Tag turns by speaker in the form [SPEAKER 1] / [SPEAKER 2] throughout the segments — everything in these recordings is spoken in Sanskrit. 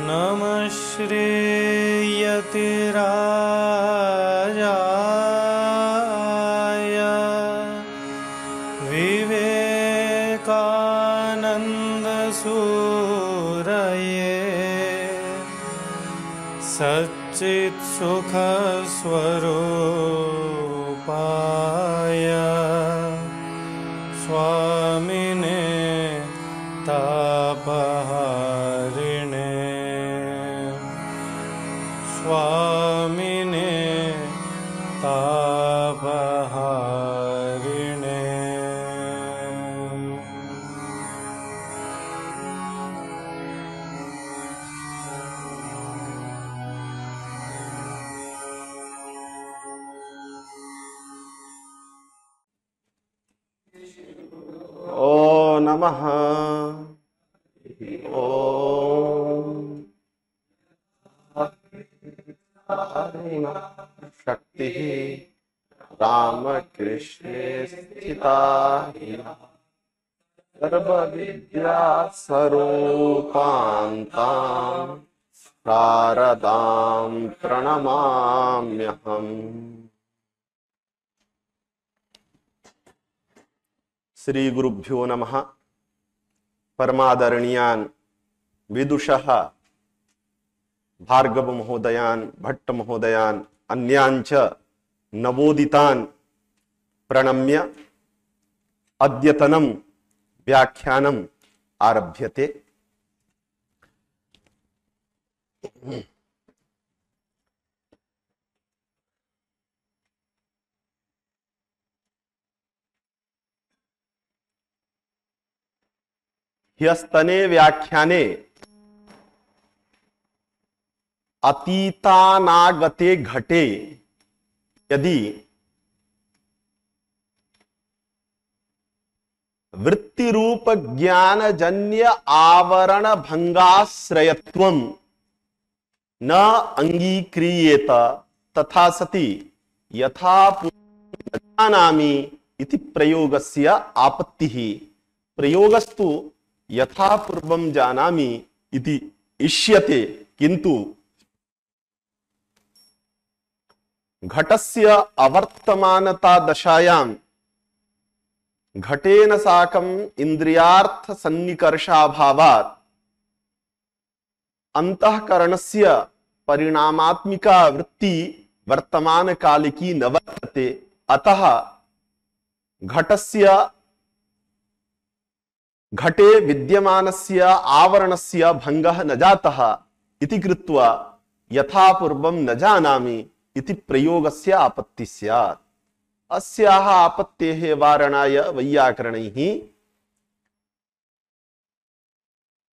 [SPEAKER 1] नमः श्रीयतिराजाय विवेकानन्दसूरये सच्चित्सुखस्वरूपाय स्वामिने तापहारिणे स्वामिने तापहारिणे।
[SPEAKER 2] ओ नमः ओम शक्ति रामकृष्णे स्थिता सर्वविद्या स्वरूपान्तां शारदां प्रणमाम्यहम्। श्री गुरुभ्यो नमः। परमादरणीयान् विदुषः भार्गव महोदयान् भट्ट महोदयान् अन्यान् च नवोदितान् प्रणम्य अद्यतनं व्याख्यानम् आरभ्यते। ह्यस्तने व्याख्याने अतीतानागते घटे यदि वृत्तिरूप ज्ञानजन्य आवरण भंगाश्रयत्वं न अंगीक्रियेत तथा सति यथा जानामि इति प्रयोगस्य आपत्तिः। प्रयोगस्तु यथा पूर्वं जानामि इति इष्यते, किन्तु घटस्य अवर्तमानता दशायां घटेन साकं इंद्रियार्थ सन्निकर्षाभावात् अंतःकरणस्य परिणामात्मिका वृत्ति वर्तमान कालिकी न वर्तते। अतः घटे विद्यमानस्य आवरणस्य भंगः न जातः इति कृत्वा यथा पूर्वं न जानामि इति प्रयोगस्य आपत्तिः स्यात्। अस्याः आपत्तेः वारणाय वैयाकरणैः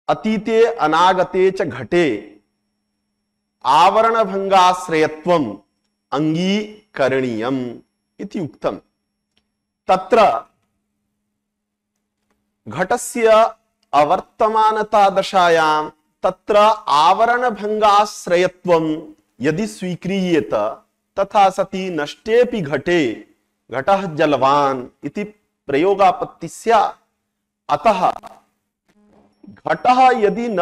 [SPEAKER 2] अतीते अनागते च घटे आवरणभंगाश्रयत्वम् अंगीकरणीयम् इति उक्तम्। तत्र घटस्य अवर्तमानता दशायां तत्र आवरणभंगाश्रयत्वं यदि स्वीक्रियेत तथा सति नष्टेपि घटे घटः जलवान् इति प्रयोगापत्तिः स्यात्। अतः घटः यदि न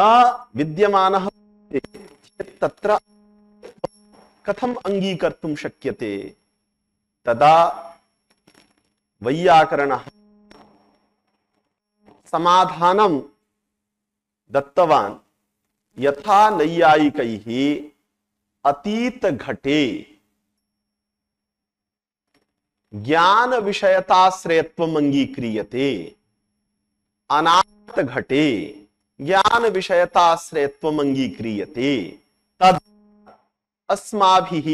[SPEAKER 2] विद्यमानः चेत् तत्र कथम् अंगीकर्तुं शक्यते? तदा वैयाकरणः समाधानं दत्तवान्। यथा नैयायिकैः अतीत घटे ज्ञान विषयताश्रयत्वम् अंगीक्रियते, अनागत घटे ज्ञान विषयताश्रयत्वम् अंगीक्रियते, तद् अस्माभिः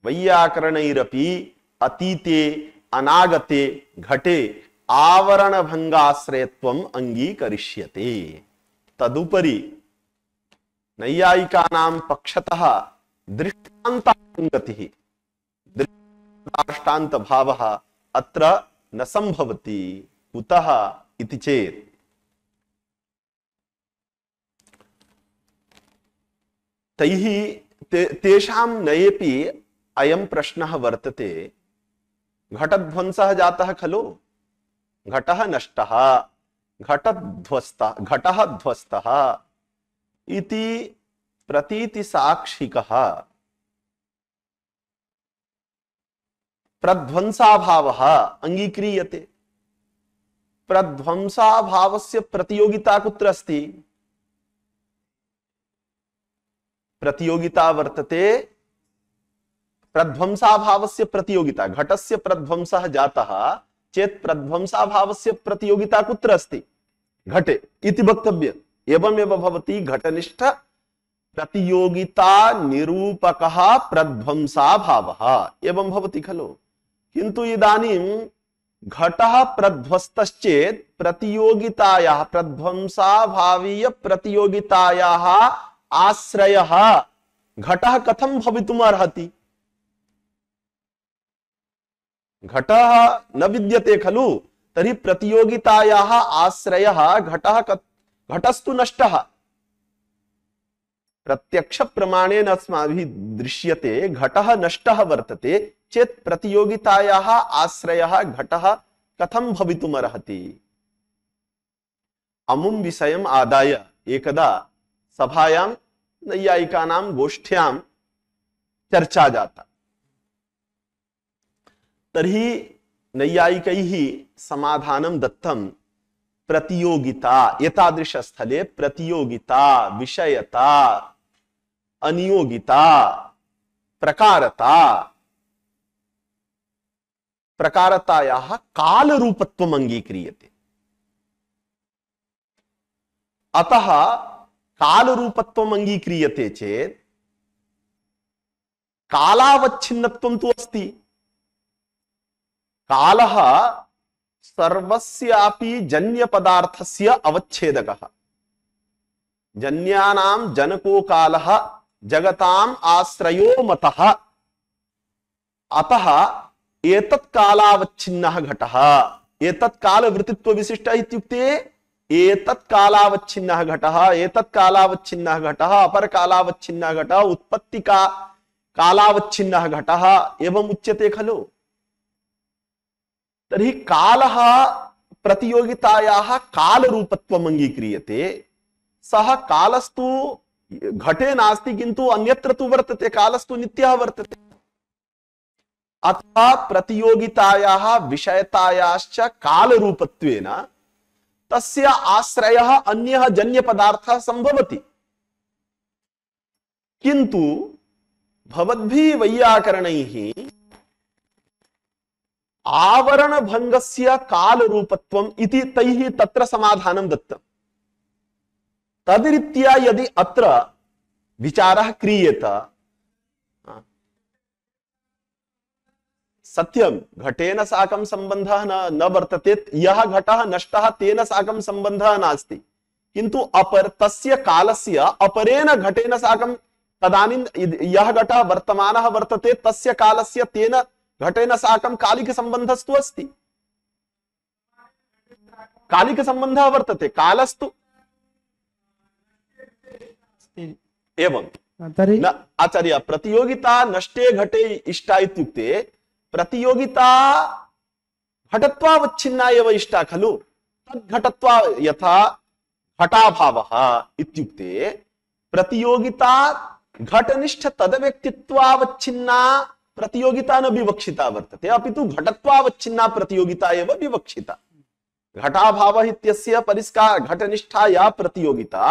[SPEAKER 2] वैयाकरणैरपि अतीते अनागते घटे आवरण भंगाश्रयत्वम् अंगीकरिष्यते। तदुपरि नैयायिकानां पक्षतः दृष्टान्तानुगतिः दृष्टान्त भावः अत्र न संभवति। कुतः इति चेत् तैः तेषां नयेपि अयं प्रश्नः वर्तते। घटध्वंसः जातः खलु, घटः नष्टः, घटः ध्वस्तः इति प्रतीतिसाक्षिकः प्रध्वंसाभावः अंगीक्रियते। प्रध्वंसाभावस्य प्रतियोगिता कुत्र अस्ति? प्रतियोगिता वर्तते, प्रध्वंसाभावस्य प्रतियोगिता, घटस्य प्रध्वंसः जातः चेत् प्रध्वंसाभावस्य प्रतियोगिता कुत्र अस्ति? घटे इति वक्तव्य। एवमेव भवति घटनिष्ठ प्रतियोगिता निरूपकः प्रध्वंसाभावः एवं भवति खलु। किन्तु इदानीं घटः प्रध्वस्तश्चेत् प्रतियोगितायाः, प्रध्वंसाभावीय प्रतियोगितायाः आश्रयः घटः कथं भवितुम् अर्हति? घटः न विद्यते खलु, तर्हि प्रतियोगितायाः आश्रयः घटस्तु नष्टः। प्रत्यक्ष प्रमाणेन अस्माभिः दृश्यते घटः नष्टः वर्तते चेत् प्रतियोगितायाः आश्रयः घटः कथं भवितुम् अर्हति? अमुं विषयम् आदाय एकदा सभायां नैयायिकानां गोष्ठ्यां चर्चा जाता। तर्हि नैयायिकैः समाधानं दत्तं, प्रतियोगिता, एतादृश स्थले प्रतियोगिता, विषयता, अनियोगिता, प्रकारतायाः कालरूपत्वम् अंगीक्रियते। अतः कालरूपत्वम् अंगीक्रियते चेत् कालावच्छिन्नत्वं तु अस्ति। कालः सर्वस्यापि जन्यपदार्थस्य अवच्छेदकः। जन्यानां जनको कालः, जगताम् आश्रयो मतः। अतः एतत् कालावच्छिन्नः घटः, एतत् कालवृत्तित्व विशिष्टः इत्युक्ते एतत् कालावच्छिन्नः घटः, एतत् कालावच्छिन्नः घटः, अपर कालावच्छिन्नः घटः, उत्पत्ति का कालावच्छिन्नः घटः एवं उच्यते खलु। तर्हि कालः प्रतियोगितायाः कालरूपत्वम् अंगीक्रियते। सः कालस्तु घटे नास्ति, किन्तु अन्यत्र तु वर्तते, कालस्तु नित्यः वर्तते। अतः प्रतियोगितायाः विषयतायाश्च कालरूपत्वेन तस्य आश्रयः अन्यः जन्यपदार्थः संभवति। किन्तु भवद्भिः वैयाकरणैः आवरण भंगस्य कालरूपत्वम् इति तैः तत्र समाधानं दत्तम्। तद्रीत्या यदि अत्र विचारः क्रियेत, सत्यं घटेन साकं सम्बन्धः न वर्तते, यः घटः नष्टः तेन साकं सम्बन्धः नास्ति, किन्तु तस्य कालस्य अपरेण घटेन साकं, तदानीं यः घटः वर्तमानः वर्तते तस्य कालस्य तेन घटेन साकं कालिक संबंधस्तु अस्ति, कालिक संबंधः वर्तते, कालस्तु एवं न आचार्य। प्रतियोगिता नष्टे घटे इष्टा इत्युक्ते प्रतियोगिता घटत्वावच्छिन्ना एव इष्टा खलु। तद्घटत्वा यथा घटाभावः इत्युक्ते प्रतियोगिता घटनिष्ठ तदव्यक्तित्वावच्छिन्ना प्रतियोगिता न विवक्षिता वर्तते, अपितु घटत्वावच्छिन्ना प्रतियोगिता एव विवक्षिता। घटाभावः इत्यस्य परिष्कार घटनिष्ठा या प्रतियोगिता,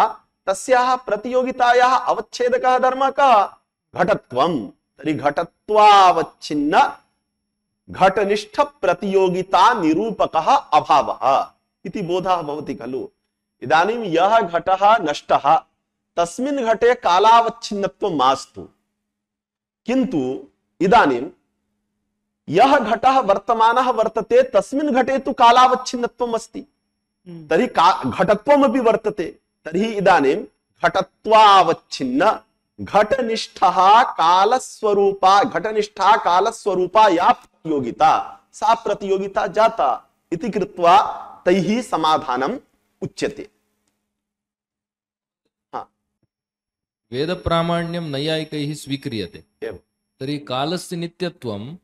[SPEAKER 2] तस्याः प्रतियोगितायाः अवच्छेदकः धर्मः कः? घटत्वम्। तर्हि घटत्वावच्छिन्न घटनिष्ठ प्रतियोगिता निरूपकः अभावः इति बोधः भवति खलु। इदानीं यः घटः नष्टः तस्मिन् घटे कालावच्छिन्नत्वं मास्तु, किन्तु इदानीं यः घटः वर्तमानः वर्तते तस्मिन् घटे तु कालावच्छिन्नत्वम् अस्ति, तर्हि घटत्वमपि वर्तते। तर्हि इदानीं घटत्वावच्छिन्न घटनिष्ठः कालस्वरूपा, घटनिष्ठा कालस्वरूपा या प्रतियोगिता, सा प्रतियोगिता जाता इति कृत्वा तैः समाधानम् उच्यते।
[SPEAKER 3] वेद प्रामाण्यं नैयायिकैः स्वीक्रियते, तर्हि कालस्य नित्यत्वं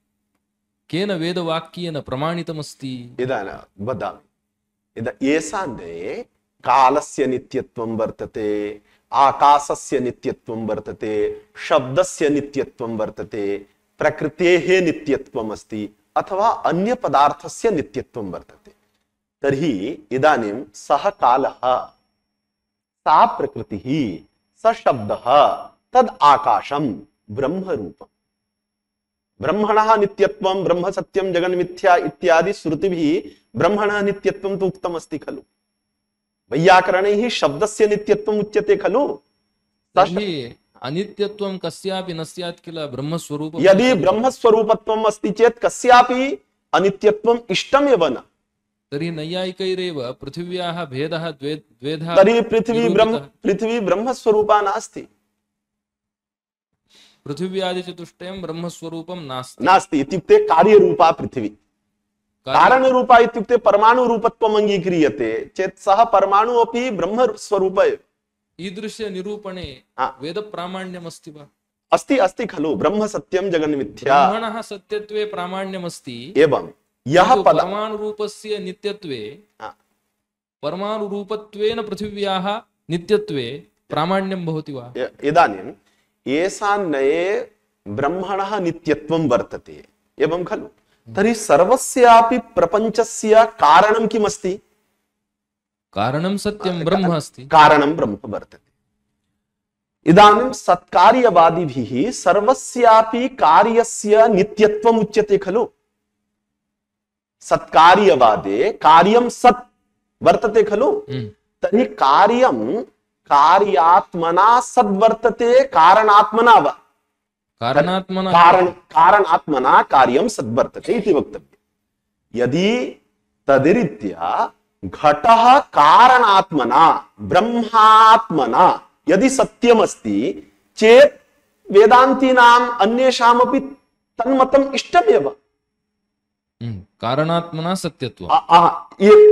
[SPEAKER 3] केन वेदवाक्येन प्रमाणितमस्ति?
[SPEAKER 2] इदानीं वदामि। येषान्ते कालस्य नित्यत्वं वर्तते, आकाशस्य नित्यत्वं वर्तते, शब्दस्य नित्यत्वं वर्तते, प्रकृतेः नित्यत्वम् अस्ति, अथवा अन्य पदार्थस्य नित्यत्वं वर्तते, तर्हि इदानीं सः कालः, सा प्रकृतिः, स शब्दः, तद् आकाशं ब्रह्मरूपम्। ब्रह्मणः नित्यत्वं ब्रह्म सत्यं जगन्मिथ्या इत्यादि श्रुतिभिः ब्रह्मणः नित्यत्वं तु उक्तमस्ति खलु। वैयाकरणैः शब्दस्य नित्यत्वम् उच्यते खलु।
[SPEAKER 3] तर्हि अनित्यत्वं कस्यापि न स्यात् किल ब्रह्मस्वरूपं?
[SPEAKER 2] यदि ब्रह्मस्वरूपत्वम् अस्ति चेत् कस्यापि अनित्यत्वम् इष्टमेव न।
[SPEAKER 3] तर्हि नैयायिकैरेव पृथिव्याः भेदः द्वेधा।
[SPEAKER 2] तर्हि पृथिवी ब्रह्मस्वरूपा नास्ति।
[SPEAKER 3] पृथिव्यादिचतुष्टयं ब्रह्मस्वरूपं
[SPEAKER 2] नास्ति इत्युक्ते कार्यरूपा पृथिवी। कारणरूपा इत्युक्ते परमाणुरूपत्वम् अङ्गीक्रियते चेत् सः परमाणु अपि ब्रह्मस्वरूप एव।
[SPEAKER 3] ईदृश्य निरूपणे वेदप्रामाण्यमस्ति वा?
[SPEAKER 2] अस्ति अस्ति खलु। ब्रह्म सत्यं जगन्मिथ्या।
[SPEAKER 3] ब्रह्मणः सत्यत्वे प्रामाण्यमस्ति।
[SPEAKER 2] एवं यः
[SPEAKER 3] परमाणुरूपस्य नित्यत्वे परमाणुरूपत्वेन पृथिव्याः नित्यत्वे प्रामाण्यं भवति वा?
[SPEAKER 2] इदानीं येषान्नये ब्रह्मणः नित्यत्वं वर्तते एवं खलु। तर्हि सर्वस्यापि प्रपञ्चस्य कारणं किमस्ति?
[SPEAKER 3] कारणं सत्यं ब्रह्म अस्ति।
[SPEAKER 2] कारणं ब्रह्म वर्तते। इदानीं सत्कार्यवादिभिः सर्वस्यापि कार्यस्य नित्यत्वम् उच्यते खलु। सत्कार्यवादे कार्यं सत् वर्तते खलु। तर्हि कार्यं कार्यात्मना सद्वर्तते कारणात्मना वा? कारणात्मना कार्यं सद्वर्तते इति वक्तव्यम्। यदि तद्रीत्या घटः कारणात्मना ब्रह्मात्मना यदि सत्यमस्ति चेत् वेदान्तीनाम् अन्येषामपि तन्मतम् इष्टमेव।
[SPEAKER 3] कारणात्मना सत्यत्वम्।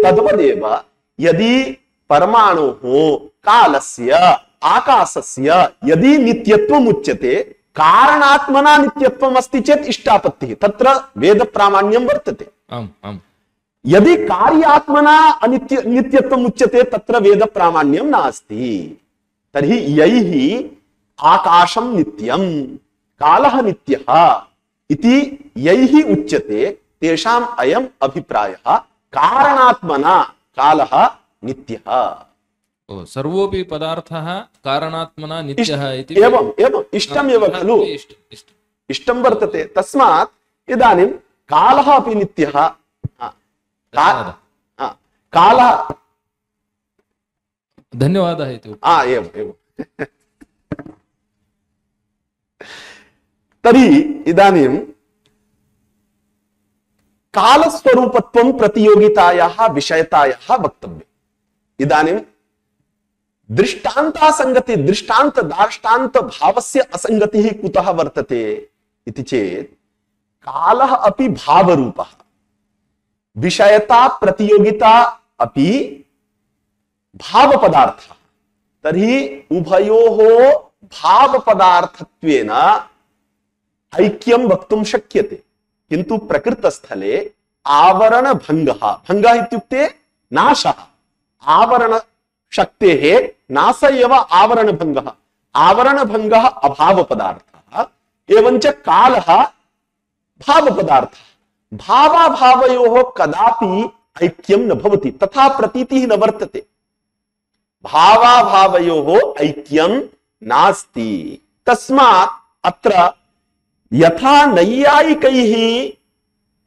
[SPEAKER 2] तद्वदेव यदि परमाणुः कालस्य आकाशस्य यदि नित्यत्वम् उच्यते, कारणात्मना नित्यत्वम् अस्ति चेत् इष्टापत्तिः, तत्र वेदप्रामाण्यं वर्तते। यदि कार्यात्मना नित्यत्वम् उच्यते तत्र वेदप्रामाण्यं नास्ति। तर्हि यैः आकाशं नित्यं कालः नित्यः इति यैः उच्यते तेषाम् अयम् अभिप्रायः कारणात्मना कालः नित्यः।
[SPEAKER 3] सर्वोऽपि पदार्थः कारणात्मना नित्यः इति
[SPEAKER 2] एवं इष्टमेव खलु। इष्टं वर्तते। तस्मात् इदानीं कालः अपि नित्यः। कालः
[SPEAKER 3] धन्यवादः इति
[SPEAKER 2] एवं तर्हि इदानीं कालस्वरूपत्वं प्रतियोगितायाः विषयतायाः वक्तव्यम्। इदानीं दृष्टान्तासंगति दृष्टान्त दार्ष्टान्त भावस्य असंगतिः कुतः वर्तते इति चेत् कालः अपि भावरूपः, विषयता प्रतियोगिता अपि भावपदार्थः। तर्हि उभयोः भावपदार्थत्वेन ऐक्यं वक्तुं शक्यते। किन्तु प्रकृतस्थले आवरणभङ्गः, भङ्गः इत्युक्ते नाशः, आवरण शक्तेः नाश एव आवरणभङ्गः। आवरणभङ्गः अभावपदार्थः, एवञ्च कालः भावपदार्थः। भावाभावयोः कदापि ऐक्यं न भवति, तथा प्रतीतिः न वर्तते। भावाभावयोः ऐक्यं नास्ति। तस्मात् अत्र यथा नैयायिकैः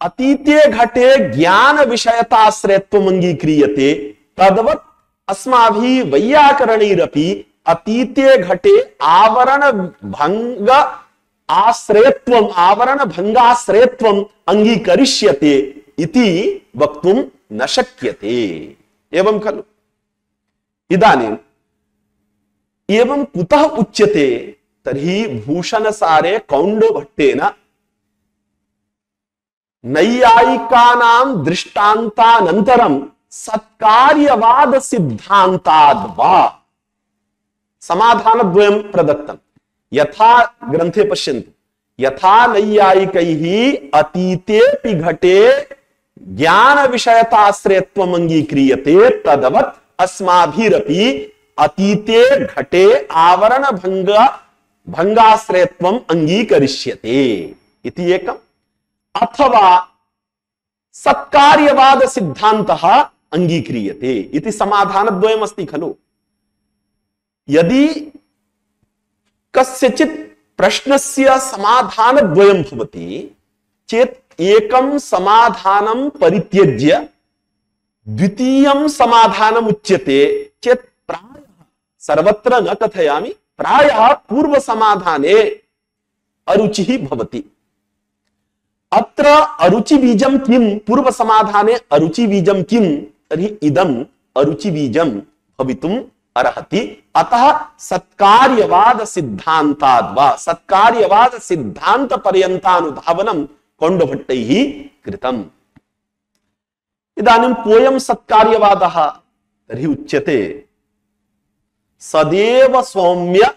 [SPEAKER 2] अतीते घटे ज्ञान विषयताश्रयत्वम् अङ्गीक्रियते, तद्वत् अस्माभिः वैयाकरणैरपि अतीते घटे आवरण भंग आश्रयत्वम् आवरण भंगाश्रयत्वम् अङ्गीकरिष्यते इति वक्तुं न शक्यते। एवं खलु। इदानीम् एवं कुतः उच्यते? तर्हि भूषणसारे कौण्डभट्टेन नैयायिकानां दृष्टान्तानन्तरं सत्कार्यवाद सिद्धान्ताद्वा समाधानद्वयं प्रदत्तम्। यथा ग्रन्थे पश्यन्तु, यथा नैयायिकैः अतीतेऽपि घटे ज्ञान विषयताश्रयत्वम् अंगीक्रियते तदवत् अस्माभिरपि अतीते घटे आवरण भंगाश्रयत्वम् अंगीकरिष्यते इति एकम्। अथवा सत्कार्यवाद सिद्धान्तः अंगीक्रियते इति समाधानद्वयम् अस्ति खलु। यदि कस्यचित् प्रश्नस्य समाधानद्वयं भवति चेत् एकं समाधानं परित्यज्य द्वितीयं समाधानम् उच्यते चेत् प्रायः, सर्वत्र न कथयामि, प्रायः पूर्व समाधाने अरुचिः भवति। अत्र अरुचि बीजं किं, पूर्व समाधाने अरुचि बीजं किं, तर्हि इदम् अरुचि बीजं भवितुम् अर्हति। अतः सत्कार्यवाद सिद्धान्ताद् वा सत्कार्यवाद सिद्धान्त पर्यन्तानुधावनं कौण्डभट्टैः कृतम्। इदानीं कोऽयं सत्कार्यवादः, तर्हि उच्यते सदेव सौम्य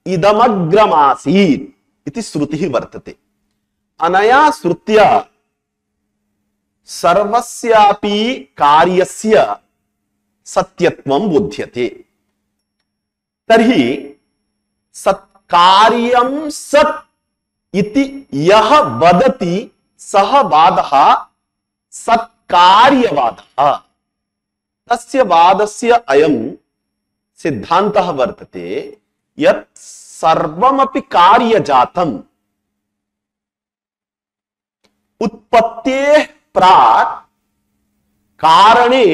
[SPEAKER 2] इदमग्रमासीत् इति श्रुतिः वर्तते। अनया श्रुत्या सर्वस्यापि कार्यस्य सत्यत्वं बोध्यते। तर्हि सत्कार्यं सत् इति यः वदति सः वादः सत्कार्यवादः। तस्य वादस्य अयं सिद्धान्तः वर्तते यत् सर्वमपि कार्यजातम् उत्पत्तेः प्राक् कारणे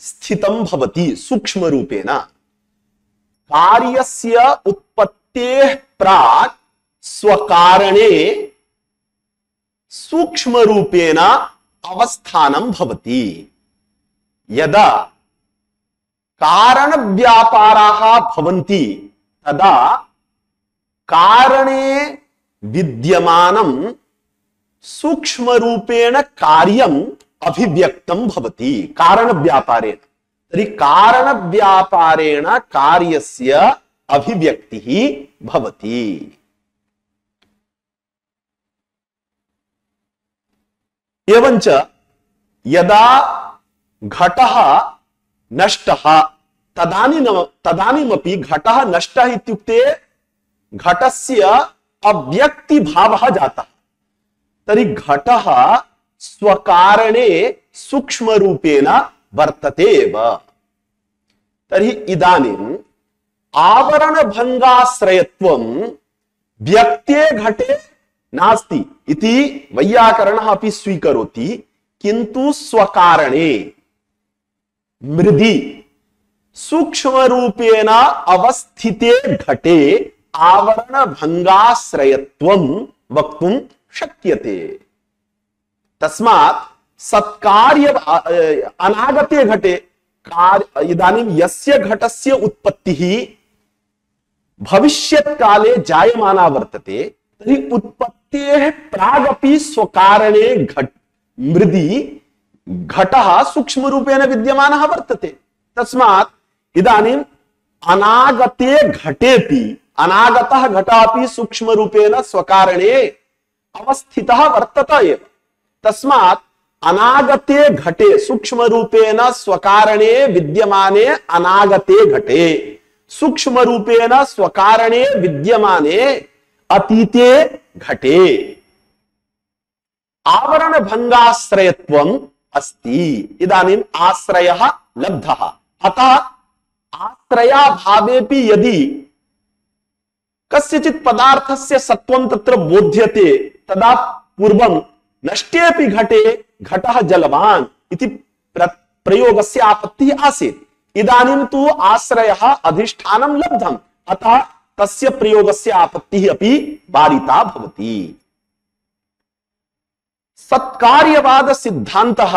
[SPEAKER 2] स्थितं भवति सूक्ष्म रूपेण। कार्यस्य उत्पत्तेः प्राक् स्वकारणे सूक्ष्म रूपेण अवस्थानं भवति। यदा कारण व्यापाराः भवन्ति तदा कारणे विद्यमानं सूक्ष्म रूपेण कार्यम् अभिव्यक्तं भवति कारण व्यापारेण। तर्हि कारण व्यापारेण कार्यस्य अभिव्यक्तिः भवति। एवञ्च यदा घटः नष्टः तदानीमपि घटः नष्टः इत्युक्ते घटस्य अव्यक्तिभावः जातः। तर्हि घटः स्वकारणे सूक्ष्म रूपेण वर्तते एव। तर्हि इदानीम् आवरण भंगाश्रयत्वं व्यक्ते घटे नास्ति इति वैयाकरणः अपि स्वीकरोति, किन्तु स्वकारणे मृदि सूक्ष्म रूपेण अवस्थिते घटे आवरण भंगाश्रयत्वं वक्तुं शक्यते। तस्मात् सत्कार्य अनागते घटे इदानीं यस्य घटस्य उत्पत्तिः भविष्यत् काले जायमाना वर्तते, तर्हि उत्पत्तेः प्रागपि स्वकारणे मृदि घटः सूक्ष्म रूपेण विद्यमानः वर्तते। तस्मात् इदानीम् अनागते घटेपि अनागतः घटापि सूक्ष्म रूपेण स्वकारणे अवस्थितः वर्तते एव। तस्मात् अनागते घटे सूक्ष्म रूपेण स्वकारणे विद्यमाने अनागते घटे सूक्ष्म रूपेण स्वकारणे विद्यमाने अतीते घटे आवरण भंगाश्रयत्वम् अस्ति। इदानीम् आश्रयः लब्धः, अतः आश्रयाभावेपि यदि कस्यचित् पदार्थस्य सत्वं तत्र बोध्यते तदा पूर्वं नष्टेपि घटे घटः जलवान् इति प्रयोगस्य आपत्तिः आसीत्। इदानीं तु आश्रयः अधिष्ठानं लब्धम्, अतः तस्य प्रयोगस्य आपत्तिः अपि वारिता भवति। सत्कार्यवाद सिद्धान्तः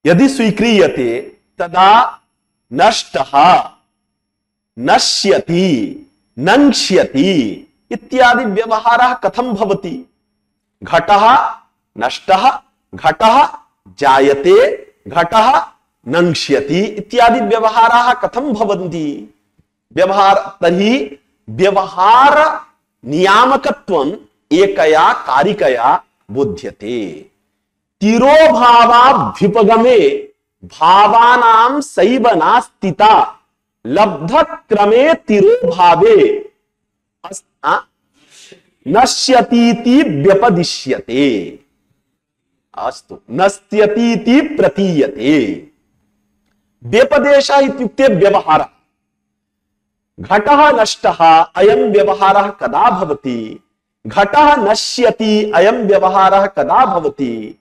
[SPEAKER 2] यदि स्वीक्रियते तदा नष्टः नश्यति नङ्क्ष्यति इत्यादि व्यवहारः कथं भवति? घटः नष्टः, घटः जायते, घटः नङ्क्ष्यति इत्यादि व्यवहाराः कथं भवन्ति? तर्हि व्यवहार नियामकत्वम एकया कारिकया बोध्यते। तिरोभावाभ्युपगमे भावानां सैव नास्तिता लब्ध क्रमे तिरोभावे नश्यतीति व्यपदिश्यते। अस्तु, नश्यतीति प्रतीयते। व्यपदेशः इत्युक्ते व्यवहारः। घटः नष्टः अयं व्यवहारः कदा भवति? घटः नश्यति अयं व्यवहारः कदा भवति?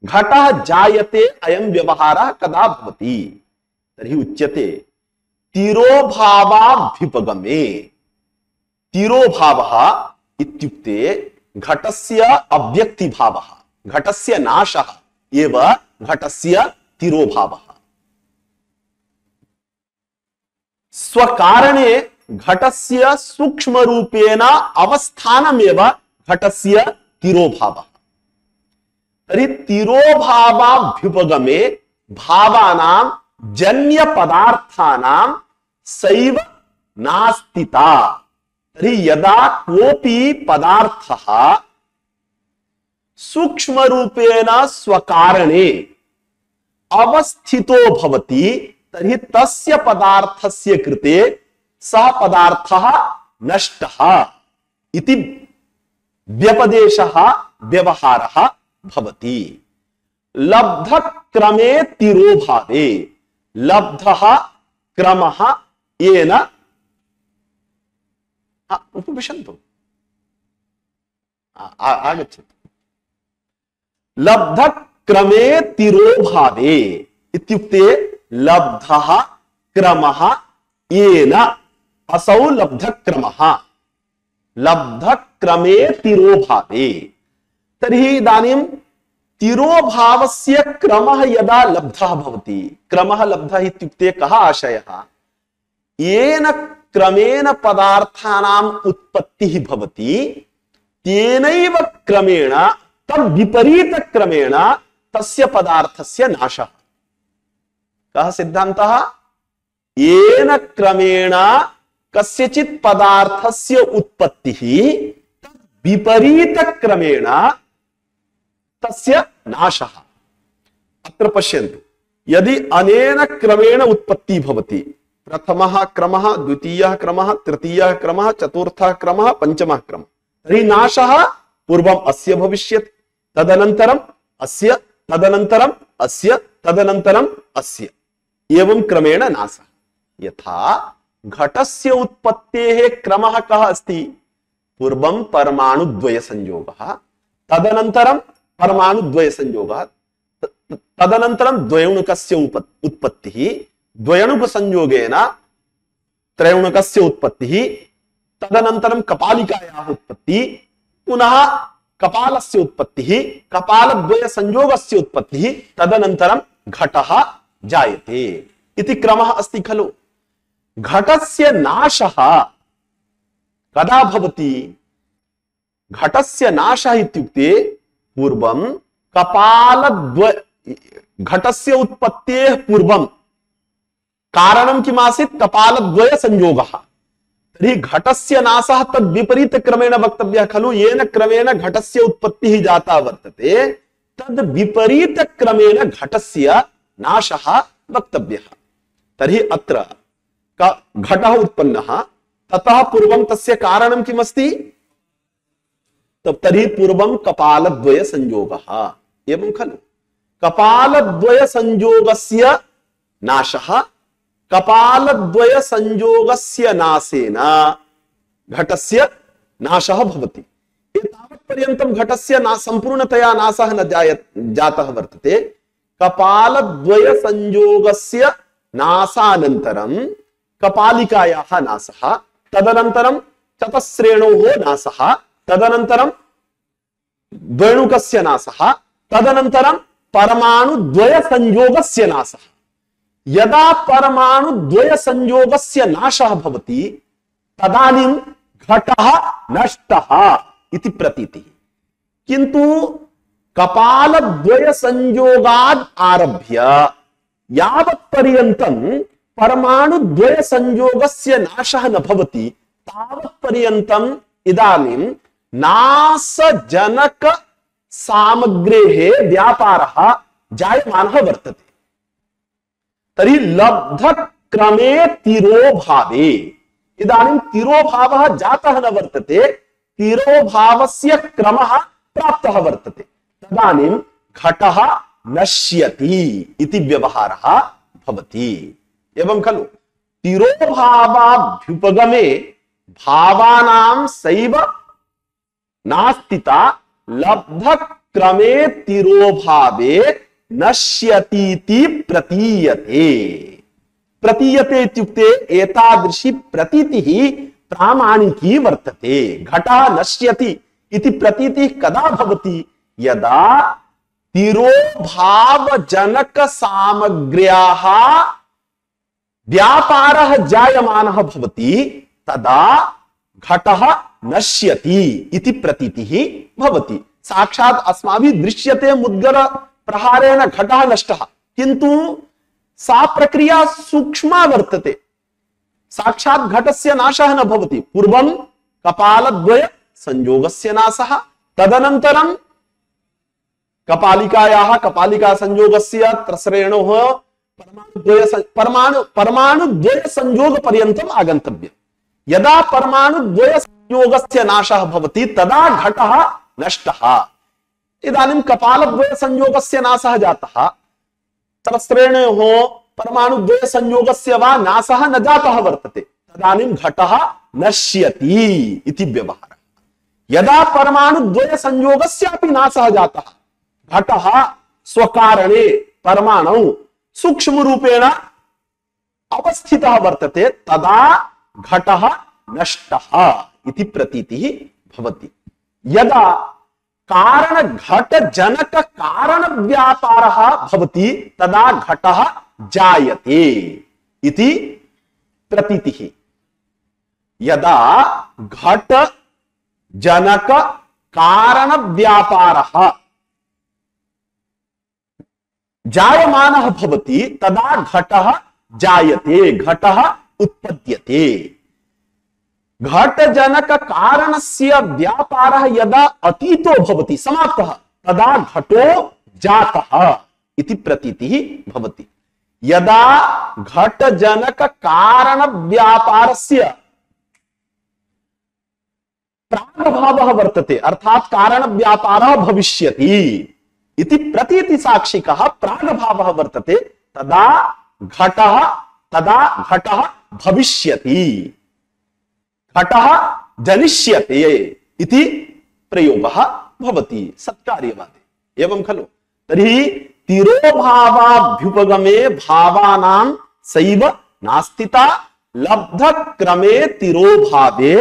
[SPEAKER 2] घटः जायते अयं व्यवहारः कदा भवति? तर्हि उच्यते तिरोभावाभ्युपगमे। तिरोभावः इत्युक्ते घटस्य अव्यक्तिभावः, घटस्य नाशः एव घटस्य तिरोभावः। स्वकारणे घटस्य सूक्ष्म रूपेण अवस्थानमेव घटस्य तिरोभावः। तर्हि तिरोभावाभ्युपगमे भावानां जन्य पदार्थानां सैव नास्तिता। तर्हि यदा कोऽपि पदार्थः सूक्ष्म रूपेण स्वकारणे अवस्थितो भवति तर्हि तस्य पदार्थस्य कृते सः पदार्थः नष्टः इति व्यपदेशः व्यवहारः भवति। लब्ध क्रमे तिरोभावे। लब्धः क्रमः येन उपविशन्तु आगच्छतु। लब्ध क्रमे तिरोभावे इत्युक्ते लब्धः क्रमः येन, असौ लब्ध क्रमः, लब्ध क्रमे तिरोभावे। तर्हि इदानीं तिरोभावस्य क्रमः यदा लब्धः भवति, क्रमः लब्धः इत्युक्ते कः आशयः? येन क्रमेण पदार्थानाम् उत्पत्तिः भवति तेनैव क्रमेण तद् विपरीत क्रमेण तस्य पदार्थस्य नाशः। कः सिद्धान्तः? येन क्रमेण कस्यचित् पदार्थस्य उत्पत्तिः विपरीत क्रमेण तस्य नाशः। अत्र पश्यन्तु, यदि अनेन क्रमेण उत्पत्तिः भवति, प्रथमः क्रमः, द्वितीयः क्रमः, तृतीयः क्रमः, चतुर्थः क्रमः, पंचमः क्रमः, तर्हि नाशः पूर्वम् अस्य भविष्यति, तदनन्तरम् अस्य, तदनन्तरम् अस्य, तदनन्तरम् अस्य, एवं क्रमेण नाशः। यथा घटस्य उत्पत्तेः क्रमः कः अस्ति? पूर्वं परमाणुद्वय संयोगः, तदनन्तरं परमाणुद्वय संयोगः, तदनन्तरं द्वयोणुकस्य उत्पत्तिः, द्वयोणुक संयोगेन त्रयोणुकस्य उत्पत्तिः, तदनन्तरं कपालिकायाः उत्पत्तिः, पुनः कपालस्य उत्पत्तिः, कपालद्वय संयोगस्य उत्पत्तिः, तदनन्तरं घटः जायते इति क्रमः अस्ति खलु। घटस्य नाशः कदा भवति? घटस्य नाशः इत्युक्ते पूर्वं घटस्य उत्पत्तेः पूर्वं कारणं किमासीत्? कपालद्वय संयोगः। तर्हि घटस्य नाशः तद् विपरीत क्रमेण वक्तव्यः खलु। येन क्रमेण घटस्य उत्पत्तिः जाता वर्तते तद् विपरीत क्रमेण घटस्य नाशः वक्तव्यः। तर्हि अत्र घटः उत्पन्नः, ततः पूर्वं तस्य कारणं किमस्ति? तर्हि पूर्वं कपालद्वय संयोगः, एवं खलु। कपालद्वय संयोगस्य नाशः, कपालद्वय संयोगस्य नाशेन घटस्य नाशः भवति। एतावत्पर्यन्तं घटस्य संपूर्णतया नाशः न जातः वर्तते। कपालद्वय संयोगस्य नाशानन्तरं कपालिकायाः नाशः, तदनन्तरं चतस्रेणोः नाशः, तदनन्तरं द्वयोणुकस्य नाशः, तदनन्तरं परमाणुद्वय संयोगस्य नाशः। यदा परमाणुद्वय संयोगस्य नाशः भवति तदानीं घटः नष्टः इति प्रतीतिः। किन्तु कपालद्वय संयोगात् आरभ्य यावत्पर्यन्तं परमाणुद्वय संयोगस्य नाशः न भवति तावत्पर्यन्तम् इदानीं नासजनक सामग्रेः व्यापारः जायमानः वर्तते। तर्हि लब्धक्रमे तिरोभावे, इदानीं तिरोभावः जातः न वर्तते, तिरोभावस्य क्रमः प्राप्तः वर्तते, तदानीं घटः नश्यति इति व्यवहारः भवति। एवं खलु तिरोभावाभ्युपगमे भावानां सैव नास्तिता लब्धक्रमे तिरोभावे नश्यतीति प्रतीयते। प्रतीयते इत्युक्ते एतादृशी प्रतीतिः प्रामाणिकी वर्तते। घटः नश्यति इति प्रतीतिः कदा भवति? यदा तिरोभावजनक सामग्र्याः व्यापारः जायमानः भवति, तदा घटः नश्यति इति प्रतीतिः भवति। साक्षात् अस्माभिः दृश्यते मुद्गर प्रहारेण घटः नष्टः, किन्तु सा प्रक्रिया सूक्ष्मा वर्तते। साक्षात् घटस्य नाशः न भवति। पूर्वं कपालद्वय संयोगस्य नाशः, तदनन्तरं कपालिकायाः कपालिका संयोगस्य त्रसरेणोः परमाणुद्वय संयोग पर्यन्तम् आगन्तव्यम्। यदा परमाणुद्वय संयोगस्य नाशः भवति तदा घटः नष्टः। इदानीं कपालद्वय संयोगस्य नाशः जातः, त्रसरेणोः परमाणुद्वय संयोगस्य वा नाशः न जातः वर्तते, तदानीं घटः नश्यति इति व्यवहारः। यदा परमाणुद्वय संयोगस्यापि नाशः जातः, घटः स्वकारणे परमाणु सूक्ष्म रूपेण अवस्थितः वर्तते, तदा घटः नष्टः इति प्रतीतिः भवति। यदा कारण घट जनक कारण व्यापारः भवति, तदा घटः जायते इति प्रतीतिः। यदा घट जनक कारण व्यापारः जायमानः भवति, तदा घटः जायते, घटः उत्पद्यते। घट जनक कारणस्य व्यापारः यदा अतीतो भवति, समाप्तः, तदा घटो जातः इति प्रतीतिः भवति। यदा घट जनक कारण व्यापारस्य प्रागभावः वर्तते, अर्थात कारण व्यापारः भविष्यति इति प्रतीति साक्षिकः प्रागभावः वर्तते, तदा घटः भविष्यति, घटः जनिष्यते इति प्रयोगः भवति सत्कार्यवादे। एवं खलु? तर्हि तिरोभावाभ्युपगमे भावानां सैव नास्तिता लब्धक्रमे तिरोभावे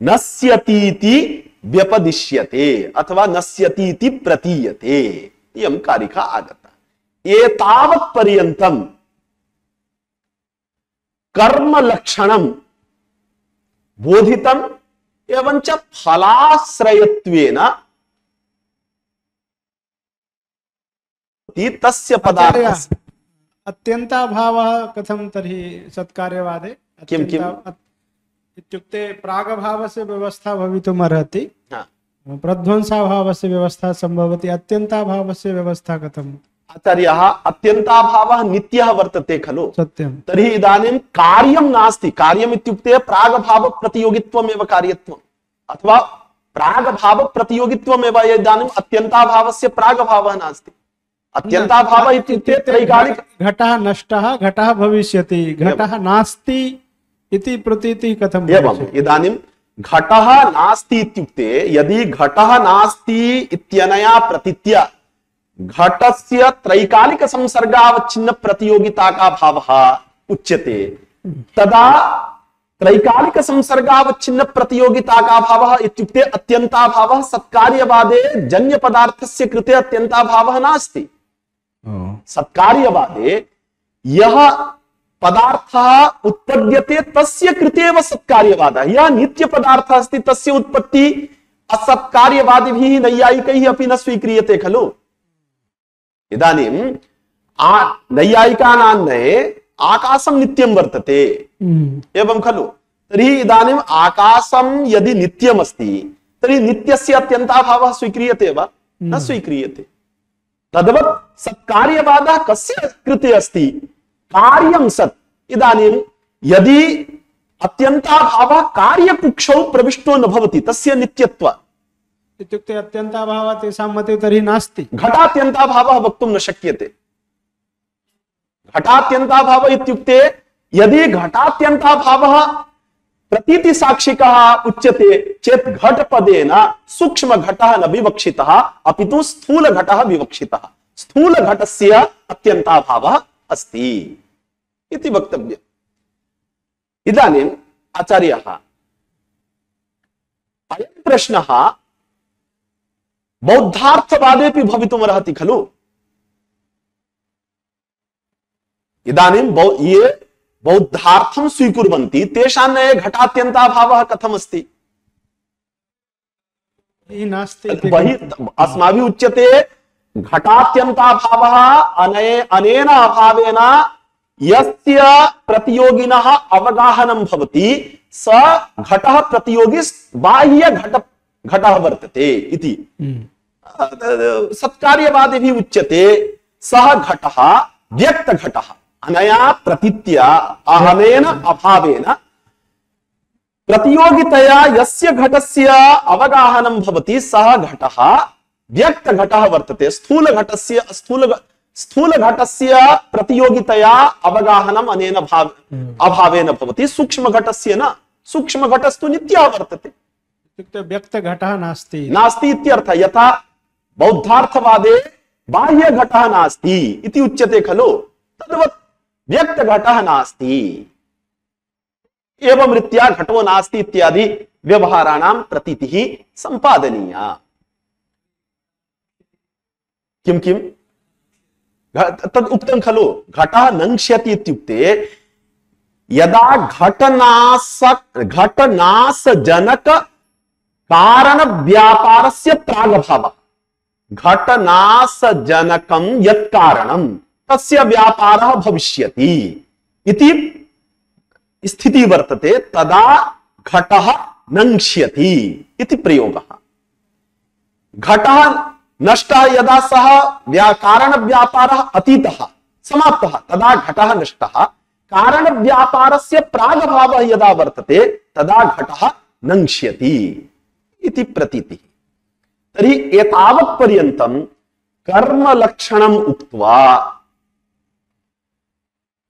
[SPEAKER 2] नश्यतीति व्यपदिश्यते अथवा नश्यतीति प्रतीयते। इयं कारिका आगता। एतावत् पर्यन्तं कर्म लक्षणं बोधितम् एवञ्च फलाश्रयत्वेन तस्य पदार्थस्य
[SPEAKER 4] अत्यन्ताभावः कथं तर्हि सत्कार्यवादे?
[SPEAKER 2] किम्
[SPEAKER 4] इत्युक्ते प्रागभावस्य व्यवस्था भवितुम् अर्हति, प्रध्वंसाभावस्य व्यवस्था सम्भवति, अत्यन्ताभावस्य व्यवस्था कथम्?
[SPEAKER 2] आचार्याः, अत्यन्ताभावः नित्यः वर्तते खलु?
[SPEAKER 4] सत्यं।
[SPEAKER 2] तर्हि इदानीं कार्यं नास्ति। कार्यम् इत्युक्ते प्रागभाव प्रतियोगित्वमेव कार्यत्वम्, अथवा प्रागभाव प्रतियोगित्वमेव। इदानीम् अत्यन्ताभावस्य प्रागभावः नास्ति। अत्यन्ताभावः इत्युक्ते त्रैकालिक।
[SPEAKER 4] घटः नष्टः, घटः भविष्यति, घटः नास्ति इति प्रतीतिः कथम्?
[SPEAKER 2] एवम्। इदानीं घटः नास्ति इत्युक्ते, यदि घटः नास्ति इत्यनया प्रतीत्या घटस्य त्रैकालिक संसर्गावच्छिन्न प्रतियोगिता का भावः उच्यते, तदा त्रैकालिक संसर्गावच्छिन्न प्रतियोगिता का भावः इत्युक्ते अत्यन्ताभावः सत्कार्यवादे जन्य पदार्थस्य कृते अत्यन्ताभावः नास्ति। सत्कार्यवादे यः पदार्थः उत्पद्यते तस्य कृते एव सत्कार्यवादः। यः नित्य पदार्थः अस्ति तस्य उत्पत्ति असत्कार्यवादिभिः नैयायिकैः अपि न स्वीक्रियते खलु? इदानीं नैयायिकानां नये आकाशं नित्यं वर्तते, एवं खलु? तर्हि इदानीम् आकाशं यदि नित्यमस्ति तर्हि नित्यस्य अत्यन्ताभावः स्वीक्रियते वा? न स्वीक्रियते। तद्वत् सत्कार्यवादः कस्य कृते अस्ति? कार्यं सत्। इदानीं यदि अत्यन्ताभावः कार्यकुक्षौ प्रविष्टो न भवति तस्य नित्यत्वम्
[SPEAKER 4] इत्युक्ते अत्यन्ताभावः तेषां मते तर्हि नास्ति।
[SPEAKER 2] घटात्यन्ताभावः वक्तुं न शक्यते। घटात्यन्ताभावः इत्युक्ते यदि घटात्यन्ताभावः प्रतीति साक्षिकः उच्यते चेत् घटपदेन सूक्ष्म घटः न विवक्षितः अपितु स्थूल घटः विवक्षितः। स्थूल घटस्य अत्यन्ताभावः अस्ति इति वक्तव्यम्। इदानीम् आचार्यः अयं प्रश्नः बौद्धार्थवादेपि भवितुमर्हति खलु? इदानीं ये बौद्धार्थं स्वीकुर्वन्ति तेषां नये घटात्यन्ताभावः कथमस्ति?
[SPEAKER 4] नास्ति।
[SPEAKER 2] अस्माभिः उच्यते घटात्यन्ताभावः अनेन अभावेन यस्य प्रतियोगिनः अवगाहनं भवति स घटः प्रतियोगी बाह्य घटः वर्तते इति सत्कार्यवादिभिः उच्यते। सः घटः व्यक्त घटः अनया प्रतीत्या अनेन अभावेन प्रतियोगितया यस्य घटस्य अवगाहनं भवति सः घटः व्यक्त घटः वर्तते। स्थूल घटस्य प्रतियोगितया अवगाहनम् अनेन अभावेन भवति, सूक्ष्म घटस्य न। सूक्ष्म घटस्तु नित्यः वर्तते।
[SPEAKER 4] इत्युक्ते व्यक्त घटः नास्ति
[SPEAKER 2] इत्यर्थः। यथा बौद्धार्थवादे बाह्य घटः नास्ति इति उच्यते खलु, तद्वत् व्यक्त घटः नास्ति। एवं रीत्या घटो नास्ति इत्यादि व्यवहाराणां प्रतीतिः सम्पादनीया। किं किं तद् उक्तं खलु, घटः नङ्क्ष्यति इत्युक्ते यदा घटनाशजनक कारण व्यापारस्य प्रागभावः, घटनाशजनकं यत् कारणं तस्य व्यापारः भविष्यति इति स्थितिः वर्तते, तदा घटः नङ्क्ष्यति इति प्रयोगः। घटः नष्टः यदा सः कारण व्यापारः अतीतः समाप्तः तदा घटः नष्टः। कारण व्यापारस्य प्रागभावः यदा वर्तते तदा घटः नङ्क्ष्यति इति प्रतीतिः। तर्हि एतावत् पर्यन्तं कर्मलक्षणम् उक्त्वा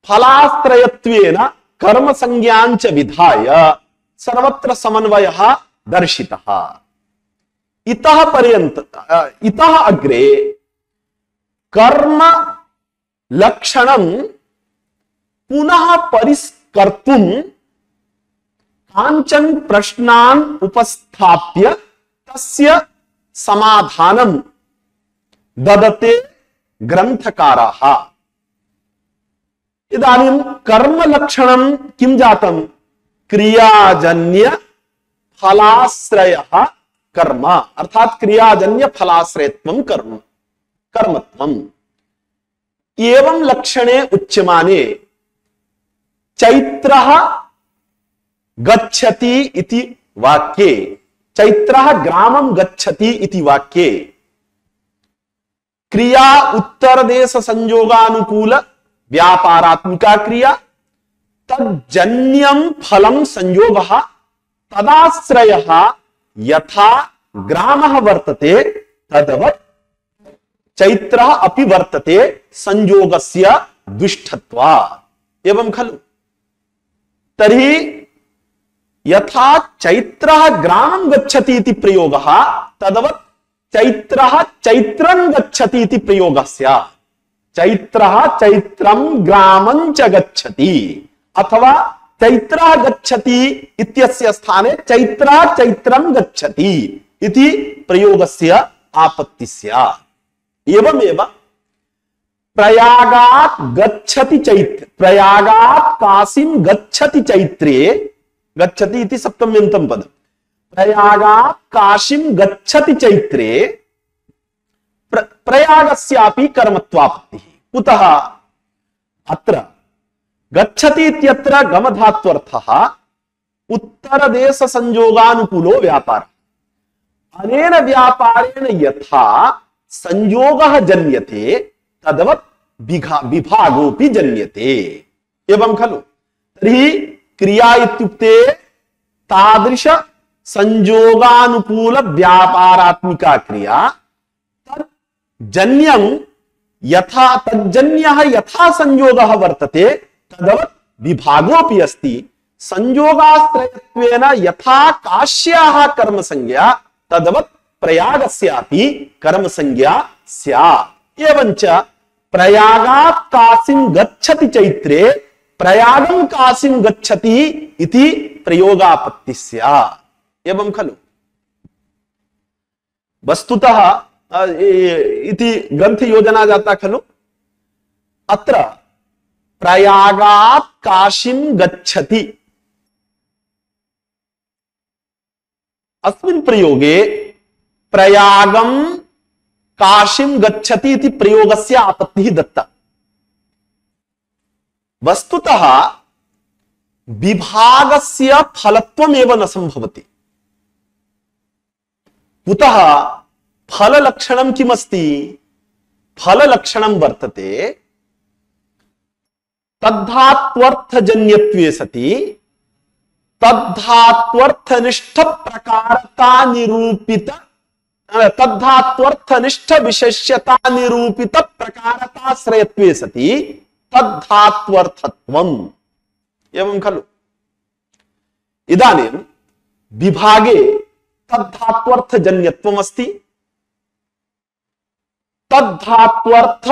[SPEAKER 2] फलाश्रयत्वेन कर्मसंज्ञाञ्च विधाय सर्वत्र समन्वयः दर्शितः। इतः अग्रे कर्म लक्षणं पुनः परिष्कर्तुं कांचन प्रश्नान् उपस्थाप्य तस्य समाधानं ददते ग्रन्थकाराः। इदानीं कर्म लक्षणं किं जातं? क्रियाजन्य फलाश्रयः कर्म, अर्थात क्रियाजन्य फलाश्रयत्वं कर्मत्वम्। एवं लक्षणे उच्यमाने चैत्रः गच्छति इति वाक्ये, चैत्रः ग्रामं गच्छति इति वाक्ये क्रिया उत्तरदेश संयोगानुकूल व्यापारात्मिका क्रिया, तज्जन्यं फलं संयोगः, तदाश्रयः यथा ग्रामः वर्तते तद्वत् चैत्रः अपि वर्तते संयोगस्य दुष्टत्वात्। एवं खलु? तर्हि यथा चैत्रः ग्रामं गच्छति इति प्रयोगः तद्वत् चैत्रः चैत्रं गच्छति इति प्रयोगः स्यात्। चैत्रः चैत्रं ग्रामं च गच्छति, अथवा चैत्रः गच्छति इत्यस्य स्थाने चैत्रः चैत्रं गच्छति इति प्रयोगस्य आपत्तिः स्यात्। एवमेव प्रयागात् गच्छति चैत्र, प्रयागात् काशीं गच्छति चैत्रे, गच्छति इति सप्तम्यन्तं पदम्, प्रयागात् काशीं गच्छति चैत्रे प्रयागस्यापि कर्मत्वापत्तिः। कुतः? अत्र गच्छति इत्यत्र गमधात्वर्थः उत्तर देश संयोगानुकूलो व्यापार। अनेन व्यापारेण यथा संयोगः जन्यते तद्वत् विभागोऽपि जन्यते एवं खलु। तर्हि क्रिया इत्युक्ते तादृश संयोगानुकूल व्यापारात्मिका क्रिया। तज्जन्यं यथा तज्जन्यः यथा संयोगः वर्तते तद्वत् विभागोऽपि अस्ति। संयोगाश्रयत्वेन यथा काश्याः कर्म संज्ञा तद्वत् प्रयागस्यापि कर्म संज्ञा स्यात्। एवञ्च प्रयागात् काशीं गच्छति चैत्रे प्रयागं काशीं गच्छति इति प्रयोगापत्ति स्यात् एवं खलु। वस्तुतः इति ग्रंथ योजना जाता खलु। अत्र प्रयागात् काशीं गच्छति अस्मिन् प्रयोगे प्रयागं काशीं गच्छति इति प्रयोगस्य आपत्तिः दत्ता। वस्तुतः विभागस्य फलत्वमेव न संभवति। कुतः? फललक्षणं किमस्ति? फललक्षणं वर्तते तद्धात्वर्थजन्यत्वे सति तद्धात्वर्थनिष्ठ प्रकारता निरूपित तद्धात्वर्थनिष्ठ विशेष्यता निरूपित प्रकारताश्रयत्वे सति तद्धात्वर्थत्वम् एवं खलु। इदानीं विभागे तद्धात्वर्थजन्यत्वम् अस्ति। तद्धात्वर्थ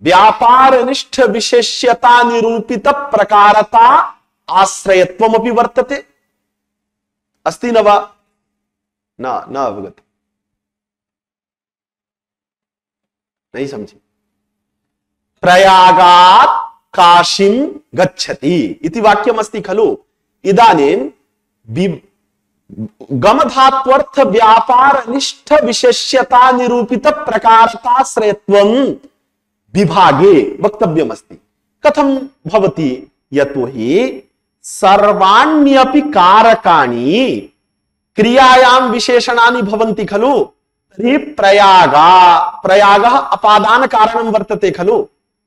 [SPEAKER 2] व्यापारनिष्ठ विशेष्यता निरूपित प्रकारता आश्रयत्वमपि वर्तते। अस्ति न वा? न अवगत, नहीं समझे। प्रयागात् काशीं गच्छति इति वाक्यमस्ति खलु। इदानीं गमधात्वर्थ व्यापारनिष्ठ विशेष्यता निरूपित प्रकारताश्रयत्वं विभागे वक्तव्यमस्ति। कथं भवति? यतोहि सर्वाण्यपि कारकाणि क्रियायां विशेषणानि भवन्ति खलु। तर्हि प्रयागः अपादान कारणं वर्तते खलु,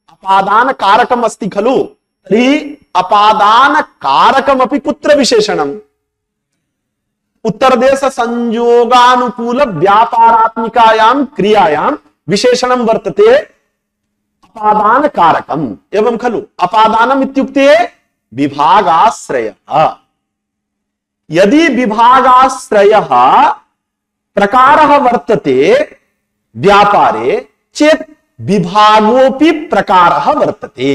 [SPEAKER 2] अपादान कारकम् अस्ति खलु। तर्हि अपादान कारकमपि कुत्र विशेषणम्? उत्तरदेश संयोगानुकूल व्यापारात्मिकायां क्रियायां विशेषणं वर्तते अपादान कारकम् एवं खलु। अपादानम् इत्युक्ते विभागाश्रयः। यदि विभागाश्रयः प्रकारः वर्तते व्यापारे चेत् विभागोऽपि प्रकारः वर्तते।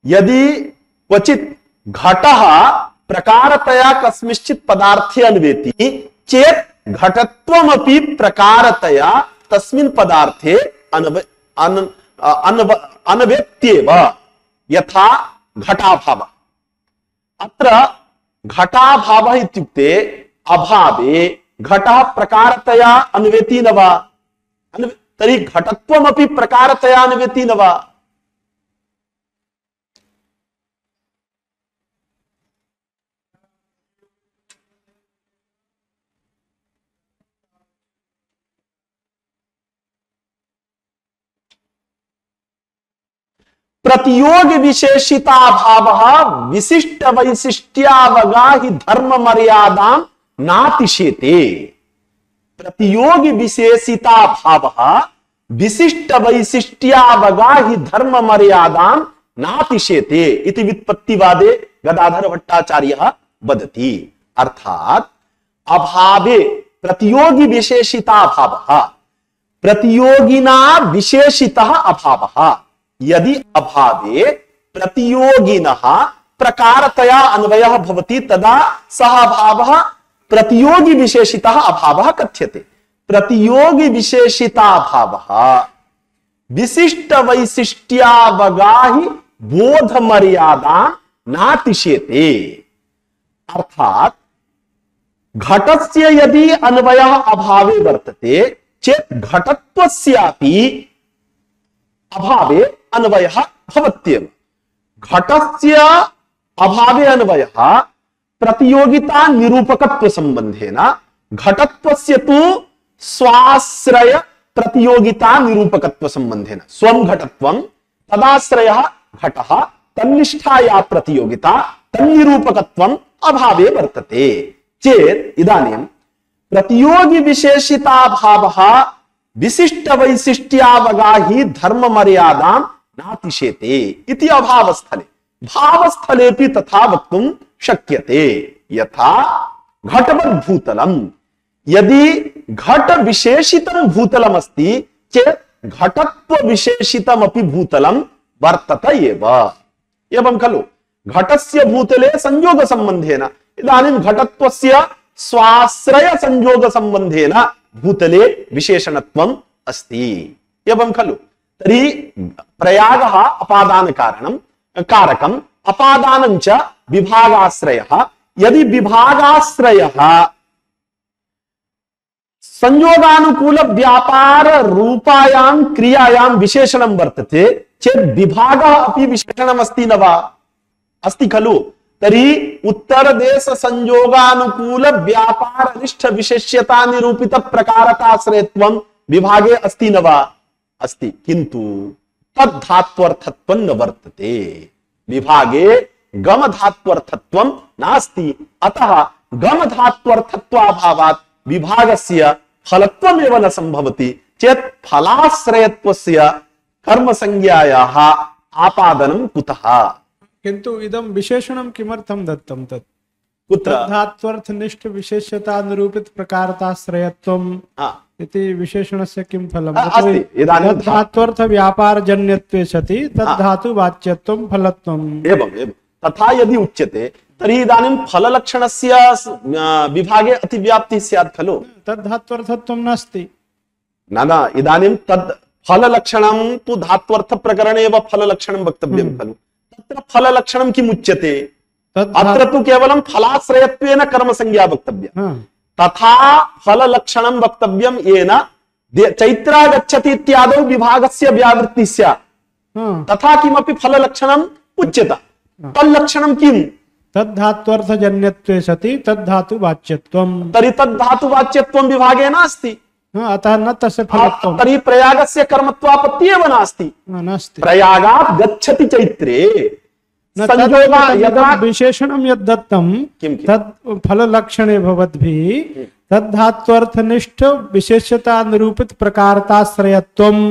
[SPEAKER 2] यदि क्वचित् घटः प्रकारतया कस्मिंश्चित् पदार्थे अन्वेति चेत् घटत्वमपि प्रकारतया तस्मिन् पदार्थे अन्वेत्येव, यथा घटाभावः। अत्र घटाभावः इत्युक्ते अभावे घटः प्रकारतया अन्वेति न वा? तर्हि घटत्वमपि प्रकारतया अन्वेति न वा? प्रतियोग विशेषिता भाव विशिष्ट वैशिष्ट्यावगा ही धर्म मर्यादां नातिशेते। प्रतियोग विशेषिता भाव विशिष्ट वैशिष्ट्यावगा ही धर्म मर्यादां नातिशेते इति व्युत्पत्तिवादे गदाधर भट्टाचार्यः वदति। अर्थात अभावे प्रतियोगी विशेषिता भावः, प्रतियोगिना विशेषितः अभावः। यदि अभावे प्रतियोगिनः प्रकारतया अन्वयः भवति तदा सः अभावः प्रतियोगी विशेषितः अभावः कथ्यते। प्रतियोगी विशेषिता भावः विशिष्ट वैशिष्ट्यावगाहि बोध मर्यादा नातिशेते। अर्थात घटस्य यदि अन्वयः अभावे वर्तते चेत् घटत्वस्यापि अभावे अन्वयः भवत्येव। घटस्य अभावे अन्वयः प्रतियोगिता निरूपकत्व संबंधेन घटत्वस्य तु स्वाश्रय प्रतियोगिता निरूपकत्व संबंधेन स्वं घटत्वं तदाश्रयः घटः तन्निष्ठाया प्रतियोगिता तन्निरूपकत्वम् अभावे वर्तते चेत् इदानीं प्रतियोगी विशेषिता भावः विशिष्ट वैशिष्ट्यावगाही धर्म मर्यादां नातिशेते इति अभावस्थले भावस्थलेपि तथा वक्तुं शक्यते यथा घटवद् भूतलम् यदि घट विशेषितं भूतलम् अस्ति चेत् घटत्व विशेषितमपि भूतलं वर्तत एवं खलु घटस्य भूतले संयोग संबंधेन इदानीं घटत्वस्य स्वाश्रय संयोग संबंधेन भूतले विशेषणत्वम् अस्ति एवं खलु तर्हि प्रयागः अपादान कारणं कारकम् अपादानं च विभागाश्रयः यदि विभागाश्रयः संयोगानुकूल व्यापार रूपायां क्रियायां विशेषणं वर्तते चेत् विभागः अपि विशेषणम् अस्ति न वा अस्ति खलु तर्हि उत्तरदेश संयोगानुकूल व्यापार निष्ठ विशेष्यता निरूपित प्रकारकाश्रयत्वं विभागे अस्ति न वा अस्ति किन्तु तद्धात्वर्थत्वं न वर्तते विभागे गम धात्वर्थत्वं नास्ति अतः गम धात्वर्थत्वाभावात् विभागस्य फलत्वमेव न संभवति चेत् फलाश्रयत्वस्य कर्म संज्ञायाः आपादनं कुतः
[SPEAKER 4] किन्तु इदं विशेषणं किमर्थं दत्तं तत्
[SPEAKER 2] कुत्र
[SPEAKER 4] तद्धात्वर्थनिष्ठ विशेष्यता निरूपित प्रकारताश्रयत्वम् इति विशेषणस्य किं फलम्
[SPEAKER 2] अस्ति इदानीं
[SPEAKER 4] तद्धात्वर्थ व्यापारजन्यत्वे सति तद्धातु वाच्यत्वं फलत्वम्
[SPEAKER 2] एवं तथा यदि उच्यते तर्हि इदानीं फललक्षणस्य विभागे अतिव्याप्तिः स्यात् खलु
[SPEAKER 4] तद्धात्वर्थत्वं नास्ति
[SPEAKER 2] न इदानीं तद् फललक्षणं तु धात्वर्थ प्रकरणे एव फललक्षणं वक्तव्यं खलु तत्र फललक्षणं किम् उच्यते अत्र तु केवलं फलाश्रयत्वेन कर्म संज्ञा वक्तव्या तथा फललक्षणं वक्तव्यं येन चैत्रा गच्छति इत्यादौ विभागस्य व्यावृत्तिः स्यात् तथा किमपि फललक्षणम् उच्यते तल्लक्षणं किम्
[SPEAKER 4] तद्धात्वर्थजन्यत्वे सति तद्धातु वाच्यत्वम्
[SPEAKER 2] तर्हि तद्धातुवाच्यत्वं विभागे नास्ति
[SPEAKER 4] अतः न तस्य फलत्वम्
[SPEAKER 2] तर्हि प्रयागस्य कर्मत्वापत्ति एव नास्ति
[SPEAKER 4] नास्ति
[SPEAKER 2] प्रयागात् गच्छति चैत्रे संयोगा यदा
[SPEAKER 4] विशेषणं यद् दत्तं तद् फललक्षणे भवद्भिः तद्धात्वर्थनिष्ठ विशेष्यता निरूपित प्रकारताश्रयत्वम्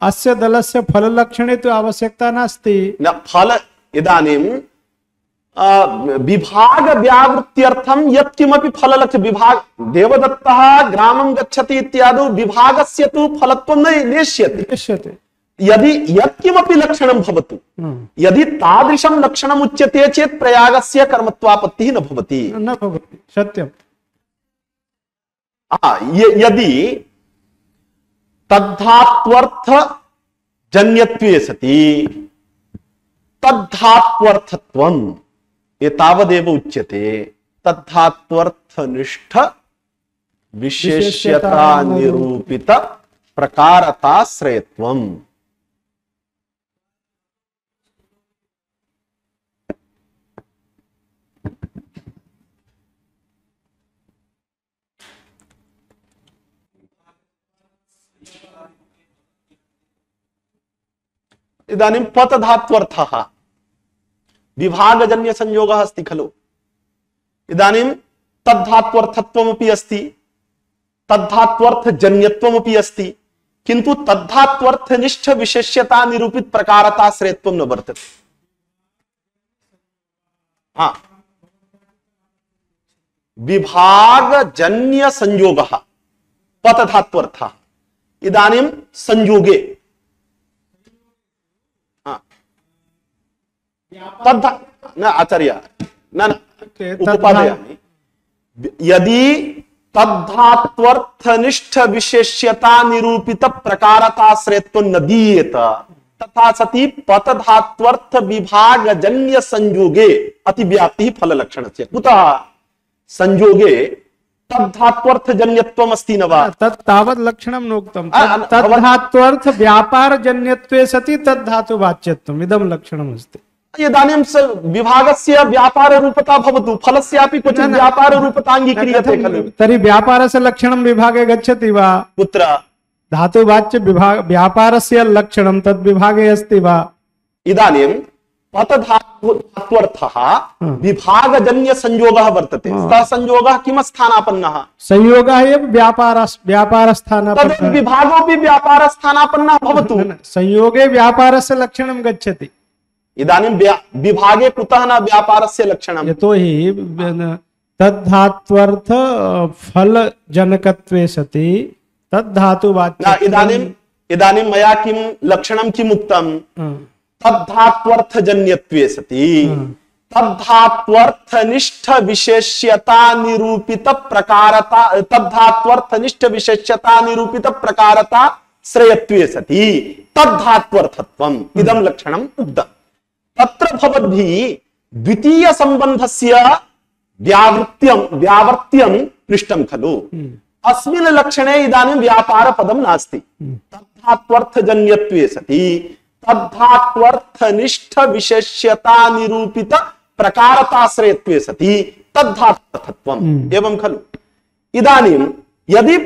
[SPEAKER 4] अस्य दलस्य फललक्षणे तु आवश्यकता नास्ति
[SPEAKER 2] न फल इदानीं विभाग व्यावृत्त्यर्थं यत्किमपि फललक्ष्य विभाग देवदत्तः ग्रामं गच्छति इत्यादौ विभागस्य तु फलत्वं न नेष्यते यदि यत्किमपि लक्षणं भवतु यदि तादृशं लक्षणम् उच्यते चेत् प्रयागस्य कर्मत्वापत्तिः न भवति
[SPEAKER 4] सत्यम्
[SPEAKER 2] यदि तद्धात्वर्थ जन्यत्वे सति तद्धात्वर्थत्वम् एतावदेव उच्यते तद्धात्वर्थनिष्ठ विशेष्यता निरूपित प्रकारताश्रयत्वम् इदानीं पत धात्वर्थः विभागजन्य संयोगः अस्ति खलु इदानीं तद्धात्वर्थत्वमपि अस्ति तद्धात्वर्थजन्यत्वमपि अस्ति किन्तु तद्धात्वर्थनिष्ठ विशेष्यता निरूपित प्रकारताश्रयत्वं न वर्तते विभागजन्य संयोगः पतधात्वर्थः इदानीं संयोगे न आचार्य न उपपादयामि यदि तद्धात्वर्थनिष्ठ विशेष्यता निरूपित प्रकारताश्रयत्वं न दीयेत तथा सति पतधात्वर्थ विभागजन्य संयोगे अतिव्याप्तिः फललक्षणस्य कुतः संयोगे तद्धात्वर्थजन्यत्वम् अस्ति न वा
[SPEAKER 4] तत् तावत् लक्षणं नोक्तं तद्धात्वर्थ व्यापारजन्यत्वे सति तद्धातु वाच्यत्वम् इदं लक्षणम् अस्ति
[SPEAKER 2] इदानीं विभागस्य व्यापाररूपता भवतु, फलस्यापि क्वचित् व्यापाररूपता अङ्गीक्रियते खलु।
[SPEAKER 4] तर्हि व्यापारस्य लक्षणं विभागे गच्छति वा?
[SPEAKER 2] कुत्र?
[SPEAKER 4] धातुवाच्य व्यापारस्य लक्षणं तद् विभागे अस्ति वा?
[SPEAKER 2] इदानीं पतधात्वर्थः विभागजन्य संयोगः वर्तते। सः संयोगः किम स्थानापन्नः?
[SPEAKER 4] संयोगः एव व्यापारस्थानापन्नः।
[SPEAKER 2] तद् विभागोऽपि व्यापारस्थानापन्नः भवतु।
[SPEAKER 4] संयोगे व्यापारस्य लक्षणं गच्छति।
[SPEAKER 2] इदानीं विभागे कुतः न व्यापारस्य लक्षणं?
[SPEAKER 4] यतोहि तद्धात्वर्थ फलजनकत्वे सति तद्धातुवाच्य।
[SPEAKER 2] इदानीं मया किं लक्षणं किम् उक्तं? तद्धात्वर्थजन्यत्वे सति तद्धात्वर्थनिष्ठ विशेष्यता निरूपित प्रकारता, तद्धात्वर्थनिष्ठ विशेष्यता निरूपित प्रकारता श्रेयत्वे सति तद्धात्वर्थत्वम् इदं लक्षणम् उक्तम्। तत्र भवद्भिः द्वितीय संबंधस्य व्यावर्त्यं पृष्टं खलु। अस्मिन् लक्षणे इदानीं व्यापार पदं नास्ति। तद्धात्वर्थजन्यत्वे सति तद्धात्वर्थनिष्ठ विशेष्यता निरूपित प्रकारताश्रयत्वे सति तद्धात्वर्थत्वम् एवं खलु। इदानीं यदि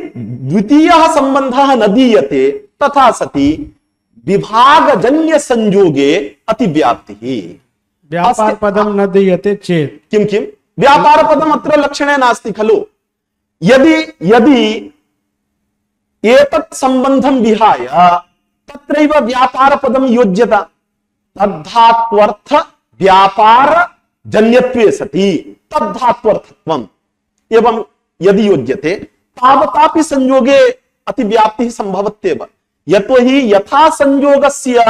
[SPEAKER 2] द्वितीयः सम्बन्धः न दीयते तथा सति विभागजन्य संयोगे अतिव्याप्तिः।
[SPEAKER 4] व्यापार पदं न दीयते चेत्
[SPEAKER 2] किं व्यापार पदम् अत्र लक्षणे नास्ति खलु। यदि एतत् सम्बन्धं विहाय तत्रैव व्यापार पदं योज्यता, तद्धात्वर्थ व्यापार जन्यत्वे सति तद्धात्वर्थत्वम् एवं यदि योज्यते तावतापि संयोगे अतिव्याप्तिः संभवत्येव। यतोहि यथा संयोगस्य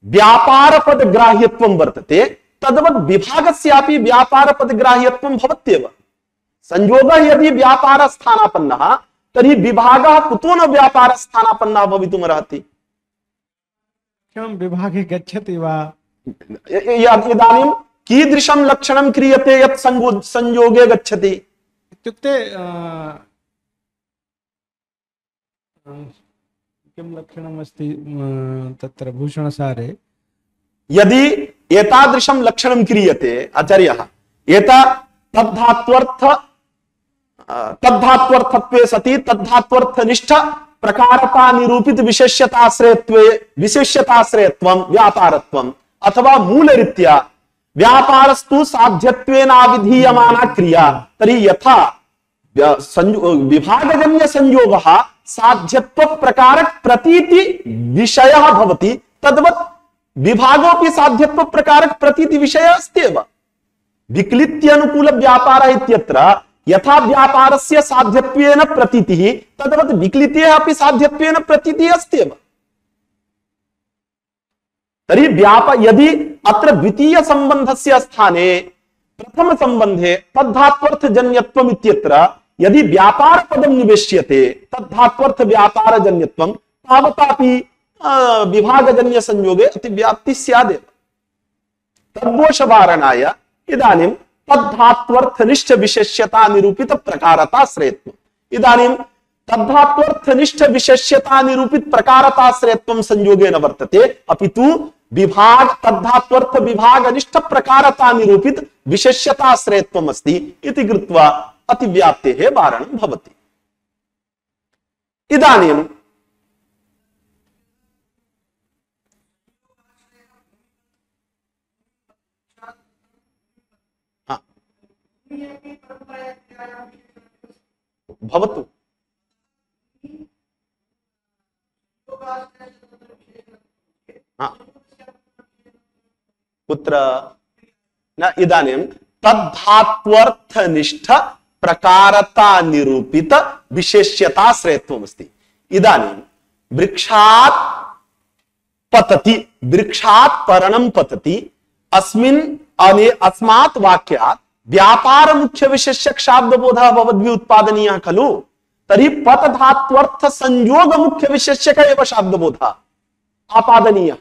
[SPEAKER 2] व्यापार पद ग्राह्यत्वं वर्तते तद्वत् विभागस्यापि व्यापार पद ग्राह्यत्वं भवत्येव। संयोगः यदि व्यापार स्थानापन्नः तर्हि विभागः कुतो न व्यापार स्थानापन्नः भवितुमर्हति?
[SPEAKER 4] विभागे गच्छति वा?
[SPEAKER 2] इदानीं कीदृशं लक्षणं क्रियते यत् संयोगे गच्छति?
[SPEAKER 4] इत्युक्ते किं लक्षणम् अस्ति तत्र भूषणसारे?
[SPEAKER 2] यदि एतादृशं लक्षणं क्रियते आचार्यः, तद्धात्वर्थत्वे सति तद्धात्वर्थनिष्ठ प्रकारता निरूपित विशेष्यताश्रयत्वं व्यापारत्वम् अथवा मूलरीत्या व्यापारस्तु साध्यत्वेनाविधीयमाना क्रिया, तर्हि यथा विभागजन्य संयोगः साध्यत्व प्रकारक प्रतीति विषयः भवति तद्वत् विभागोऽपि साध्यत्व प्रकारक प्रतीति विषयः अस्ति एव। विक्लित्यानुकूल व्यापारः इत्यत्र यथा व्यापारस्य साध्यत्वेन प्रतीतिः तद्वत् विक्लितेः अपि साध्यत्वेन प्रतीतिः अस्ति एव। तर्हि यदि अत्र द्वितीय संबंधस्य स्थाने प्रथम संबंधे तद्धात्वर्थजन्यत्वम् इत्यत्र यदि व्यापार पदं निवेश्यते तद्धात्वर्थ व्यापारजन्यत्वं तावतापि विभागजन्य संयोगे अतिव्याप्ति स्यादेव। तद्दोषवारणाय इदानीं तद्धात्वर्थनिष्ठ विशेष्यता निरूपित प्रकारताश्रयत्वम्, इदानीं तद्धात्वर्थनिष्ठ विशेष्यता निरूपित प्रकारताश्रयत्वं संयोगे न वर्तते, अपितु तद्धात्वर्थ विभागनिष्ठ प्रकारता निरूपित विशेष्यताश्रयत्वम् अस्ति इति कृत्वा अतिव्याप्तेः वारणं भवति। इदानीं भवतु कुत्र न इदानीं तद्धात्वर्थनिष्ठ प्रकारता निरूपित विशेष्यताश्रयत्वमस्ति। इदानीं वृक्षात् पतति, वृक्षात् पर्णं पतति, अस्मात् वाक्यात् व्यापार मुख्य विशेष्यक शाब्दबोधः भवद्भिः उत्पादनीयः खलु। तर्हि पतधात्वर्थ संयोग मुख्य विशेष्यक एव शाब्दबोधः आपादनीयः।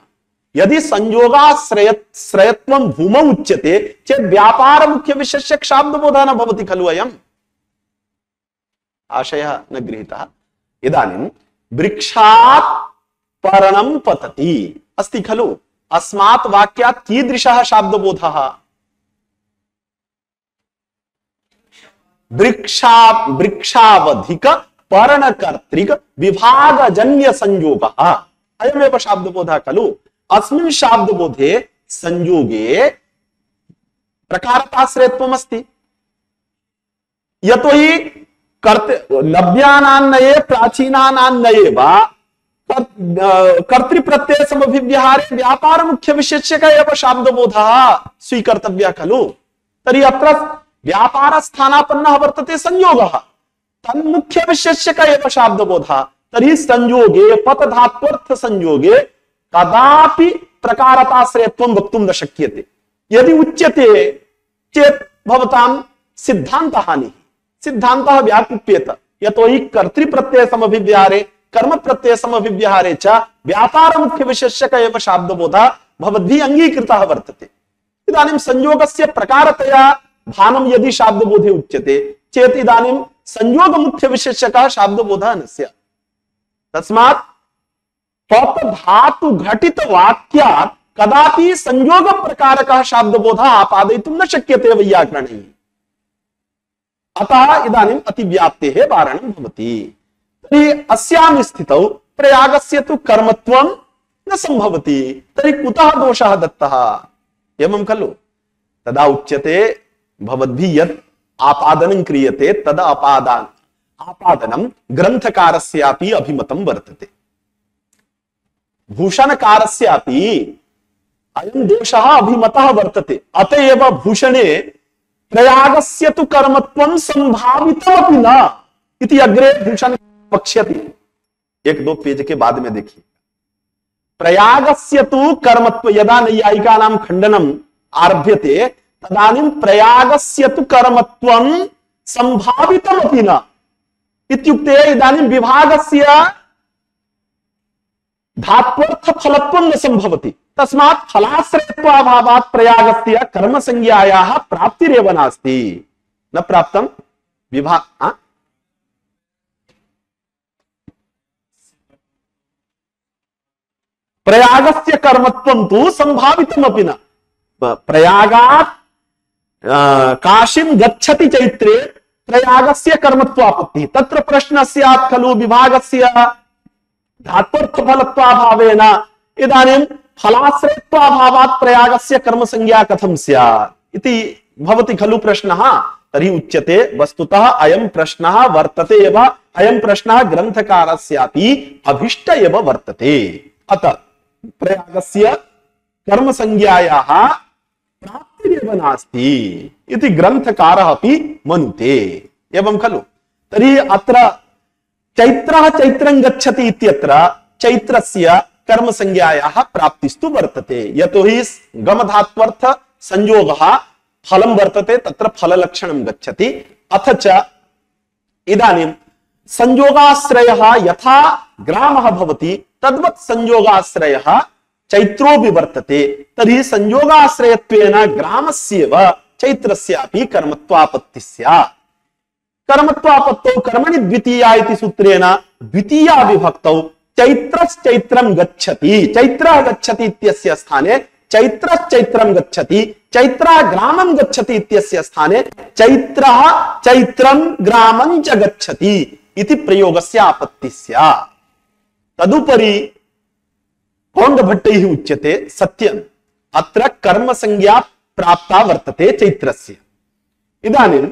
[SPEAKER 2] यदि संयोगाश्रयत्वं भूमौ उच्यते चेत् व्यापार मुख्य विशेष्यक शाब्दबोधः न भवति खलु। अयम् आशयः न गृहीतः। इदानीं वृक्षात् पर्णं पतति अस्ति खलु। अस्मात् वाक्यात् कीदृशः शाब्दबोधः? वृक्षावधिक पर्णकर्तृक विभागजन्य संयोगः अयमेव शाब्दबोधः खलु। अस्मिन् शाब्दबोधे संयोगे प्रकारताश्रयत्वम् अस्ति। यतोहि नव्यानान्नये प्राचीनानान्नये वा कर्तृप्रत्यय समभिव्यहारे व्यापार मुख्य विशेष्यक एव शाब्दबोधः स्वीकर्तव्यः खलु। तर्हि अत्र व्यापार स्थानापन्नः वर्तते संयोगः, तन्मुख्य विशेष्यक एव शाब्दबोधः। तर्हि संयोगे पतधात्वर्थ संयोगे कदापि प्रकारताश्रयत्वं वक्तुं न शक्यते। यदि उच्यते चेत् भवतां सिद्धान्तहानिः, सिद्धान्तः व्याकुप्येत। यतोहि कर्तृप्रत्यय समभिव्यहारे कर्म प्रत्यय समभिव्यहारे च व्यापार मुख्य विशेष्यक एव शाब्दबोधः भवद्भिः अंगीकृतः वर्तते। इदानीं संयोगस्य प्रकारतया भानं यदि शाब्दबोधे उच्यते चेत् इदानीं संयोग मुख्य विशेष्यकः शाब्दबोधः न स्यात्। तस्मात् पत धातु घटित वाक्यात् कदापि संयोग प्रकारकः शाब्दबोधः आपादयितुं न शक्यते वैयाकरणैः। अतः इदानीम् अतिव्याप्तेः वारणं भवति। तर्हि अस्यां स्थितौ प्रयागस्य तु कर्मत्वं न संभवति। तर्हि कुतः दोषः दत्तः? एवं खलु। तदा उच्यते भवद्भिः यत् आपादनं क्रियते तद आपादनं ग्रन्थकारस्यापि अभिमतं वर्तते, भूषणकारस्यापि अयं दोषः अभिमतः वर्तते। अतएव भूषणे प्रयागस्य तु कर्मत्वं संभावितमपि न इति अग्रे भूषण वक्ष्यति। 1-2 पेज के बाद में देखिए। प्रयागस्य तु कर्मत्व यदा नैयायिकानां खंडनम आरभ्यते तदानीं प्रयागस्य तु कर्मत्वं संभावितमपि न इत्युक्ते इदानीं विभागस्य धात्वर्थ फलत्वं न संभवति। तस्मात् फलाश्रयत्वाभावात् प्रयागस्य कर्मसंज्ञायाः प्राप्तिरेव नास्ति। न प्राप्तं विभाग प्रयागस्य कर्मत्वं तु संभावितमपि न। प्रयागात् काशीं गच्छति चैत्रे प्रयागस्य कर्मत्वापत्तिः। तत्र प्रश्नः स्यात् खलु विभागस्य धात्वर्थफलत्वाभावेन इदानीं फलाश्रयत्वाभावात् प्रयागस्य कर्मसंज्ञा कथं स्यात् इति भवति खलु प्रश्नः। तर्हि उच्यते वस्तुतः अयं प्रश्नः वर्तते एव, अयं प्रश्नः ग्रन्थकारस्यापि अभिष्ट एव वर्तते। अतः प्रयागस्य कर्मसंज्ञायाः प्राप्तिरेव नास्ति इति ग्रन्थकारः अपि मनुते। एवं खलु। तर्हि अत्र चैत्रः चैत्रं गच्छति इत्यत्र चैत्रस्य कर्मसंज्ञायाः प्राप्तिस्तु वर्तते। यतोहि गमधात्वर्थ संयोगः फलं वर्तते, तत्र फललक्षणं गच्छति। अथ च इदानीं संयोगाश्रयः यथा ग्रामः भवति तद्वत् संयोगाश्रयः चैत्रोऽपि वर्तते। तर्हि संयोगाश्रयत्वेन ग्रामस्यैव चैत्रस्यापि कर्मत्वापत्तिः स्यात्। कर्मत्वापत्तौ कर्मणि द्वितीया इति सूत्रेण द्वितीया विभक्तौ चैत्रश्चैत्रं गच्छति, चैत्रः गच्छति इत्यस्य स्थाने चैत्रश्चैत्रं गच्छति, चैत्रः ग्रामं गच्छति इत्यस्य स्थाने चैत्रः चैत्रं ग्रामं च गच्छति इति प्रयोगस्य आपत्तिः स्यात्। तदुपरि कौण्डभट्टैः उच्यते सत्यम् अत्र कर्मसंज्ञा प्राप्ता वर्तते चैत्रस्य। इदानीं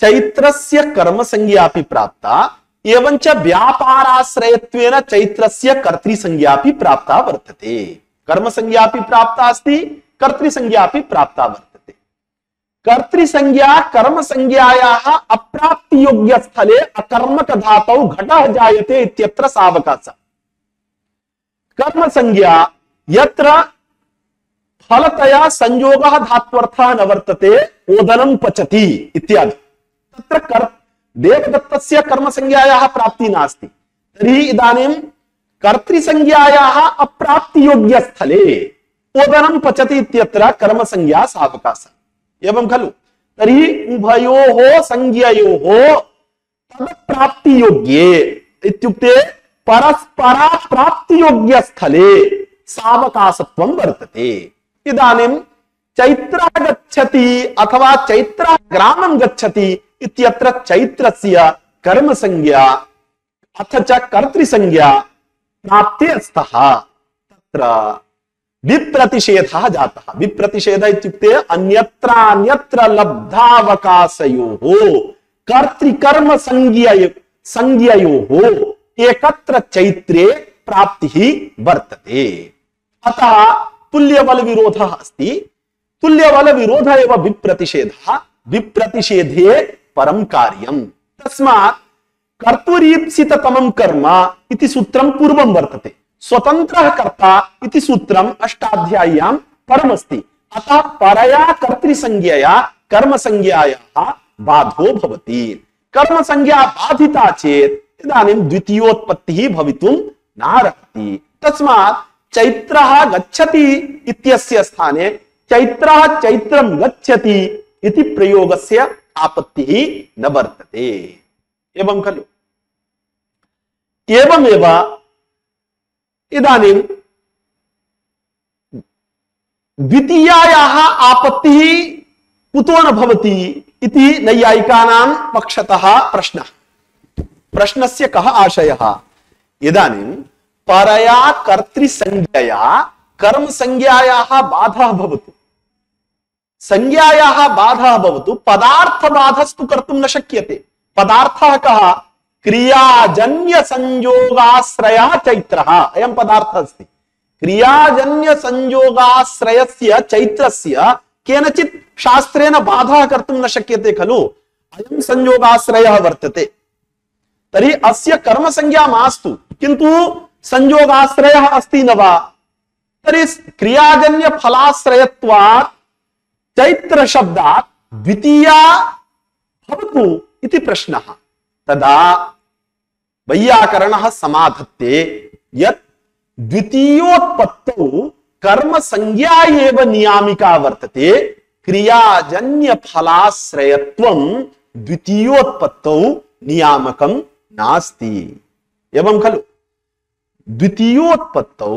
[SPEAKER 2] चैत्रस्य कर्मसंज्ञापि प्राप्ता एवञ्च व्यापाराश्रयत्वेन चैत्रस्य कर्तृसंज्ञापि प्राप्ता वर्तते। कर्मसंज्ञापि प्राप्ता अस्ति, कर्तृसंज्ञापि प्राप्ता वर्तते। कर्तृसंज्ञा कर्मसंज्ञायाः अप्राप्तियोग्यस्थले अकर्मकधातौ घटः जायते इत्यत्र सावकाशः। कर्मसंज्ञा यत्र फलतया संयोगः धात्वर्थः न वर्तते ओदनं पचति इत्यादि, तत्र देवदत्तस्य कर्मसंज्ञायाः प्राप्तिः नास्ति। तर्हि इदानीं कर्तृसंज्ञायाः अप्राप्तियोग्यस्थले ओदनं पचति इत्यत्र कर्मसंज्ञा सावकाशः। एवं खलु। तर्हि उभयोः संज्ञयोः तदप्राप्तियोग्ये इत्युक्ते परस्परा प्राप्तियोग्य स्थले सावकाशत्वं वर्तते। इदानीं चैत्रः गच्छति अथवा चैत्रः ग्रामं गच्छति इत्यत्र चैत्रस्य कर्मसंज्ञा अथ च कर्तृसंज्ञा प्राप्ते स्तः तत्र विप्रतिषेधः जातः। विप्रतिषेधः इत्युक्ते अन्यत्र लब्धावकाशयोः कर्तृकर्म संज्ञयोः एकत्र चैत्रे प्राप्तिः वर्तते। अतः तुल्यबल विरोधः अस्ति। तुल्यबल विरोध एव विप्रतिषेधः। विप्रतिषेधे परं कार्यम्। तस्मात् कर्तुरीप्सिततमं कर्म इति सूत्रं पूर्वं वर्तते। स्वतन्त्रः कर्ता इति सूत्रम् अष्टाध्याय्यां परमस्ति। अतः परया कर्तृसंज्ञया कर्मसंज्ञायाः बाधो भवति। कर्मसंज्ञा बाधिता चेत् इदानीं द्वितीयोत्पत्तिः भवितुं नार्हति। तस्मात् चैत्रः गच्छति इत्यस्य स्थाने चैत्रः चैत्रं गच्छति इति प्रयोगस्य आपत्तिः न वर्तते। एवं खलु? एवमेव इदानीं द्वितीयायाः आपत्तिः कुतो न भवति इति नैयायिकानां पक्षतः प्रश्नः। प्रश्नस्य कः आशयः? इदानीं परया कर्तृसंज्ञया कर्मसंज्ञायाः बाधः भवतु, संज्ञायाः बाधः भवतु, पदार्थबाधस्तु कर्तुं न शक्यते। पदार्थः कः? क्रियाजन्य संयोगाश्रयः चैत्रः। अयं पदार्थः अस्ति। क्रियाजन्य संयोगाश्रयस्य चैत्रस्य केनचित् शास्त्रेण बाधः कर्तुं न शक्यते खलु। अयं संयोगाश्रयः वर्तते। तर्हि अस्य कर्मसंज्ञा मास्तु, किन्तु संयोगाश्रयः अस्ति न वा? तर्हि क्रियाजन्य फलाश्रयत्वात् चैत्र शब्दात् द्वितीया भवतु इति प्रश्नः। तदा वैयाकरणः समाधत्ते यत् द्वितीयोत्पत्तौ कर्मसंज्ञा एव नियामिका वर्तते, क्रियाजन्य फलाश्रयत्वं द्वितीयोत्पत्तौ नियामकं नास्ति। एवं खलु? द्वितीयोत्पत्तौ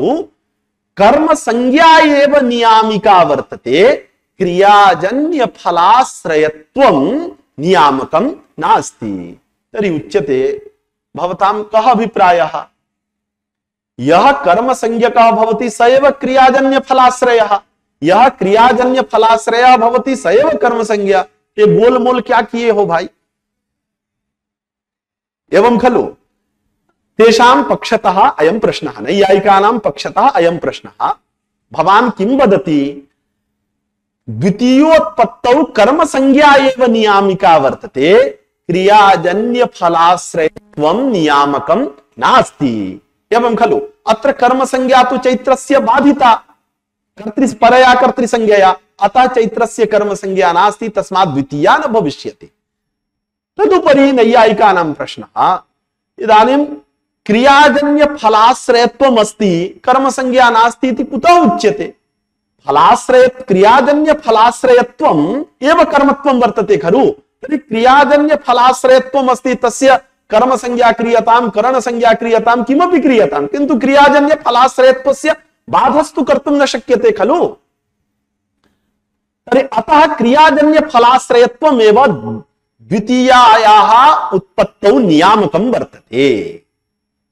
[SPEAKER 2] कर्मसंज्ञा एव नियामिका वर्तते, क्रियाजन्य फलाश्रयत्वं नियामकं नास्ति। तर्हि उच्यते भवतां कः अभिप्रायः? यः कर्मसंज्ञकः भवति स एव क्रियाजन्य फलाश्रयः, यह क्रियाजन्य फलाश्रयः भवति स एव कर्मसंज्ञा। ये गोलमोल क्या किए हो भाई? एवं खलु? तेषां पक्षतः अयं प्रश्नः, नैयायिकानां पक्षतः अयं प्रश्नः। भवान् किं वदति? द्वितीयोत्पत्तौ कर्मसंज्ञा एव नियामिका वर्तते, क्रियाजन्य फलाश्रयत्वं नियामकं नास्ति। एवं खलु? अत्र कर्मसंज्ञा तु चैत्रस्य बाधिता परया कर्तृसंज्ञया, अतः चैत्रस्य कर्मसंज्ञा नास्ति, तस्मात् द्वितीया न भविष्यति। तदुपरि नैयायिकानां प्रश्नः, इदानीं क्रियाजन्य फलाश्रयत्वम् अस्ति, कर्मसंज्ञा नास्ति इति कुतः उच्यते? फलाश्रय क्रियाजन्य फलाश्रयत्वम् एव कर्मत्वं वर्तते खलु। तर्हि क्रियाजन्य फलाश्रयत्वम् अस्ति, तस्य कर्मसंज्ञा क्रियतां, करणसंज्ञा क्रियतां, किमपि क्रियतां, किन्तु क्रियाजन्य फलाश्रयत्वस्य बाधस्तु कर्तुं न शक्यते खलु। तर्हि अतः क्रियाजन्य फलाश्रयत्वमेव द्वितीयायाः उत्पत्तौ नियामकं वर्तते।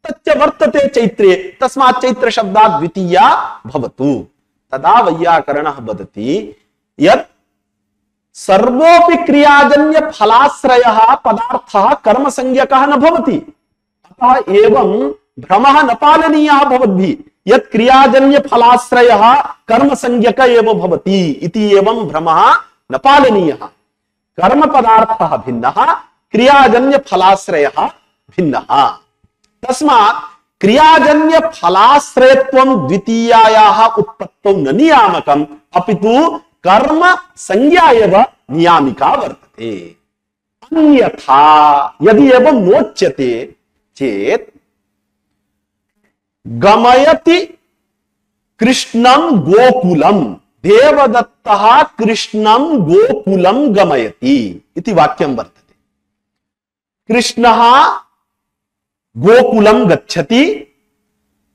[SPEAKER 2] तच्च वर्तते चैत्रे, तस्मात् चैत्र शब्दात् द्वितीया भवतु। तदा वैयाकरणः वदति यत् सर्वोऽपि क्रियाजन्य फलाश्रयः पदार्थः कर्मसंज्ञकः न भवति। अतः एवं भ्रमः न पालनीयः भवद्भिः यत् क्रियाजन्य फलाश्रयः कर्मसंज्ञक एव भवति इति एवं भ्रमः न पालनीयः। कर्म पदार्थः भिन्नः, क्रियाजन्य फलाश्रयः भिन्नः। तस्मात् क्रियाजन्य फलाश्रयत्वं द्वितीयायाः उत्पत्तौ न नियामकम्, अपितु कर्म संज्ञा एव नियामिका वर्तते। अन्यथा यदि एवं नोच्यते चेत् गमयति कृष्णं गोकुलं, देवदत्तः कृष्णं गोकुलं गमयति इति वाक्यं वर्तते। कृष्णः गोकुलं गच्छति,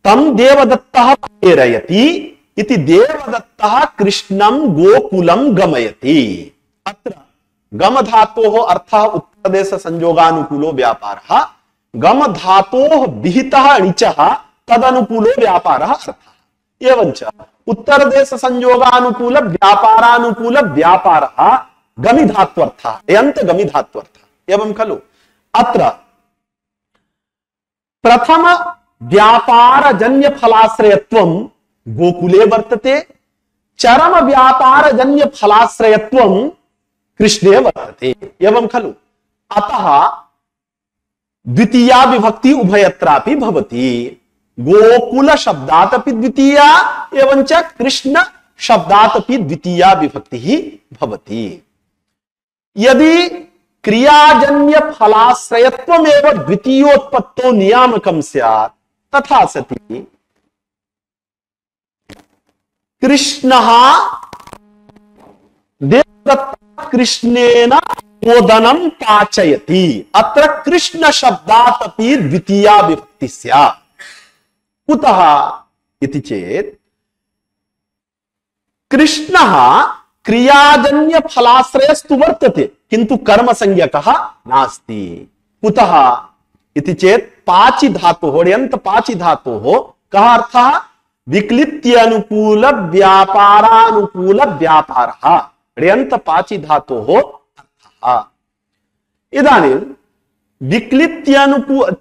[SPEAKER 2] तम देवदत्तः प्रेरयति इति देवदत्तः कृष्णं गोकुलं गमयति। अत्र गम धातोः अर्थः उत्तरदेश संयोगानुकूलो व्यापारः, गम धातोः विहितः णिचः तदनुकूलो व्यापारः अर्थः। एवञ्च उत्तरदेश संयोगानुकूल व्यापारानुकूल व्यापारः गमि धात्वर्थः, यन्त गमि धात्वर्थः। एवं खलु अत्र प्रथम व्यापारजन्य फलाश्रयत्वं गोकुले वर्तते, चरम व्यापारजन्य फलाश्रयत्वं कृष्णे वर्तते। एवं खलु अतः द्वितीया विभक्ति उभयत्रापि भवति। गोकुल शब्दात् अपि द्वितीया एवं च कृष्ण शब्दात् अपि द्वितीया विभक्ति ही भवति। यदि क्रियाजन्य फलाश्रयत्वमेव द्वितीयोत्पत्तो नियामकं स्यात् तथा सति कृष्णः देवदत्तः कृष्णेन ओदनं पाचयति। अत्र कृष्ण शब्दात् अपि द्वितीया विभक्ति स्यात्। कुतः इति चेत् कृष्णः क्रियाजन्य फलाश्रयस्तु वर्तते किंतु कर्म संज्ञकः नास्ति। कुतः इति चेत् पाचि धातोः ण्यन्त पाचि धातोः कः अर्थः विक्लित्यानुकूल व्यापारानुकूल व्यापारः ण्यन्त पाचि धातोः अर्थः। इदानीं विक्लित्यानुकूल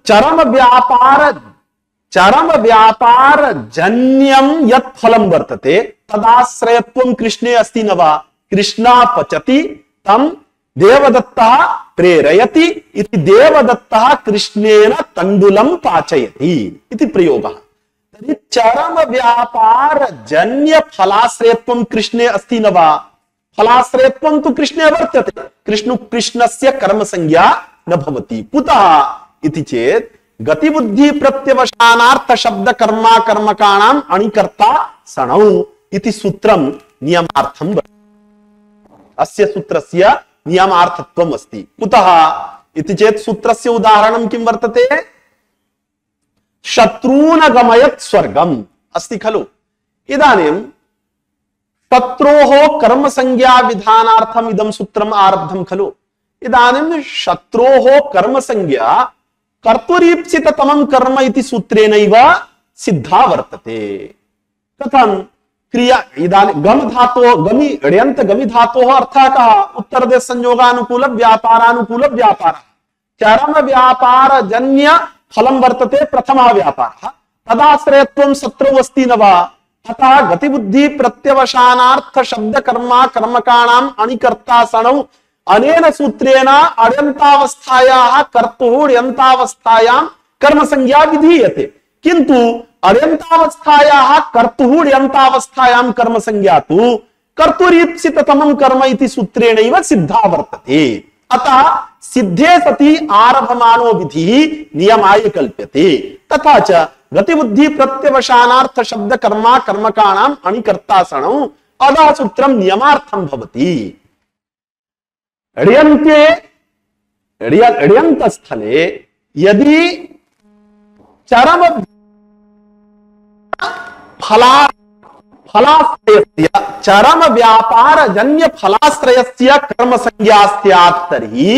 [SPEAKER 2] चरम व्यापार जन्यं यत् फलं वर्तते तदाश्रयत्वं कृष्णे अस्ति न वा? कृष्णा पचति तं देवदत्तः प्रेरयति इति देवदत्तः कृष्णेन तण्डुलं पाचयति इति प्रयोगः। तर्हि चरम व्यापार जन्य फलाश्रयत्वं कृष्णे अस्ति न वा? फलाश्रयत्वं तु कृष्णे वर्तते, कृष्णस्य कर्म संज्ञा न भवति। कुतः इति चेत् गतिबुद्धि प्रत्यवसानार्थ शब्द कर्मा कर्मकाणां अणिकर्ता सणौ इति सूत्रं नियमार्थं अस्य सूत्रस्य नियमार्थत्वम् अस्ति। कुतः इति चेत् सूत्रस्य उदाहरणं किं वर्तते? शत्रून् गमयत् स्वर्गम् अस्ति खलु। इदानीं शत्रोः कर्म संज्ञा विधानार्थम् इदं सूत्रम् आरब्धं खलु। इदानीं शत्रोः कर्म संज्ञा कर्तुरीप्सिततमं कर्म इति सूत्रेणैव सिद्धा वर्तते। कथं? क्रिया इदानीं गम धातोः गमि ण्यन्त गमि धातोः अर्थः कः? उत्तरदेश संयोगानुकूल व्यापारानुकूल व्यापारः। चरम व्यापार जन्य फलं वर्तते प्रथमः व्यापारः, तदाश्रयत्वं शत्रौ अस्ति न वा? अतः गतिबुद्धि प्रत्यवसानार्थ शब्द कर्मा कर्मकाणां अणिकर्ता सणौ अनेन सूत्रेण अण्यन्तावस्थायाः कर्तुः ण्यन्तावस्थायां कर्म संज्ञा विधीयते। किंतु अण्यन्तावस्थायाः कर्तुः ण्यन्तावस्थायां कर्म संज्ञा तु कर्तुरीप्सिततमं कर्म इति सूत्रेणैव सिद्धा वर्तते। अतः सिद्धे सति आरभमानो विधिः नियमाय कल्प्यते। तथा च गतिबुद्धि प्रत्यवसानार्थ शब्द कर्मा कर्मकाणां अणिकर्ता सणौ अतः सूत्रं नियमार्थं भवति। ण्यन्त स्थले यदि चरम फलाश्रयस्य चरम व्यापार जन्य फलाश्रयस्य कर्म संज्ञा स्यात् तर्हि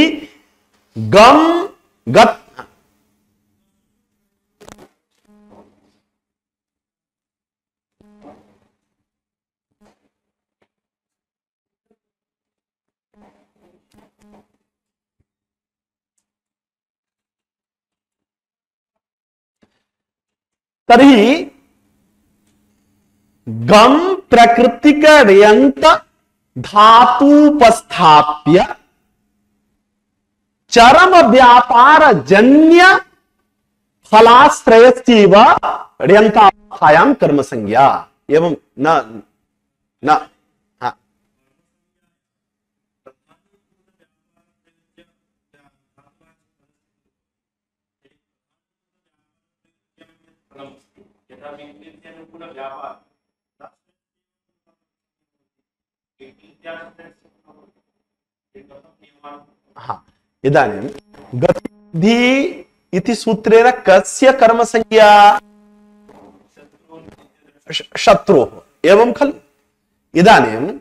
[SPEAKER 2] गम गत तर्हि गम प्रकृतिक ण्यन्त धातुपस्थाप्य चरम व्यापार जन्य फलाश्रयस्यैव ण्यन्तावस्थायां कर्म संज्ञा। एवं न इदानीं गतिबुद्धि इति सूत्रेण कस्य कर्म संज्ञा? शत्रोः एवं खलु। इदानीं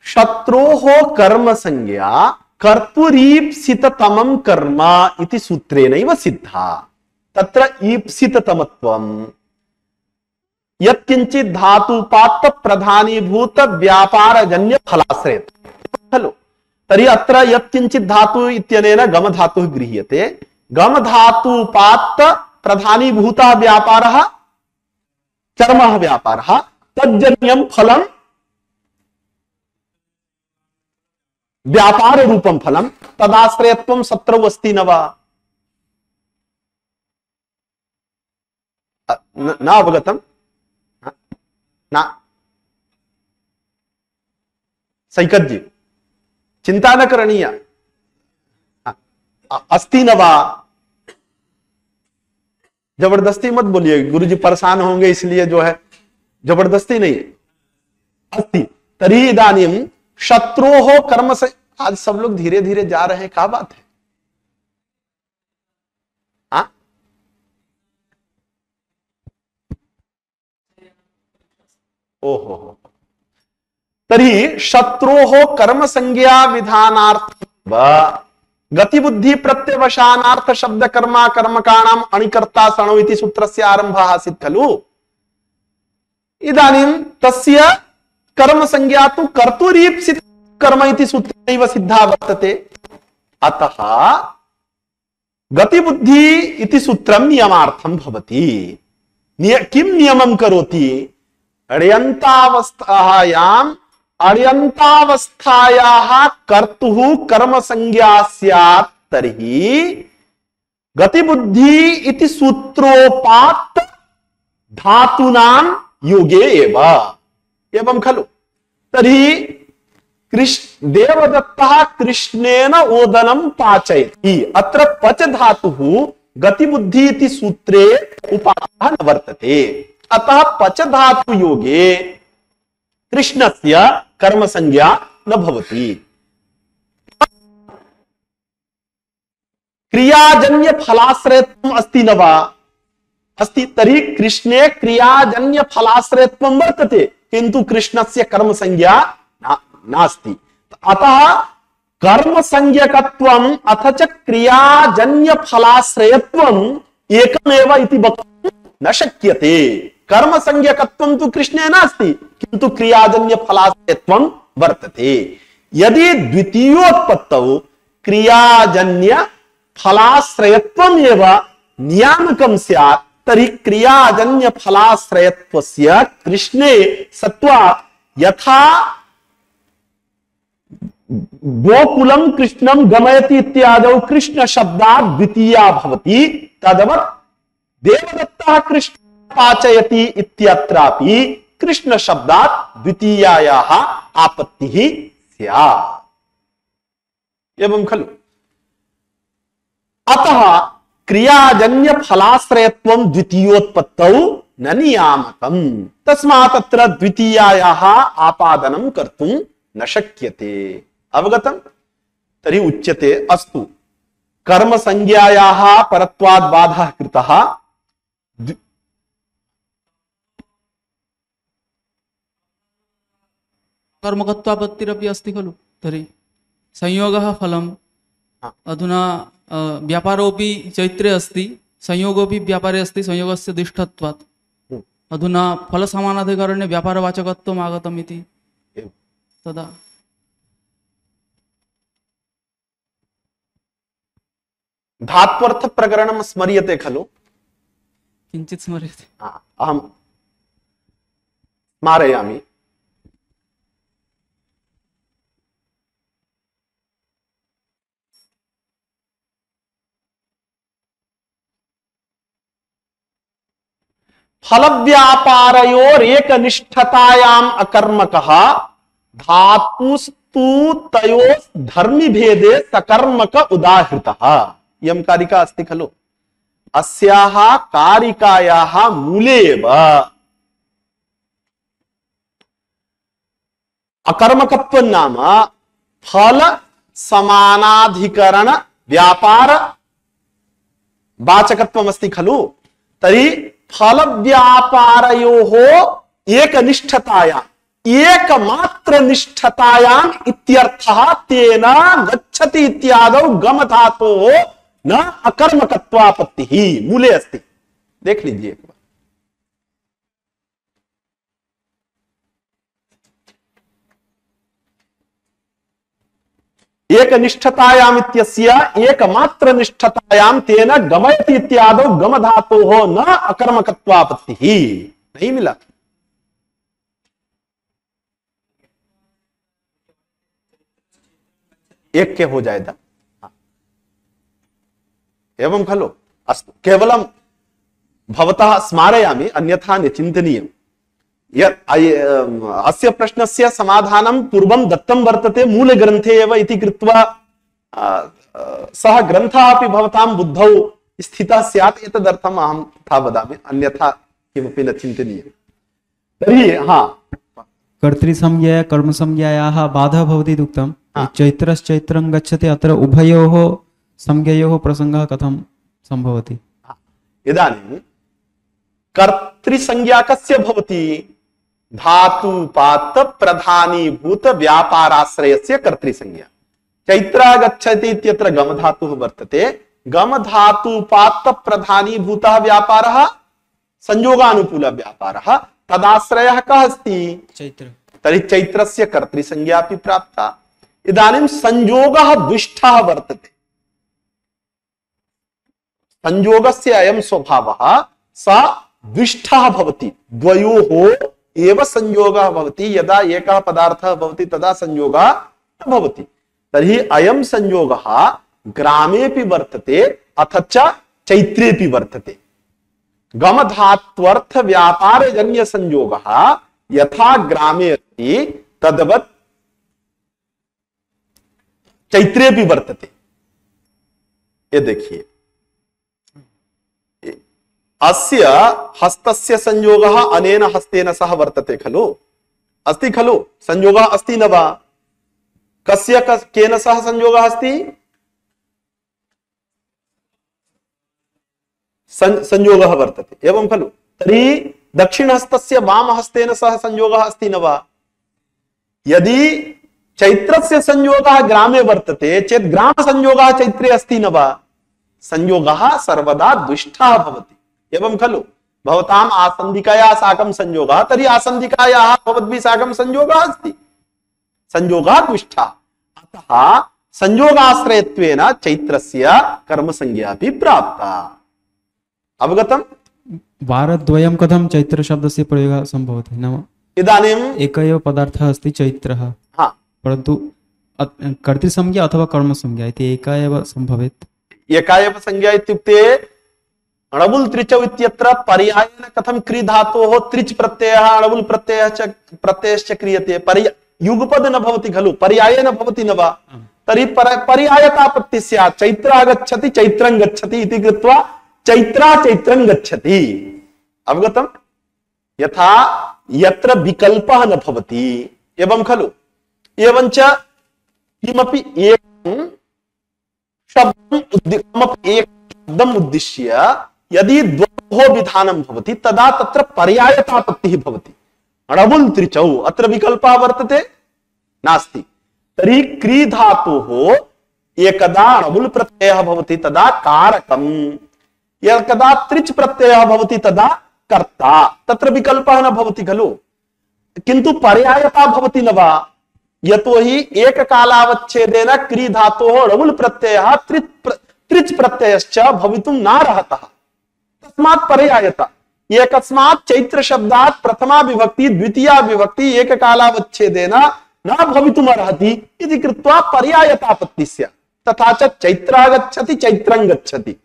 [SPEAKER 2] शत्रोः कर्म संज्ञा कर्तुरीप्सिततमं कर्म इति सूत्रेणैव सिद्धा। तत्र ईप्सिततमत्वं यत्किंचित् धातुपात्त प्रधानीभूत व्यापारजन्य फलाश्रयत्वं खलु। तर्हि अत्र यत्किंचित् धातु इत्यनेन गम धातुः गृह्यते। गम धातुपात्त प्रधानीभूतः व्यापारः चर्मः व्यापारः तज्जन्यं फलं व्यापार रूपं फलं तदाश्रयत्वं शत्रौ अस्ति न वा? न अवगतम्? न सैकत जी चिंता न करणीया। अस्ति न वा? जबरदस्ती मत बोलिए, गुरुजी परेशान होंगे इसलिए जो है जबरदस्ती नहीं। अस्ति तर्हि इदानीं शत्रोः कर्म से। आज सब लोग धीरे धीरे जा रहे हैं, क्या बात है? ओहो, तर्हि शत्रोः कर्म संज्ञा विधानार्थ गतिबुद्धि प्रत्यवसानार्थ शब्द कर्मा कर्मकाणाम अणिकर्ता सणो इति सूत्रस्य आरंभः आसीत् खलु। इदानीं तस्य कर्म संज्ञा तु कर्तुरीप्सित कर्म इति सूत्रेणैव सिद्धा वर्तते। अतः गतिबुद्धि इति सूत्रं नियमार्थं भवति। किं नियमं करोति? अण्यन्तावस्थायाः कर्तुः कर्म संज्ञा स्यात् तर्हि गतिबुद्धि इति सूत्रोपात्त धातूनां योगे एवं खलु। तर्हि देवदत्तः कृष्णेन ओदनं पाचयति। अत्र पच धातुः गतिबुद्धि इति सूत्रे उपात्तः न वर्तते। अतः पच धातु योगे कृष्णस्य कर्म संज्ञा न भवति। क्रियाजन्य फलाश्रयत्वम् अस्ति न वा? अस्ति। तर्हि कृष्णे क्रियाजन्य फलाश्रयत्वं वर्तते, किन्तु कृष्णस्य कर्म संज्ञा नास्ति। अतः कर्म संज्ञकत्वम् अथ च क्रियाजन्य फलाश्रयत्वम् एकमेव इति वक्तुं न शक्यते। कर्म संज्ञकत्वं तु कृष्णे नास्ति, किन्तु क्रियाजन्य फलाश्रयत्वं वर्तते। यदि द्वितीयोत्पत्तौ क्रियाजन्य फलाश्रयत्वम् एव नियामकं स्यात् तर्हि क्रियाजन्य फलाश्रयत्वस्य कृष्णे सत्वात् यथा गोकुलं कृष्णं गमयति इत्यादौ कृष्ण शब्दात् द्वितीया भवति, तदवत् देवदत्तः कृष्ण पाचयति इत्यत्रापि कृष्ण शब्दात् द्वितीयायाः आपत्तिः स्यात्। एवं खलु। अतः क्रियाजन्य फलाश्रयत्वं द्वितीयोत्पत्तौ न नियामकम्, तस्मात् अत्र द्वितीयायाः आपादनं कर्तुं न शक्यते। अवगतम्? तर्हि उच्यते अस्तु कर्म संज्ञायाः परत्वात् बाधः कृतः।
[SPEAKER 5] कर्मकत्वापत्तिरपि अस्ति खलु। तर्हि संयोगः फलम्। अधुना व्यापारोऽपि चैत्रे अस्ति, संयोगोऽपि व्यापारे अस्ति संयोगस्य दिष्टत्वात्। अधुना फलसमानाधिकरणे व्यापारवाचकत्वम् आगतम् इति तदा
[SPEAKER 2] धात्वर्थ प्रकरणं स्मर्यते खलु?
[SPEAKER 5] किञ्चित् स्मर्यते।
[SPEAKER 2] अहं स्मारयामि। फल व्यापारयोरेकनिष्ठतायाम् अकर्मकः धातुस्तु तयोस् धर्मी भेदे सकर्मक उदाहृतः। इयं कारिका अस्ति खलु। अस्याः कारिकायाः मूले एव अकर्मकत्वं नाम फल समानाधिकरण व्यापार वाचकत्वम् अस्ति खलु। तर्हि फल व्यापारयोः एकनिष्ठतायाम् एकमात्र निष्ठतायाम् इत्यर्थः तेन गच्छति इत्यादौ गम धातोः न अकर्मकत्वापत्तिः मूले अस्ति। देख लीजिए एक बार। एक निष्ठतायाम इत्यस्य एकमात्र निष्ठतायाम तेन गमयति इत्यादौ गम धातोः न अकर्मकत्वापत्तिः। नहीं मिला। एक के हो जाएगा। एवं खलु अस्तु केवलं भवतः स्मारयामि अन्यथा न चिन्तनीयम्। अस्य प्रश्नस्य समाधानं पूर्वं दत्तं वर्तते मूलग्रन्थे एव इति कृत्वा सः ग्रन्थः अपि भवतां बुद्धौ स्थितः स्यात् एतदर्थम् अहं तथा वदामि, अन्यथा किमपि न चिन्तनीयम्। तर्हि
[SPEAKER 6] कर्तृसंज्ञा कर्मसंज्ञायाः बाधः भवति इति उक्तं। चैत्रश्चैत्रं गच्छति, अत्र उभयोः संज्ञयोः प्रसङ्गः कथं सम्भवति?
[SPEAKER 2] इदानीं कर्तृसंज्ञा कस्य भवति? धातुपात प्रधानीभूत व्यापाराश्रयस्य कर्तृसंज्ञा। चैत्र गच्छति इत्यत्र गम धातुः वर्तते। गम धातुपात प्रधानीभूतः व्यापारः संयोगानुकूल व्यापारः, तदाश्रयः कः अस्ति? चैत्र। तर्हि चैत्रस्य कर्तृसंज्ञा अपि प्राप्ता। इदानीं संयोगः द्विष्ठः वर्तते। संयोगस्य अयं स्वभावः स द्विष्ठः भवति, द्वयोः एव संयोगः भवति। यदा एकः पदार्थः भवति तदा संयोगः न भवति। तर्हि अयं संयोगः ग्रामेपि वर्तते अथ च चैत्रेपि वर्तते। गमधात्वर्थ व्यापारजन्य संयोगः यथा ग्रामे अस्ति तद्वत् चैत्रेपि वर्तते। ये देखिए, अस्य हस्तस्य संयोगः अनेन हस्तेन सह वर्तते खलु, अस्ति खलु? संयोगः अस्ति न वा? कस्य केन सह संयोगः अस्ति? संयोगः वर्तते, एवं खलु? तर्हि दक्षिणहस्तस्य वामहस्तेन सह संयोगः अस्ति न वा? यदि चैत्रस्य संयोगः ग्रामे वर्तते चेत् ग्राम संयोगः चैत्रे अस्ति न वा? संयोगः सर्वदा द्विष्ठः भवति, एवं खलु? भवताम् आसन्दिकाया साकं संयोगः, तर्हि आसन्दिकायाः भवद्भिः साकं संयोगः अस्ति, संयोगः द्विष्ठः। अतः संयोगाश्रयत्वेन चैत्रस्य कर्मसंज्ञा अपि प्राप्ता। अवगतम्?
[SPEAKER 6] वारद्वयं कथं चैत्रशब्दस्य प्रयोगः सम्भवति? नाम
[SPEAKER 2] इदानीम्
[SPEAKER 6] एक एव पदार्थः अस्ति चैत्रः, परन्तु कर्तृसंज्ञा अथवा कर्मसंज्ञा इति एका एव सम्भवेत्। एका एव संज्ञा
[SPEAKER 2] इत्युक्ते अणबुल त्रिचौ इत्यत्र पर्यायेन कथं क्री धातोः त्रिच प्रत्ययः अणबुल प्रत्ययश्च क्रियते। युगपद न भवति खलु, पर्यायेन भवति न वा? तर्हि पर्यायतापत्तिः स्यात्। चैत्र आगच्छति चैत्रं गच्छति इति कृत्वा चैत्रा चैत्रं गच्छति। अवगतम्? यथा यत्र विकल्पः न भवति, एवं खलु? एवञ्च किमपि एकं शब्दम् उद्दिश्य यदि द्वयोः विधानं भवति तदा तत्र पर्यायतापत्तिः भवति। अणबुल त्रिचौ अत्र विकल्पः वर्तते नास्ति। तर्हि क्री धातोः एकदा अणबुल प्रत्ययः भवति तदा कारकम्, एकदा त्रिच प्रत्ययः भवति तदा कर्ता। तत्र विकल्पः न भवति खलु, किन्तु पर्यायता भवति न वा? यतोहि एककालावच्छेदेन क्री धातोः अणबुल प्रत्ययः त्रिच प्रत्ययश्च भवितुं नार्हतः, तस्मात् पर्यायता। एकस्मात् चैत्र शब्दात् प्रथमा विभक्ति द्वितीया विभक्ति एककालावच्छेदेन न भवितुमर्हति इति कृत्वा पर्यायतापत्तिः स्यात्। तथा च चैत्रागच्छति चैत्रं गच्छति,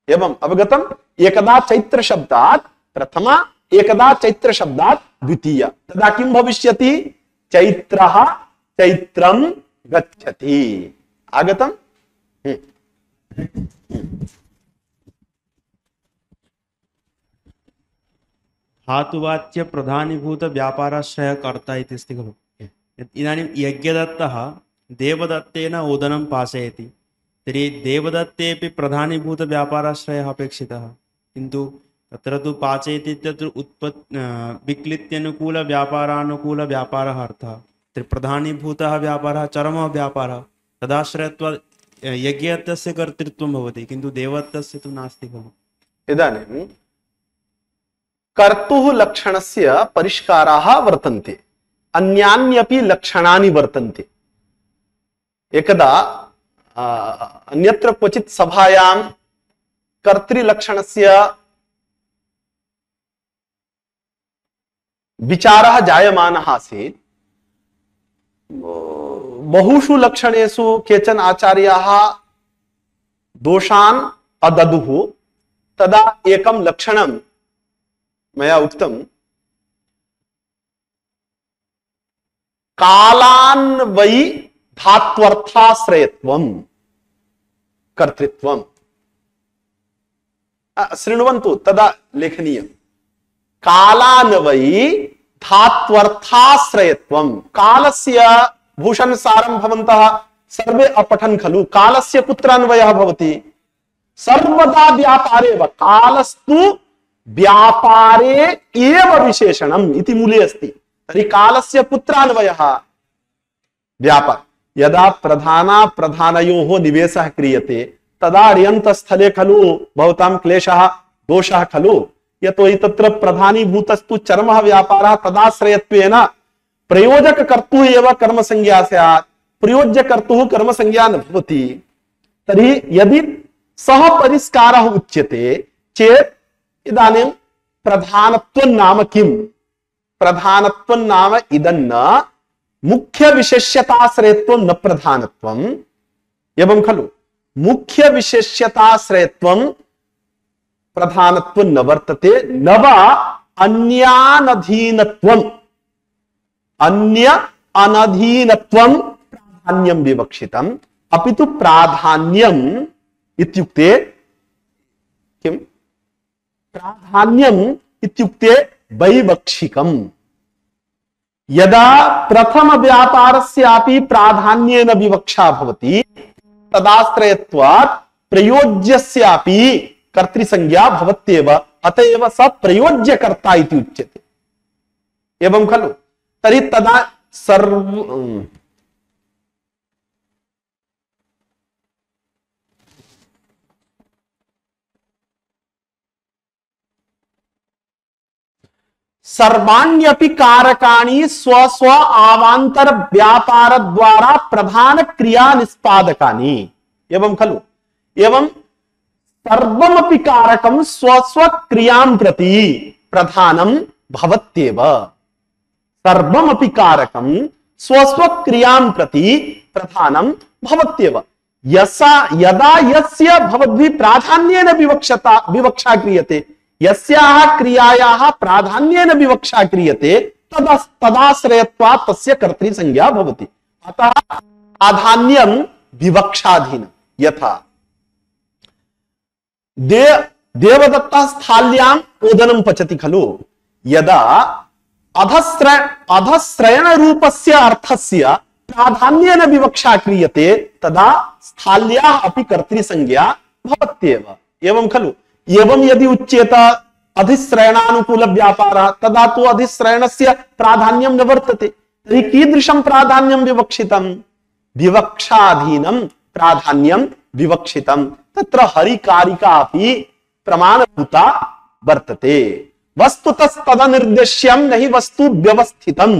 [SPEAKER 2] एवं अवगतम्? एकदा चैत्र शब्दात् प्रथमा, एकदा चैत्र शब्दात् द्वितीया, तदा किं भविष्यति? चैत्रः चैत्रं गच्छति। आगतम्?
[SPEAKER 7] धातुवाच्य प्रधानीभूत व्यापाराश्रय कर्ता इति अस्ति खलु। इदानीं यज्ञदत्तः देवदत्तेन ओदनं पाचयति, तर्हि देवदत्तेपि प्रधानीभूत व्यापाराश्रयः अपेक्षितः, किन्तु तत्र तु पाचयति इत्यत्र विक्लित्यनुकूलव्यापारानुकूलव्यापारः अर्थः, तत्र प्रधानीभूतः व्यापारः चरमः व्यापारः, तदाश्रयत्वात् यज्ञस्य कर्तृत्वं भवति, किन्तु देवत्वस्य तु नास्ति खलु।
[SPEAKER 2] इदानीं कर्तुः लक्षणस्य परिष्काराः वर्तन्ते, अन्यान्यपि लक्षणानि वर्तन्ते। एकदा अन्यत्र क्वचित् सभायां कर्तृलक्षणस्य विचारः जायमानः आसीत्। बहुषु लक्षणेषु केचन आचार्याः दोषान् अददुः। तदा एकं लक्षणं मया उक्तं, कालान्वयि धात्वर्थाश्रयत्वं कर्तृत्वं। शृण्वन्तु, तदा लेखनीयं। कालान्वयि धात्वर्थाश्रयत्वं। कालस्य भूषणसारं भवन्तः सर्वे अपठन् खलु। कालस्य कुत्र अन्वयः भवति? सर्वदा व्यापारे एव। कालस्तु व्यापारे एव विशेषणम् इति मूले अस्ति। तर्हि कालस्य कुत्र अन्वयः? व्यापार। यदा प्रधानयोः निवेशः क्रियते तदा अर्यन्तस्थले खलु भवतां क्लेशः दोषः खलु। यतोहि तत्र प्रधानीभूतस्तु चरमः व्यापारः, तदाश्रयत्वेन प्रयोजककर्तुः एव कर्मसंज्ञा स्यात्, प्रयोज्यकर्तुः कर्मसंज्ञा न भवति। तर्हि यदि सः परिष्कारः उच्यते चेत् इदानीं प्रधानत्वं नाम किम्? प्रधानत्वं नाम इदं न मुख्य विशेष्यताश्रयत्वं न प्रधानत्वम्, एवं खलु। मुख्य विशेष्यताश्रयत्वं प्रधानत्वं न वर्तते, न वा अन्यानधीनत्वम्। अन्य अनधीनत्वं प्राधान्यं विवक्षितम्, अपि तु प्राधान्यम् इत्युक्ते किम्? प्राधान्यम् इत्युक्ते वैवक्षिकम्। यदा प्रथम व्यापारस्यापि प्राधान्येन विवक्षा भवति तदाश्रयत्वात् प्रयोज्यस्यापि कर्तृसंज्ञा भवत्येव, अतएव स प्रयोज्यकर्ता इति उच्यते, एवं खलु। तर्हि तदा सर्वाण्यपि कारकाणि स्वस्व आवांतर व्यापार द्वारा प्रधान क्रिया निष्पादकानि, एवं खलु। एवं सर्वमपि कारकं स्वस्व क्रियां प्रति प्रधानं भवत्येव। सर्वमपि कारकं स्वस्व क्रियां प्रति प्रधानं भवत्येव। यदा यस्य भवद्भिः प्राधान्येन विवक्षा क्रियते, यस्याः क्रियायाः प्राधान्येन विवक्षा क्रियते तदाश्रयत्वात् तस्य कर्तृसंज्ञा भवति। अतः प्राधान्यं विवक्षाधीनं। यथा देवदत्तः स्थाल्याम् ओदनं पचति खलु। यदा अधश्रयण रूपस्य अर्थस्य प्राधान्येन विवक्षा क्रियते तदा स्थाल्याः अपि कर्तृसंज्ञा भवत्येव, एवं खलु। एवं यदि उच्येत अधिश्रयणानुकूल व्यापारः तदा तु अधिश्रयणस्य प्राधान्यं न वर्तते। तर्हि कीदृशं प्राधान्यं विवक्षितं? विवक्षाधीनं प्राधान्यं विवक्षितं। तत्र हरिकारिका अपि प्रमाणभूता वर्तते। वस्तुतः तदनिर्देश्यं नहि वस्तु व्यवस्थितं।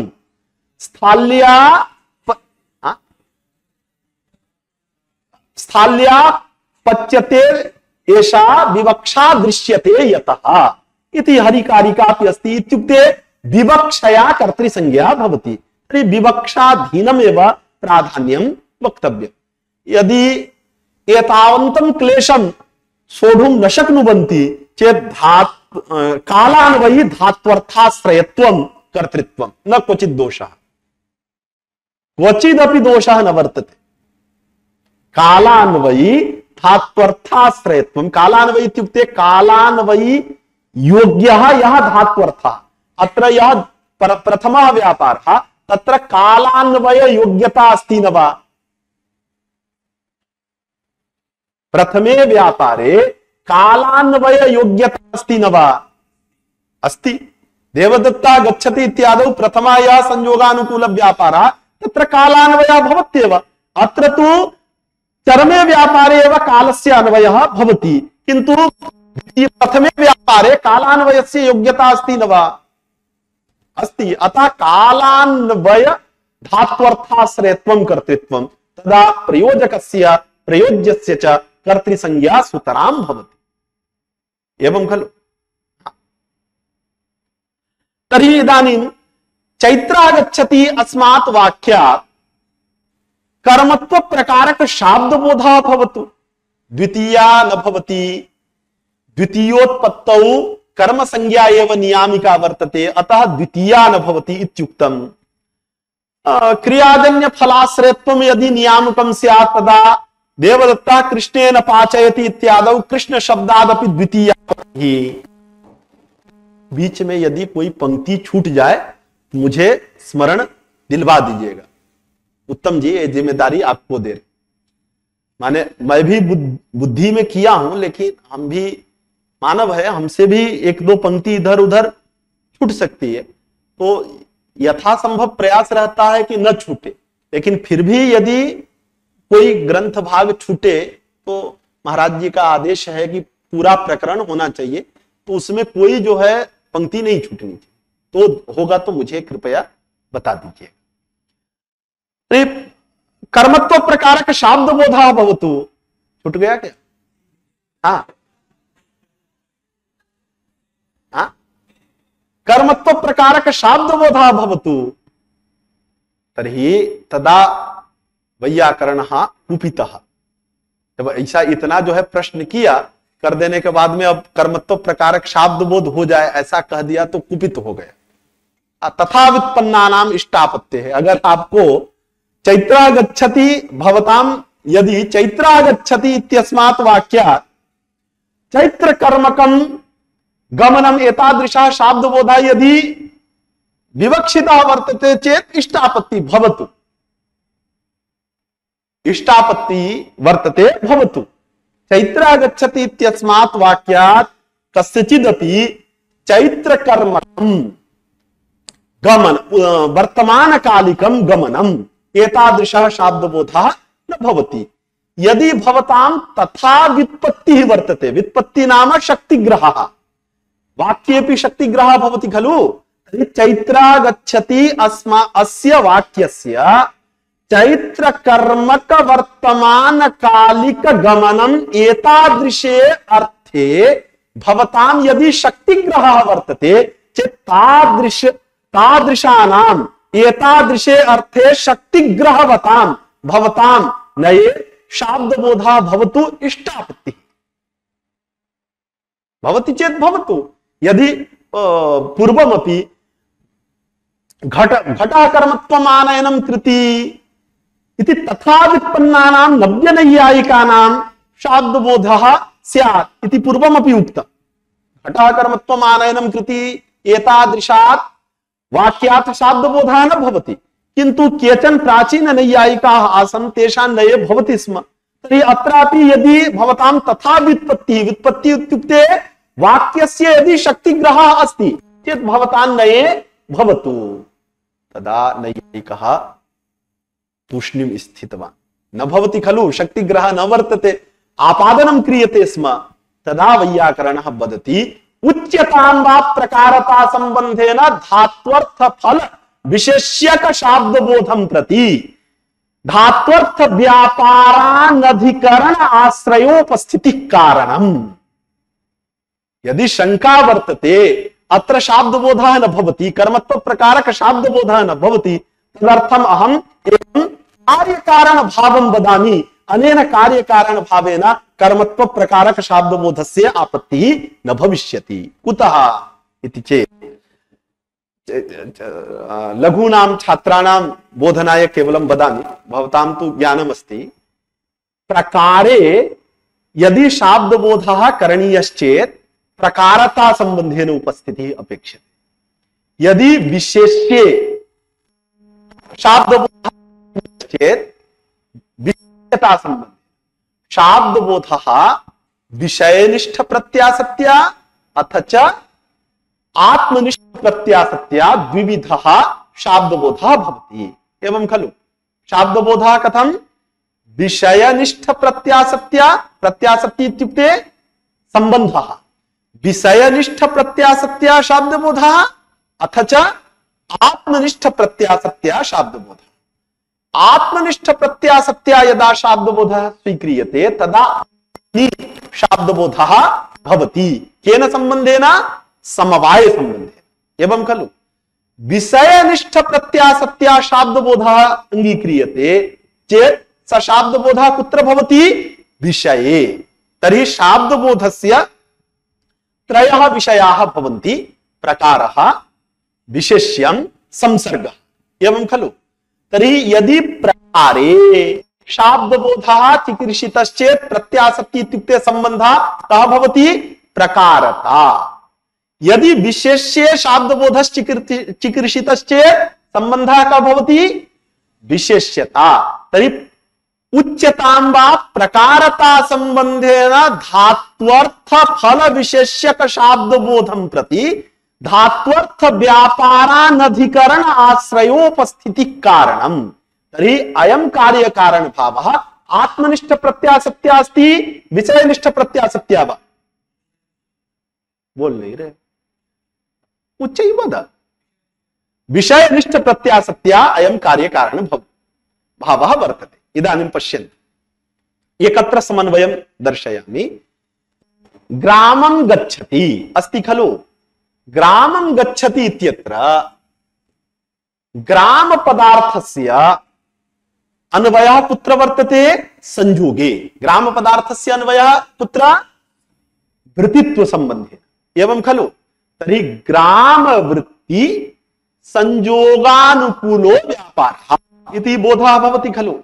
[SPEAKER 2] स्थाल्या पच्यते एषा विवक्षा दृश्यते यतः इति हरिकारिका अपि अस्ति। इत्युक्ते विवक्षया कर्तृसंज्ञा भवति। तर्हि विवक्षाधीनमेव प्राधान्यं वक्तव्यम्। यदि एतावन्तं क्लेशं सोढुं न शक्नुवन्ति चेत् कालान्वयि धात्वर्थाश्रयत्वं कर्तृत्वं न क्वचित् दोषः, क्वचिदपि दोषः न वर्तते। कालान्वयि धात्वर्थाश्रयत्वं। कालान्वयि इत्युक्ते कालान्वयि योग्यः यः धात्वर्थः। अत्र यः प्रथमः व्यापारः तत्र कालान्वय योग्यता अस्ति न वा? प्रथमे व्यापारे कालान्वय योग्यता अस्ति न वा? अस्ति। देवदत्ता गच्छति इत्यादौ प्रथमाया संयोगानुकूल व्यापारः तत्र कालान्वयः भवत्येव। अत्र तु चरमे व्यापारे एव कालस्य अन्वयः भवति, किन्तु प्रथमे व्यापारे कालान्वयस्य योग्यता अस्ति न वा? अस्ति। अतः कालान्वय धात्वर्थाश्रयत्वं कर्तृत्वं तदा प्रयोजकस्य प्रयोज्यस्य च कर्तृसंज्ञा सुतरां भवति। एवं खलु? तर्हि इदानीं चैत्रागच्छति अस्मात् वाक्यात् कर्मत्व प्रकारक शाब्दबोधः भवतु, द्वितीया न भवति। द्वितीयोत्पत्तौ कर्म संज्ञा एव नियामिका वर्तते, अतः द्वितीया न भवति इत्युक्तम्। क्रियाजन्य फलाश्रयत्वं यदि नियामकं स्यात् तदा देवदत्ता कृष्णेन पाचयति इत्यादौ कृष्ण शब्दादपि द्वितीया ही। बीच में यदि कोई पंक्ति छूट जाए मुझे स्मरण दिलवा दीजिएगा। उत्तम जी ये जिम्मेदारी आपको दे रही। माने मैं भी बुद्धि में किया हूं, लेकिन हम भी मानव है, हमसे भी एक दो पंक्ति इधर उधर छूट सकती है, तो यथासंभव प्रयास रहता है कि न छूटे। लेकिन फिर भी यदि कोई ग्रंथ भाग छूटे तो महाराज जी का आदेश है कि पूरा प्रकरण होना चाहिए, तो उसमें कोई जो है पंक्ति नहीं छूटनी चाहिए। तो होगा तो मुझे कृपया बता दीजिए। कर्मत्व प्रकारक शाब्द बोधा भवतु, छूट गया क्या? हाँ हाँ, कर्मत्व प्रकारक शाब्द बोधा भवतु तर्हि तदा वैयाकरणः कुपितः। जब ऐसा इतना जो है प्रश्न किया कर देने के बाद में अब कर्मत्व प्रकारक शाब्द बोध हो जाए ऐसा कह दिया तो कुपित हो गया। तथा व्युत्पन्ना नाम इष्टापत्य है। अगर आपको चैत्रागच्छति भवताम, यदि चैत्रागच्छति इत्यस्मात् वाक्यात् चैत्र कर्मकम गमनम एतादृशः शाब्द बोधा यदि विवक्षितः वर्तते चेत इष्टापत्ति भवतु, इष्टापत्ति वर्तते भवतु। चैत्रागच्छति इत्यस्मात् वाक्यात् कस्यचिदपि चैत्र कर्मकं गमन वर्तमान कालिकं गमनम एतादृशः शाब्दबोधः न भवति। यदि भवतां तथा व्युत्पत्तिः वर्तते, व्युत्पत्ति नाम शक्तिग्रहः, वाक्येपि शक्तिग्रहः भवति खलु। चैत्रागच्छति अस्य वाक्यस्य चैत्र कर्मक वर्तमान कालिक गमनम एतादृशे अर्थे भवतां यदि शक्तिग्रहः वर्तते चेत् तादृशानाम् एतादृशे अर्थे शक्तिग्रहवतां भवतां नये शाब्दबोधः भवतु इष्टापत्तिः भवति चेत् भवतु। यदि पूर्वमपि घटाकर्मत्वम् आनयनं कृति इति तथा व्युत्पन्नानां नव्यनैयायिकानां शाब्दबोधः स्यात् इति पूर्वमपि उक्तम्। घटाकर्मत्वम् आनयनं कृति एतादृशात् वाक्यात् शाब्दबोधः न भवति, किन्तु केचन प्राचीन नैयायिकाः आसन् तेषां नये भवति स्म। तर्हि अत्रापि यदि भवतां तथा व्युत्पत्तिः, व्युत्पत्तिः इत्युक्ते वाक्यस्य यदि शक्तिग्रहः अस्ति चेत् भवतां नये भवतु। तदा नैयायिकः तूष्णीं स्थितवान्। न भवति खलु, शक्तिग्रहः न वर्तते, आपादनं क्रियते स्म। तदा वैयाकरणः वदति उच्यतां वा प्रकारता संबंधेन धात्वर्थ फल विशेष्यक शाब्दबोधं प्रति धात्वर्थ व्यापारानधिकरण आश्रयोपस्थिति कारणम्। यदि शंका वर्तते अत्र शाब्दबोधः न भवति, कर्मत्व प्रकारक शाब्दबोधः न भवति, तदर्थम् अहम् एवं कार्यकारण भावं वदामि। अनेन कार्यकारण भावेन कर्मत्व प्रकारक शाब्दबोधस्य आपत्तिः न भविष्यति। कुतः इति चेत् लघूनां छात्राणां बोधनाय केवलं वदामि, भवतां तु ज्ञानमस्ति। प्रकारे यदि शाब्दबोधः करणीयश्चेत् प्रकारता संबंधेन उपस्थितिः अपेक्षते। यदि विशेष्ये शाब्दबोधः चेत् विशेष्यता संबंध शाब्दबोधः विषयनिष्ठ प्रत्यासत्या अथ च आत्मनिष्ठ प्रत्यासत्या द्विविधः शाब्दबोधः भवति। एवं खलु? शाब्दबोधः कथं? विषयनिष्ठ प्रत्यासत्या, प्रत्यासत्ति इत्युक्ते सम्बन्धः, विषयनिष्ठ प्रत्यासत्या शाब्दबोधः अथ च आत्मनिष्ठ प्रत्यासत्या शाब्दबोधः। आत्मनिष्ठ प्रत्यासत्या यदा शाब्दबोधः स्वीक्रियते तदा शाब्दबोधः भवति। केन संबंधेन? समवाय संबंधेन। एवं खलु? विषयनिष्ठ प्रत्यासत्या शाब्दबोधः अंगीक्रियते चेत् स शाब्दबोधः कुत्र भवति? विषये। तर्हि शाब्दबोधस्य त्रयः विषयाः भवन्ति: प्रकारः, विशेष्यं, संसर्गः। एवं खलु? तर्हि यदि प्रकारे शाब्दबोधः चिकीर्षितश्चेत् प्रत्यासत्ति इत्युक्ते सम्बन्धः कः भवति? प्रकारता। यदि विशेष्ये शाब्दबोधश्चिकीर्षितश्चेत् सम्बन्धः कः भवति? विशेष्यता। तर्हि उच्यतां वा प्रकारता संबंधेन धात्वर्थ फल विशेष्यक शाब्दबोधं प्रति धात्वर्थ व्यापारानधिकरण आश्रयोपस्थिति कारणम्। तर्हि अयं कार्य कारण भावः आत्मनिष्ठ प्रत्यासत्या अस्ति, विषयनिष्ठ प्रत्यासत्या वा? बोल नहीं रहे, उच्चैः वद। विषयनिष्ठ प्रत्यासत्या अयं कार्य कारण भावः वर्तते। इदानीं पश्यन्तु, एकत्र समन्वयं दर्शयामि। ग्रामं गच्छति अस्ति खलु? ग्रामं गच्छति इत्यत्र ग्राम पदार्थस्य अन्वयः कुत्र वर्तते? संयोगे। ग्राम पदार्थस्य अन्वयः कुत्र? वृत्तित्व संबंधेन। एवं खलु? तर्हि ग्राम वृत्ति संयोगानुकूलो व्यापारः इति बोधः भवति खलु?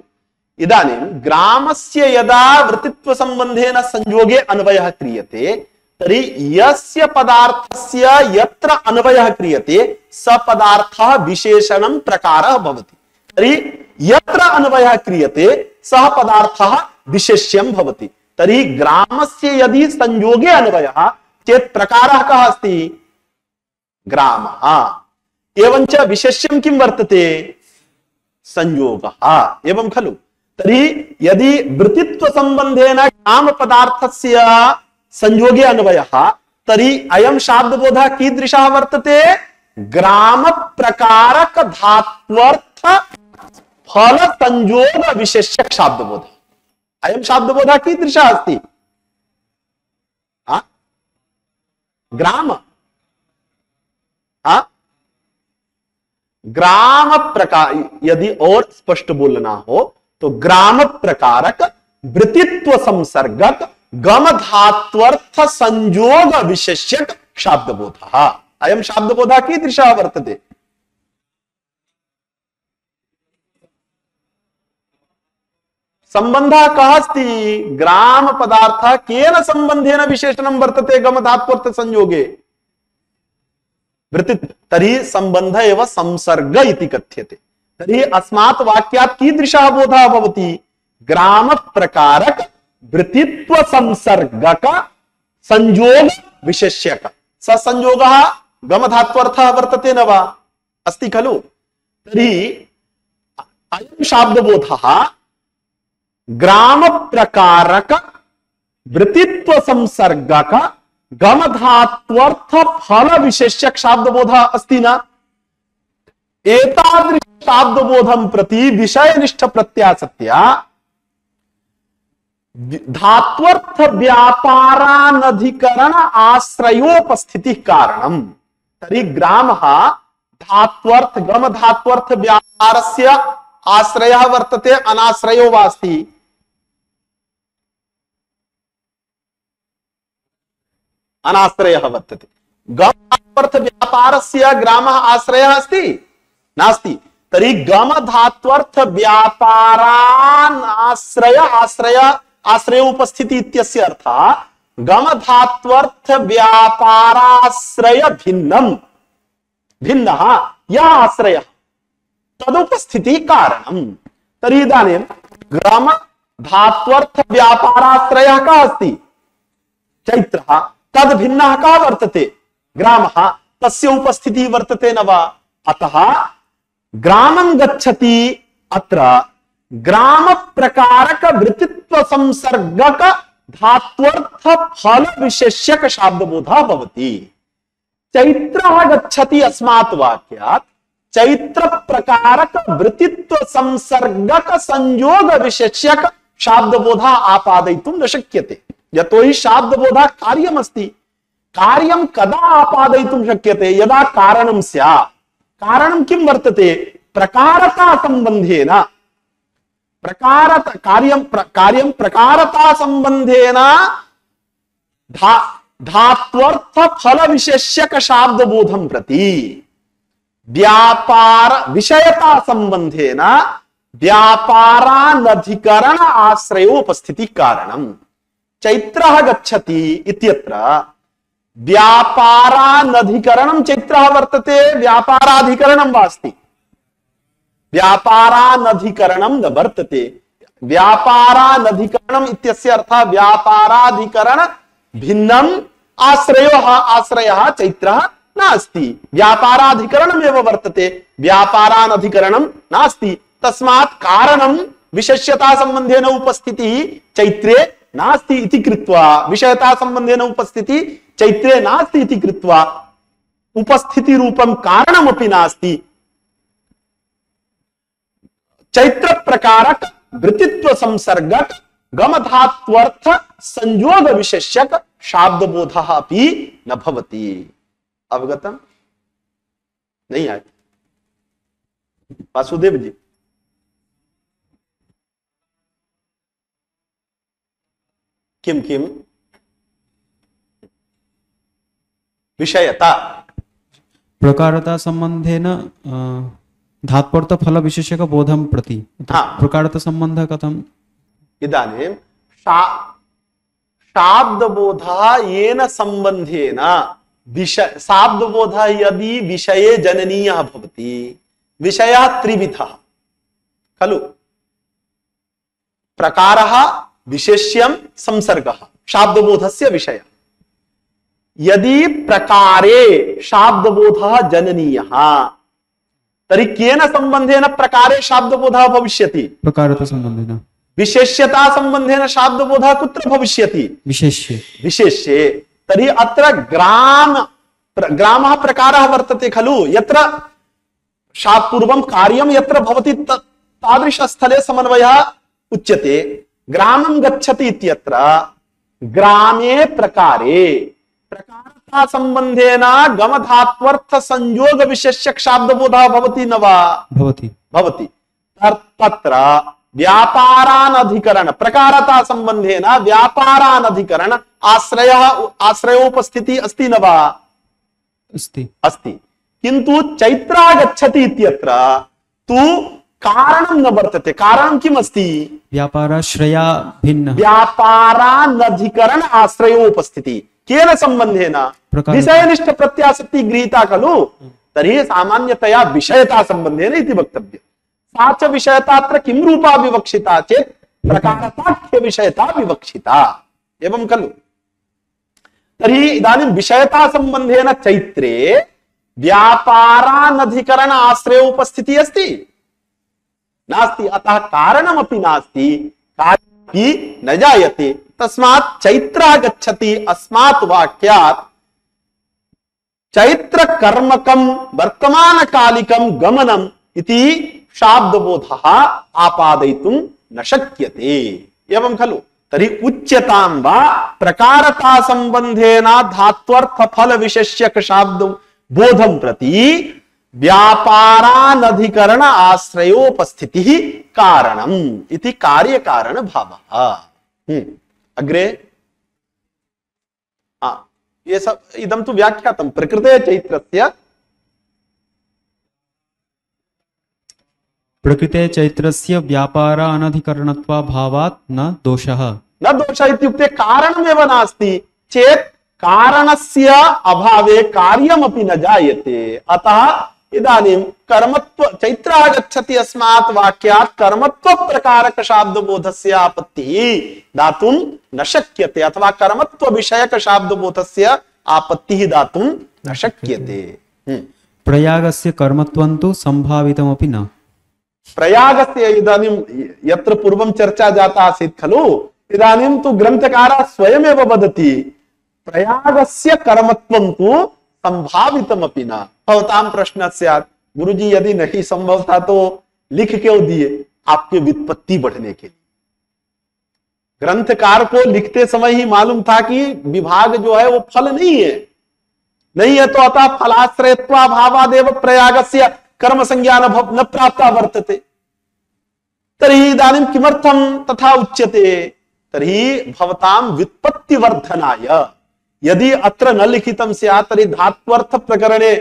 [SPEAKER 2] इदानीं ग्रामस्य यदा वृत्तित्व संबंधेन संयोगे अन्वयः क्रियते तर्हि यस्य पदार्थस्य यत्र अन्वयः क्रियते स पदार्थः विशेषणं प्रकारः भवति। तर्हि यत्र अन्वयः क्रियते सः पदार्थः विशेष्यं भवति। तर्हि ग्रामस्य यदि संयोगे अन्वयः चेत् प्रकारः कः अस्ति? ग्रामः। एवञ्च विशेष्यं किं वर्तते? संयोगः। एवं खलु? तर्हि यदि वृत्तित्व संबंधेन ग्राम पदार्थस्य संयोगे अन्वयः तर्हि अयं शाब्दबोधः कीदृशः वर्तते? ग्राम प्रकारक धात्वर्थ फल संयोग विशेष्यक शाब्दबोधः। अयं शाब्दबोधः कीदृशः अस्ति? ग्राम ग्राम प्रकार, यदि और स्पष्ट बोलना हो तो ग्राम प्रकारक वृत्तित्व संसर्गक गम धात्वर्थ संयोग विशेष्यक शाब्दबोधः। अयं शाब्दबोधः कीदृशः वर्तते? संबंधः कः अस्ति? ग्राम पदार्थः केन संबंधेन विशेषणं वर्तते? गम धात्वर्थ संयोगे वृत्तित्व। तर्हि संबंध एव संसर्ग इति कथ्यते। तर्हि अस्मात् वाक्यात् कीदृशः बोधः भवति? ग्राम प्रकारक वृत्तित्व संसर्गक संयोग विशेष्यक। स संयोगः गमधात्वर्थः वर्तते न वा? अस्ति खलु? तर्हि अयं शाब्दबोधः ग्राम प्रकारक वृत्तित्व संसर्गक गमधात्वर्थ फल विशेष्यक शाब्दबोधः अस्ति न? एतादृश शाब्दबोधं प्रति विषयनिष्ठ प्रत्यासत्या धात्वर्थ व्यापारानधिकरण आश्रयोपस्थिति कारणम्। तर्हि ग्रामः धात्वर्थ गम धात्वर्थ व्यापारस्य आश्रयः वर्तते, अनाश्रयो वा अस्ति? अनाश्रयः वर्तते। गम धात्वर्थ व्यापारस्य ग्रामः आश्रयः अस्ति? नास्ति। तर्हि गम धात्वर्थ व्यापारान् आश्रय उपस्थिति इत्यस्य अर्थः गम धात्वर्थ व्यापाराश्रय भिन्नः यः आश्रयः तदुपस्थिति कारणम्। तर्हि इदानीं गम धात्वर्थ व्यापाराश्रयः कः अस्ति? चैत्रः तद् भिन्नः का वर्तते ग्रामः तस्य उपस्थितिः वर्तते न वा अतः ग्रामं गच्छति अत्र ग्राम प्रकारक वृत्तित्व संसर्गक धात्वर्थ फल विशेष्यक शाब्दबोधः भवति चैत्रः गच्छति अस्मात् वाक्यात् चैत्र प्रकारक वृत्तित्व संसर्गक संयोग विशेष्यक शाब्दबोधः आपादयितुं न शक्यते यतोहि शाब्दबोधः कार्यमस्ति कार्यं कदा आपादयितुं शक्यते यदा कारणं स्यात् कारणं किं वर्तते प्रकारता संबंधेन कार्यं प्रकारता संबंधेन धात्वर्थ फल विशेष्यक शाब्दबोधं प्रति व्यापार विषयता संबंधेन व्यापारानधिकरण आश्रयोपस्थिति कारणं चैत्रः गच्छति इत्यत्र व्यापारानधिकरणं चैत्रः वर्तते व्यापाराधिकरणं वा अस्ति व्यापारानधिकरणं न वर्तते व्यापारानधिकरणम् इत्यस्य अर्थः व्यापाराधिकरण भिन्नम् आश्रयः चैत्रः नास्ति व्यापाराधिकरणमेव वर्तते व्यापारानधिकरणं नास्ति तस्मात् कारणं विशेष्यता संबंधेन उपस्थितिः चैत्रे नास्ति इति कृत्वा विषयता संबंधेन उपस्थितिः चैत्रे नास्ति इति कृत्वा उपस्थिति रूपं कारणमपि नास्ति चैत्र प्रकारक वृत्तित्व संसर्गक गमधात्वर्थ संयोग विशेष्यक शाब्दबोधः अपि न भवति अवगतम् नहीं आए वासुदेव जी किम किम विषयता
[SPEAKER 6] प्रकारता संबंधेन धात्वर्थ फल विशेषक बोधं प्रति प्रकारता संबंध कथम
[SPEAKER 2] इदानीं शाब्दबोधः येन संबंधेन शाब्दबोधः यदि विषये जननीयः भवति विषयः त्रिविधः खलु प्रकारः विशेष्यं संसर्गः शाब्दबोधस्य विषयः यदि प्रकारे शाब्दबोधः जननीयः तर्हि केन संबंधेन प्रकारे शाब्दबोधः भविष्यति
[SPEAKER 6] प्रकारता संबंधेन
[SPEAKER 2] विशेष्यता संबंधेन शाब्दबोधः कुत्र भविष्यति विशेष्ये तर्हि अत्र ग्रामः प्रकारः वर्तते खलु यत्र पूर्वं कार्यं यत्र भवति तादृशस्थले समन्वयः उच्यते ग्रामं गच्छति इत्यत्र ग्रामे प्रकारे प्रकारता संबंधेन गमधात्वर्थ संयोग विशेष्यक शाब्दबोधः भवति न वा भवति तत्र व्यापारानधिकरण प्रकारता संबंधेन व्यापारानधिकरण आश्रयोपस्थितिः अस्ति न वा अस्ति किन्तु चैत्रः गच्छति इत्यत्र तु कारणं न वर्तते कारणं किम् अस्ति
[SPEAKER 6] व्यापाराश्रया भिन्न
[SPEAKER 2] व्यापारानधिकरण आश्रयोपस्थितिः केन संबंधेन विषयनिष्ठ प्रत्यासक्ति गृहीता खलु तर्हि सामान्यतया विषयता संबंधेन इति वक्तव्यम् सा च विषयता अत्र किं रूपा विवक्षिता चेत् प्रकारताख्य विषयता विवक्षिता एवं खलु तर्हि इदानीं विषयता संबंधेन चैत्रे व्यापारानधिकरण आश्रयोपस्थितिः अस्ति नास्ति अतः कारणमपि नास्ति कार्यमपि न जायते तस्मात् चैत्रः गच्छति अस्मात् वाक्यात् चैत्र कर्मकं वर्तमानकालिकं गमनम् इति शाब्दबोधः आपादयितुं न शक्यते एवं खलु तर्हि उच्यतां वा प्रकारता संबंधेन धात्वर्थ फल विशेष्यक शाब्द बोधं प्रति व्यापारानधिकरण आश्रयोपस्थितिः कारणम् इति कार्यकारण भावः अग्रे ये सब इदं तु व्याख्यातं प्रकृते चैत्रस्य
[SPEAKER 6] प्रकृते चैत्रस्य व्यापारानधिकरणत्वाभावात् न दोषः
[SPEAKER 2] न दोषः इत्युक्ते कारणमेव नास्ति चेत् कारणस्य अभावे कार्यमपि न जायते अतः इदानीं कर्मत्व चैत्रः गच्छति अस्मात् वाक्यात् कर्मत्व प्रकारक शाब्दबोधस्य आपत्तिः दातुं न शक्यते, अथवा कर्मत्व विषयक शाब्दबोधस्य आपत्तिः दातुं न शक्यते।
[SPEAKER 6] प्रयागस्य कर्मत्वं तु संभावितमपि न।
[SPEAKER 2] प्रयागस्य इदानीं यत्र पूर्वं चर्चा जाता आसीत् खलु, इदानीं तु ग्रन्थकारः स्वयमेव वदति प्रयागस्य कर्मत्वं तु संभावितमपि न। भवतां प्रश्न स्यात्, गुरुजी यदि नहीं संभव था तो लिख क्यों दिए? आपके व्युत्पत्ति बढ़ने के लिए। ग्रंथकार को लिखते समय ही मालूम था कि विभाग जो है वो फल नहीं है तो अतः फलाश्रयत्वाभावादेव प्रयागस्य कर्म संज्ञा न प्राप्ता वर्तते। तर्हि इदानीं किमर्थं तथा उच्यते? तर्हि भवतां व्युत्पत्तिवर्धनाय यदि अत्र न लिखितं स्यात् तर्हि धात्वर्थ प्रकरणे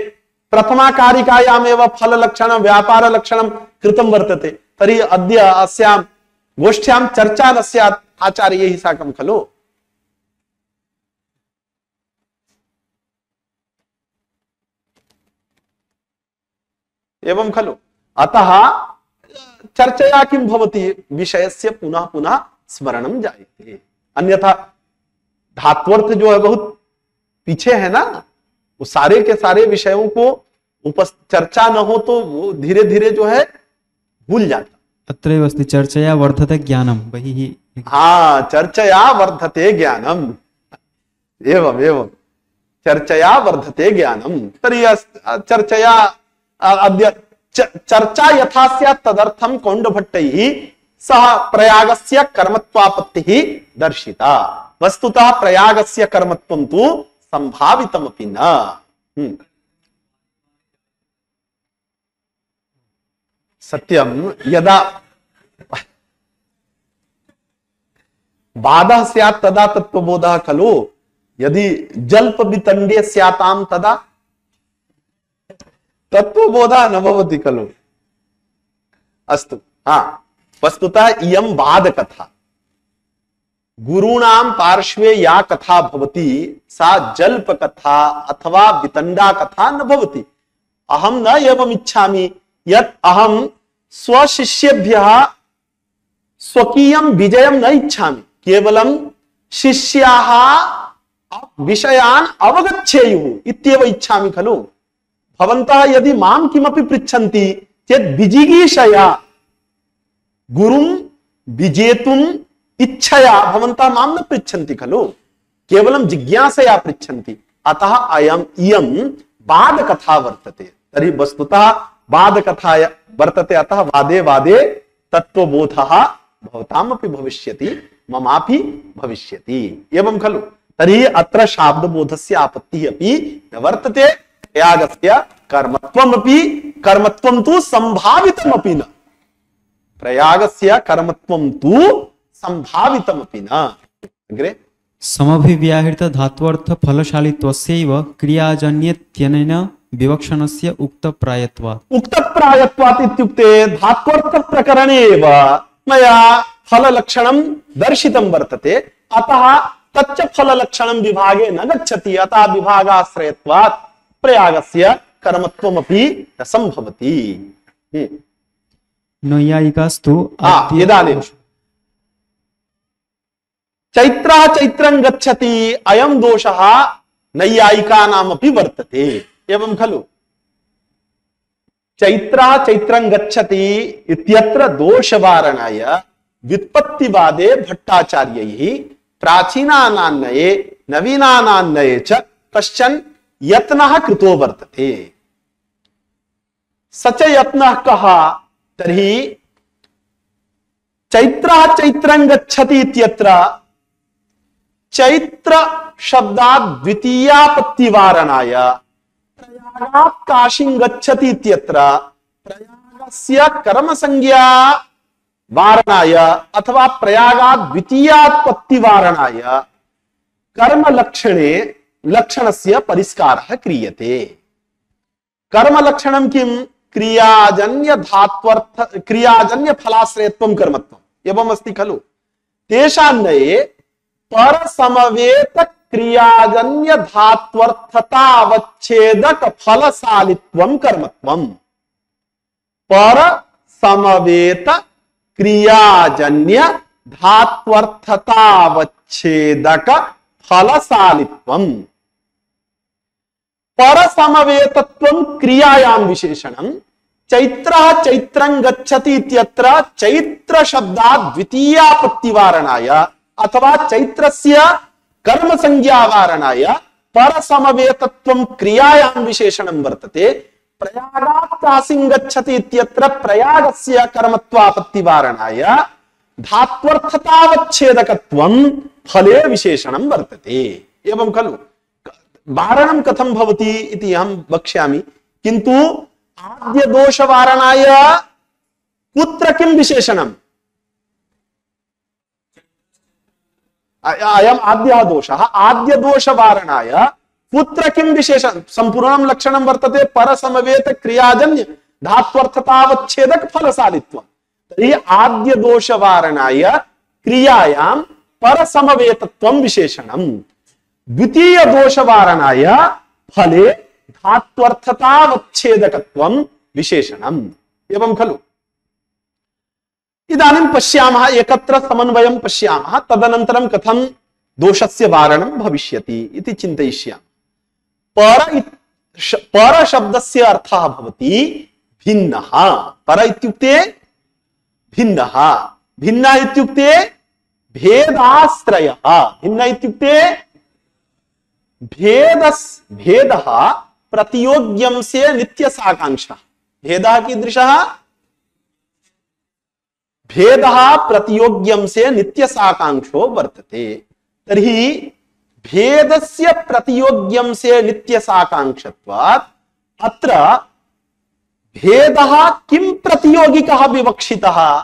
[SPEAKER 2] प्रथमा कारिकायामेव फल लक्षणं व्यापार लक्षणं कृतं वर्तते। तर्हि अद्य अस्यां गोष्ठ्यां चर्चा न स्यात् आचार्यैः साकं खलु। एवं खलु। अतः चर्चया किं भवति? विषयस्य पुनः पुनः स्मरणं जायते। अन्यथा धात्वर्थ जो है बहुत पीछे है ना, वो सारे के सारे विषयों को चर्चा न हो तो वो धीरे धीरे जो है भूल जाता।
[SPEAKER 6] अत्रैव अस्ति चर्चया वर्धते ज्ञानम, बहिः।
[SPEAKER 2] हाँ, चर्चया वर्धते ज्ञानम, एवं एवं चर्चया वर्धते ज्ञानम। तर्हि चर्चया अद्य चर्चा यथा स्यात् तदर्थं कौण्डभट्टैः सह प्रयागस्य कर्मत्वापत्तिः दर्शिता। वस्तुतः प्रयागस्य कर्मत्वं तु संभावितमपि न। सत्यं यदा बाधः स्यात् तदा तत्त्वबोधः खलु। यदि जल्प वितण्डे स्यातां तदा तत्त्वबोधः न भवति खलु। अस्तु, हाँ, वस्तुतः इयं बाधकथा। गुरूणां पार्श्वे या कथा भवति सा जल्प कथा अथवा वितण्डा कथा न भवति। अहं न एवम् इच्छामि यत् अहं स्वशिष्येभ्यः स्वकीयं विजयं न इच्छामि, केवलं शिष्याः विषयान् अवगच्छेयुः इत्येव इच्छामि खलु। भवन्तः यदि मां किमपि पृच्छन्ति चेत् विजिगीषया गुरुं विजेतुम् इच्छया भवन्तः मां न पृच्छन्ति खलु, केवलं जिज्ञासया पृच्छन्ति। अतः इयं वादकथा वर्तते। तर्हि वस्तुतः वादकथा वर्तते, अतः वादे वादे तत्त्वबोधः भवतामपि भविष्यति, ममापि भविष्यति, एवं खलु। तर्हि अत्र शाब्दबोधस्य आपत्तिः अपि न वर्तते। प्रयागस्य कर्मत्वमपि कर्मत्वं तु संभावितमपि न। प्रयागस्य कर्मत्वं तु संभावितमपि न। अग्रे
[SPEAKER 6] समभिव्याहृत धात्वर्थ फलशालित्वस्यैव क्रियाजन्येत्यनेन विवक्षणस्य उक्तप्रायत्वात्।
[SPEAKER 2] उक्तप्रायत्वात् इत्युक्ते धात्वर्थ प्रकरणे एव मया फललक्षणं दर्शितं वर्तते, अतः तच्च फललक्षणं विभागे न गच्छति। अतः विभागाश्रयत्वात् प्रयागस्य कर्मत्वमपि न संभवति।
[SPEAKER 6] नैयायिकास्तु
[SPEAKER 2] इदानीं चैत्रः चैत्रं गच्छति अयं दोषः नैयायिकानामपि वर्तते, एवं खलु। चैत्रः चैत्रं गच्छति इत्यत्र दोषवारणाय व्युत्पत्तिवादे भट्टाचार्यैः प्राचीनानान्नये नवीनानान्नये च कश्चन यत्नः कृतो वर्तते। स च यत्नः कः? तर्हि चैत्रः चैत्रं गच्छति इत्यत्र चैत्र शब्दात् द्वितीयापत्तिवारणाय प्रयागात् काशीं गच्छति इत्यत्र प्रयागस्य कर्मसंज्ञा वारणाय अथवा प्रयागात् द्वितीयात्पत्तिवारणाय कर्मलक्षणे लक्षणस्य परिष्कारः क्रियते। कर्मलक्षणं किं? क्रियाजन्य धात्वर्थ क्रियाजन्य फलाश्रयत्वं कर्मत्वम् एवम् अस्ति खलु। तेषान्नये परसमवेत क्रियाजन्य धात्वर्थतावच्छेदक फलशालित्वं कर्मत्वं। पर समवेत क्रियाजन्य धात्वर्थतावच्छेदक फलशालित्वं। पर समवेतत्वं क्रियायां विशेषणं। चैत्रः चैत्रं गच्छति इत्यत्र चैत्र शब्दात् द्वितीयापत्तिवारणाय अथवा चैत्रस्य कर्म संज्ञावारणाय पर समवेतत्वं क्रियायां विशेषणं वर्तते। प्रयागात् काशीं गच्छति इत्यत्र प्रयागस्य कर्मत्वापत्तिवारणाय धात्वर्थतावच्छेदकत्वं फले विशेषणं वर्तते। एवं खलु वारणं कथं भवति इति अहं वक्ष्यामि, किन्तु आद्य दोष वारणाय कुत्र किं विशेषणम्? अयम् आद्यः दोषः। आद्य दोष वारणाय कुत्र किं विशेषणं? संपूर्णं लक्षणं वर्तते परसमवेत क्रियाजन्य धात्वर्थतावच्छेदक फलशालित्वं। तर्हि आद्य दोष वारणाय क्रियायां परसमवेतत्वं विशेषणम्। द्वितीय दोष वारणाय फले धात्वर्थतावच्छेदकत्वं विशेषणम्। एवं खलु इदानीं पश्यामः, एकत्र समन्वयं पश्यामः, तदनन्तरं कथं दोषस्य वारणं भविष्यति इति चिन्तयिष्यामः। पर शब्दस्य अर्थः भवति भिन्नः। पर इत्युक्ते भिन्नः। भिन्न इत्युक्ते भेदाश्रयः। भिन्न इत्युक्ते भेदः प्रतियोग्यं से नित्यसाकांक्षः। भेदः कीदृशः? भेदः प्रतियोग्यं से नित्यसाकांक्षो वर्तते। तर्हि भेदस्य प्रतियोग्यं से नित्यसाकांक्षत्वात् अत्र भेदः किं प्रतियोगिकः विवक्षितः?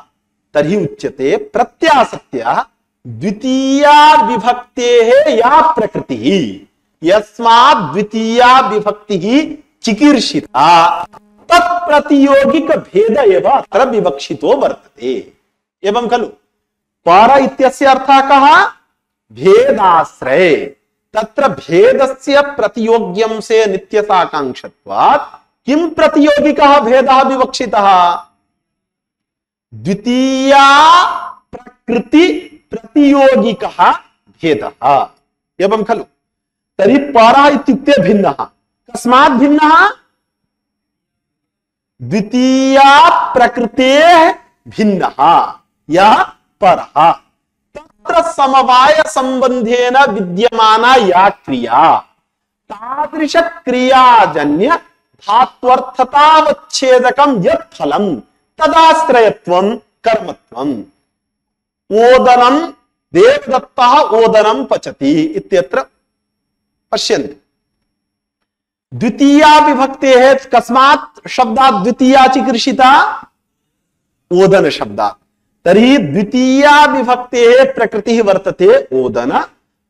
[SPEAKER 2] तर्हि उच्यते प्रत्यासत्य द्वितीया विभक्तेः या प्रकृतिः, यस्मात् द्वितीया विभक्तिः चिकीर्षिता, तत्प्रतियोगिक भेद एव अत्र विवक्षितो वर्तते। एवं खलु पर इत्यस्य अर्थः कः? भेदाश्रय। तत्र भेदस्य प्रतियोग्यं से नित्यसाकांक्षत्वात् किं प्रतियोगिकः भेदः विवक्षितः? द्वितीया प्रकृति प्रतियोगिकः भेदः। एवं खलु तर्हि परः इत्युक्ते भिन्नः। कस्मात् भिन्नः? द्वितीया प्रकृतेः भिन्नः यः परः। तत्र समवाय संबंधेन विद्यमाना या क्रिया, तादृश क्रियाजन्य धात्वर्थतावच्छेदकं यत् फलं तदाश्रयत्वं कर्मत्वम्। ओदनं देवदत्तः ओदनं पचति इत्यत्र पश्यन्तु। द्वितीया विभक्तेः कस्मात् शब्दात् द्वितीया चिकीर्षिता? ओदन शब्दात्। तर्हि द्वितीया विभक्तेः प्रकृतिः वर्तते ओदन,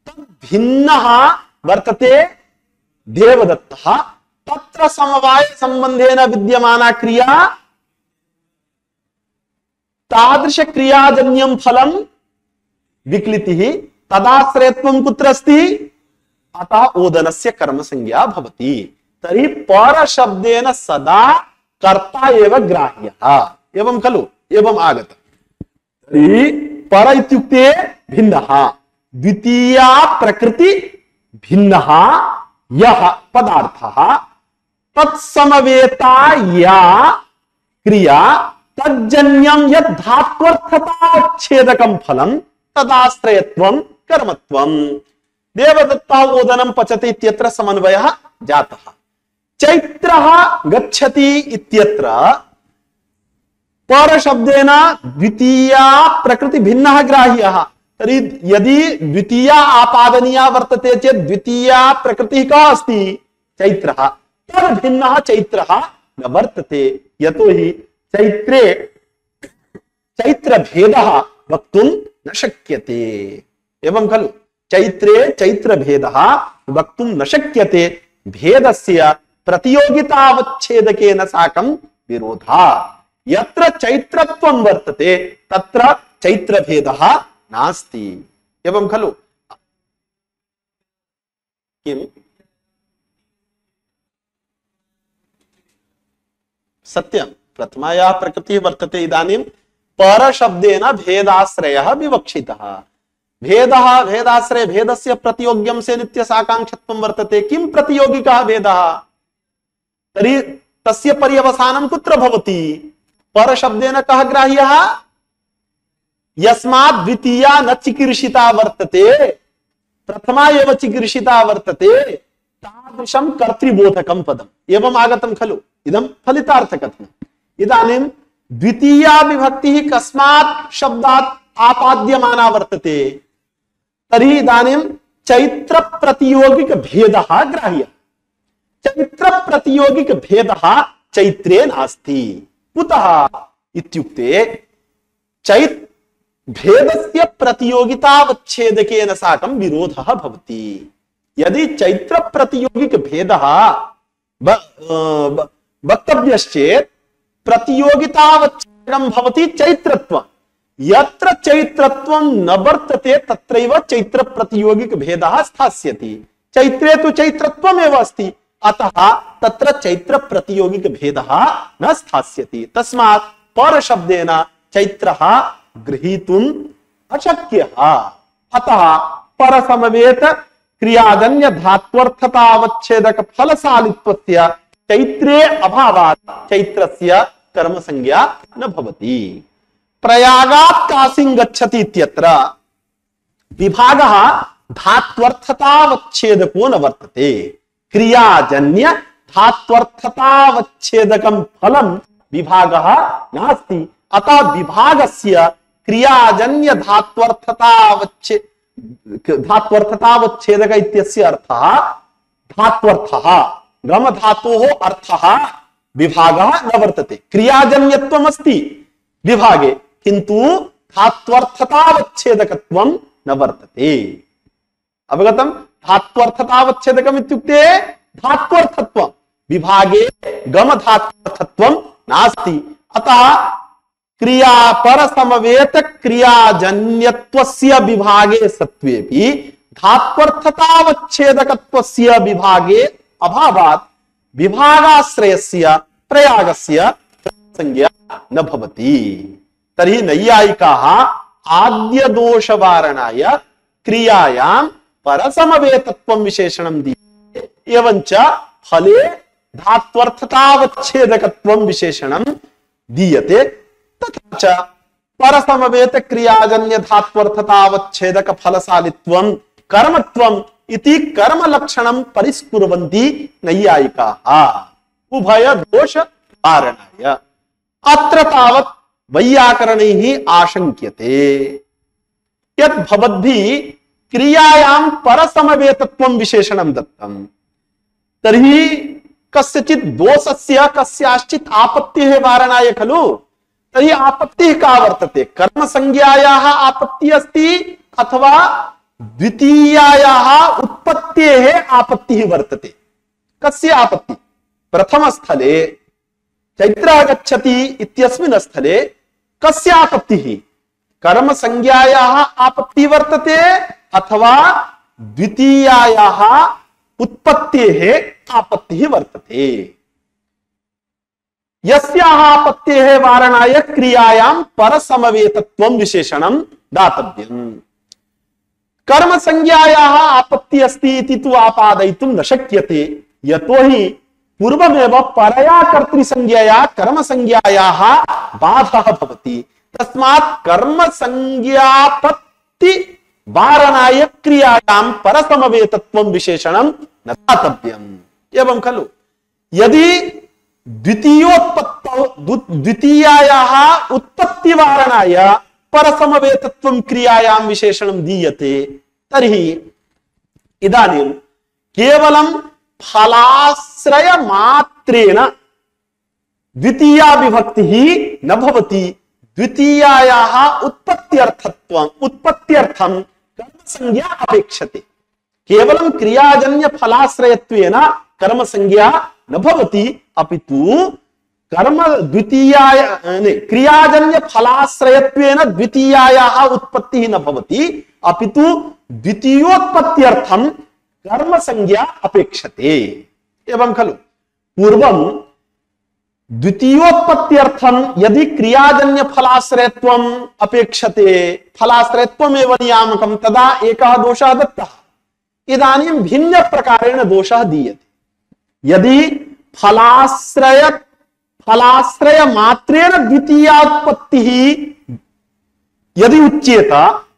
[SPEAKER 2] तद्भिन्नः वर्तते देवदत्तः। तत्र समवाय संबंधेन विद्यमाना क्रिया तादृश क्रियाजन्यं फलं विक्लितिः, तदाश्रयत्वं कुत्र अस्ति? अतः ओदनस्य कर्म संज्ञा भवति। तर्हि पर शब्देन सदा कर्ता एव ग्राह्यः। एवं खलु? एवं आगतम्। तर्हि पर इत्युक्ते भिन्नः, द्वितीया प्रकृति भिन्नः यः पदार्थः, तत्समवेता या क्रिया तज्जन्यं यद् धात्वर्थताच्छेदकं फलं तदाश्रयत्वं कर्मत्वम्। देवदत्तः ओदनं पचति इत्यत्र समन्वयः जातः। चैत्रः गच्छति इत्यत्र पर शब्देन द्वितीया प्रकृति भिन्नः ग्राह्यः। तर्हि यदि द्वितीया आपादनीया वर्तते चेत् द्वितीया प्रकृतिः कः अस्ति? चैत्रः। तद् भिन्नः चैत्रः न वर्तते, यतोहि चैत्रे चैत्रभेदः वक्तुं न शक्यते। एवं खलु? चैत्रे चैत्रभेदः वक्तुं न शक्यते, भेदस्य प्रतियोगितावच्छेदकेन साकं विरोधात्। यत्र चैत्रत्वं वर्तते तत्र चैत्रभेदः नास्ति। एवं खलु? किम सत्यं प्रथमायाः प्रकृतिः वर्तते। इदानीं परशब्देन भेदाश्रयः विवक्षितः। भेदः भेदाश्रय भेदस्य प्रतियोग्यं से नित्यसाकाङ्क्षत्वं वर्तते। किं प्रतियोगिकः भेदः? तर्हि तस्य पर्यवसानं कुत्र भवति? परशब्देन कः ग्राह्यः? यस्मात् द्वितीया न चिकीर्षिता वर्तते प्रथमा एव चिकीर्षिता वर्तते तादृशं कर्तृबोधकं पदम्। एवम् आगतं खलु? इदं फलितार्थकथनम्। इदानीं द्वितीया विभक्तिः कस्मात् शब्दात् आपाद्यमाना वर्तते? तर्हि इदानीं चैत्र प्रतियोगिक भेदः ग्राह्यः। चैत्र प्रतियोगिक भेदः चैत्रे नास्ति। कुतः इत्युक्ते भेदस्य प्रतियोगितावच्छेदकेन साकं विरोधः भवति। यदि चैत्र प्रतियोगिक भेदः वक्तव्यश्चेत् प्रतियोगितावच्छेदकं भवति चैत्रत्वम्। यत्र चैत्रत्वं न वर्तते तत्रैव चैत्र प्रतियोगिक भेदः स्थास्यति। चैत्रे तु चैत्रत्वमेव अस्ति, अतः तत्र चैत्र प्रतियोगिक भेदः न स्थास्यति। तस्मात् परशब्देन चैत्रः गृहीतुम् अशक्यः। अतः परसमवेत क्रियाजन्य धात्वर्थतावच्छेदक फलशालित्वस्य चैत्रे अभावात् चैत्रस्य कर्म संज्ञा न भवति। प्रयागात् काशीं गच्छति इत्यत्र विभागः धात्वर्थतावच्छेदको न वर्तते। क्रियाजन्य धात्वर्थतावच्छेदकं फलं विभागः नास्ति। अतः विभागस्य क्रियाजन्य धात्वर्थतावच्छेदक इत्यस्य अर्थः धात्वर्थः। गम धातोः अर्थः विभागः न वर्तते। क्रियाजन्यत्वम् अस्ति विभागे, किन्तु धात्वर्थतावच्छेदकत्वं न वर्तते। अवगतं? धात्वर्थतावच्छेदकम् इत्युक्ते धात्वर्थत्वं। विभागे गम धात्वर्थत्वं नास्ति। अतः क्रिया परसमवेत क्रियाजन्यत्वस्य विभागे सत्त्वेपि धात्वर्थतावच्छेदकत्वस्य विभागे अभावात् विभागाश्रयस्य प्रयागस्य संज्ञा न भवति। तर्हि नैयायिकाः आद्यदोषवारणाय क्रियायां परसमवेतत्वं विशेषणं दीयते, एवञ्च फले धात्वर्थतावच्छेदकत्वं विशेषणं दीयते। तथा च परसमवेत क्रियाजन्य धात्वर्थतावच्छेदक फलशालित्वं कर्मत्वम् इति कर्मलक्षणं परिस्कुर्वन्ति नैयायिकाः उभय दोष कारणाय। अत्र तावत् वैयाकरणैः आशंक्यते यत् भवद्भिः क्रियायां परसमवेतत्वं विशेषणं दत्तं, तर्हि कस्यचित् दोषस्य कस्याश्चित् आपत्तेः वारणाय खलु। तर्हि आपत्तिः का वर्तते? कर्मसंज्ञायाः आपत्तिः अस्ति अथवा द्वितीयायाः उत्पत्तेः आपत्तिः वर्तते? कस्य आपत्ति? प्रथमस्थले चैत्रः गच्छति इत्यस्मिन् स्थले कस्य आपत्तिः? कर्मसंज्ञायाः आपत्तिः वर्तते अथवा द्वितीयायाः उत्पत्तेः आपत्तिः वर्तते? यस्याः आपत्तेः वारणाय क्रियायां परसमवेतत्वं विशेषणं दातव्यम्। कर्मसंज्ञायाः आपत्तिः अस्ति इति तु आपादयितुं न शक्यते, यतोहि पूर्वमेव परया कर्तृसंज्ञया कर्मसंज्ञायाः बाधः भवति। तस्मात् कर्मसंज्ञापत्ति वारणाय क्रियायां परसमवेतत्वं विशेषणं न दातव्यम्। एवं खलु? यदि द्वितीयायाः उत्पत्तिवारणाय परसमवेतत्वं क्रियायां विशेषणं दीयते, तर्हि इदानीं केवलं फलाश्रय मात्रेण द्वितीया विभक्तिः न भवति। द्वितीयायाः उत्पत्त्यर्थं कर्मसंज्ञा अपेक्षते। केवलं क्रियाजन्य फलाश्रयत्वेन कर्मसंज्ञा न भवति, अपितु क्रियाजन्य फलाश्रयत्वेन द्वितीयायाः उत्पत्तिः न भवति, अपितु द्वितीयोत्पत्त्यर्थं कर्म संज्ञा अपेक्षते एवं खलु पूर्वं द्वितीयोत्पत्त्यर्थं यदि क्रियाजन्य फलाश्रयत्वम् अपेक्षते फलाश्रयत्वमेव नियामकं तदा एकः दोषः दत्तः इदानीं भिन्न प्रकारेण दोषः दीयते यदि फलाश्रय मात्रेण द्वितीयोत्पत्तिः यदि उच्येत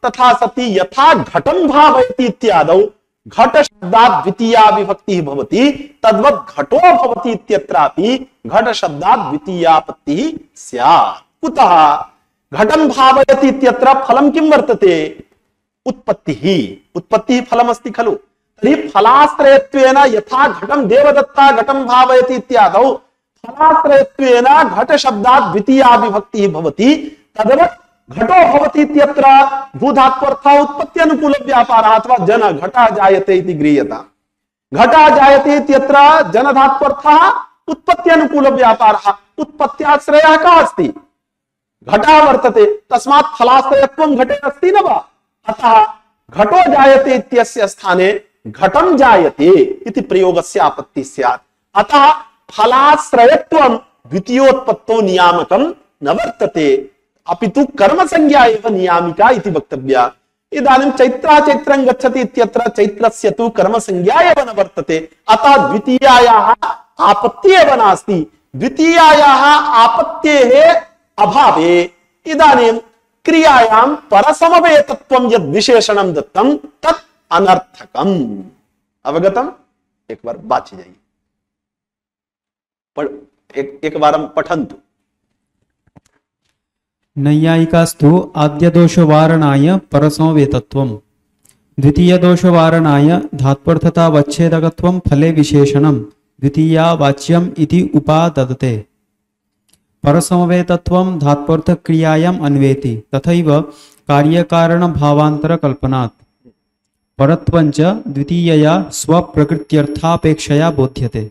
[SPEAKER 2] तथा सति यथा घटं भावयति इत्यादौ घट शब्दात् द्वितीया विभक्तिः भवति तद्वत् घटो भवति इत्यत्रापि घट शब्दात् द्वितीयापत्तिः स्यात् कुतः घटं भावयति इत्यत्र फलं किं वर्तते उत्पत्तिः फलमस्ति खलु तर्हि फलाश्रयत्वेन यथा घटं देवदत्ता घटं भावयति इत्यादौ फलाश्रयत्वेन घट शब्दात् द्वितीया विभक्तिः भवति तद्वत् घटो भवति इत्यत्र भूधात्वर्थः उत्पत्त्यनुकूल व्यापारः अथवा जन घटः जायते इति गृह्यता घटः जायते इत्यत्र जनधात्वर्थः उत्पत्त्यनुकूल व्यापारः उत्पत्त्याश्रयः कः अस्ति घटः वर्तते तस्मात् फलाश्रयत्वं घटे अस्ति न वा अतः घटो जायते इत्यस्य स्थाने घटं जायते इति प्रयोगस्य आपत्तिः स्यात् अतः फलाश्रयत्वं द्वितीयोत्पत्तौ नियामकं न वर्तते अपितु कर्म संज्ञा एव नियामिका इति वक्तव्या इदानीं चैत्रं गच्छति इत्यत्र चैत्रस्य तु कर्म संज्ञा एव न वर्तते अतः द्वितीयायाः आपत्तिः एव नास्ति द्वितीयायाः आपत्तेः अभावे इदानीं क्रियायां परसमवेतत्वं यद् विशेषणं दत्तं तत् अनर्थकम् अवगतम् एक बार वाचि जाइए एक बार पठन्तु
[SPEAKER 6] नैयायिकास्तु आद्यदोषवारणाय परसमवेतत्वं द्वितीयदोषवारणाय धात्वर्थतावच्छेदकत्वं फले विशेषणं द्वितीयावाच्यम् इति उपाददते परसमवेतत्वं धात्वर्थक्रियायाम् अन्वेति तथैव कार्यकारणभावान्तरकल्पनात् परत्वञ्च द्वितीयया स्वप्रकृत्यर्थापेक्षया बोध्यते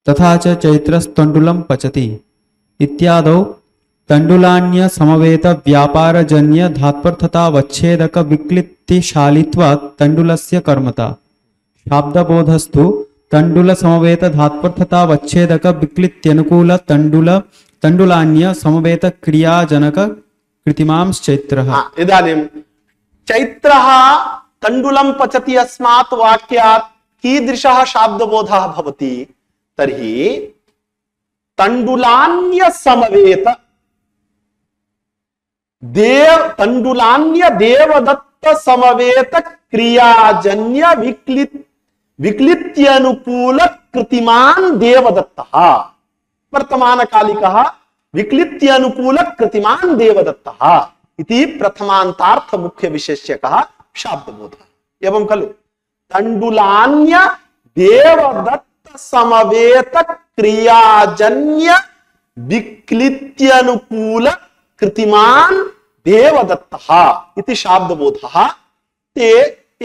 [SPEAKER 6] तथा च चैत्रस्तण्डुलं पचति इत्यादौ तण्डुलान्य समवेत व्यापारजन्य धात्वर्थतावच्छेदक विक्लिप्तिशालित्वात् तण्डुलस्य कर्मता शाब्दबोधस्तु तण्डुल समवेत धात्वर्थतावच्छेदक विक्लिप्त्यनुकूल तण्डुलान्य समवेत क्रियाजनक कृतिमांश्चैत्रः
[SPEAKER 2] इदानीं चैत्रः तण्डुलं पचति अस्मात् वाक्यात् कीदृशः शाब्दबोधः भवति तर्हि तण्डुलान्य समवेत तण्डुलान्य देवदत्त समवेत क्रियाजन्य विक्लित्यनुकूल कृतिमान् देवदत्तः वर्तमानकालिकः विक्लित्यनुकूल कृतिमान् देवदत्तः इति प्रथमान्तार्थ मुख्य विशेष्यकः शाब्दबोधः एवं खलु तण्डुलान्य देवदत्त समवेत क्रियाजन्य विक्लित्यनुकूल कृतिमान् देवदत्तः इति शाब्दबोधः ते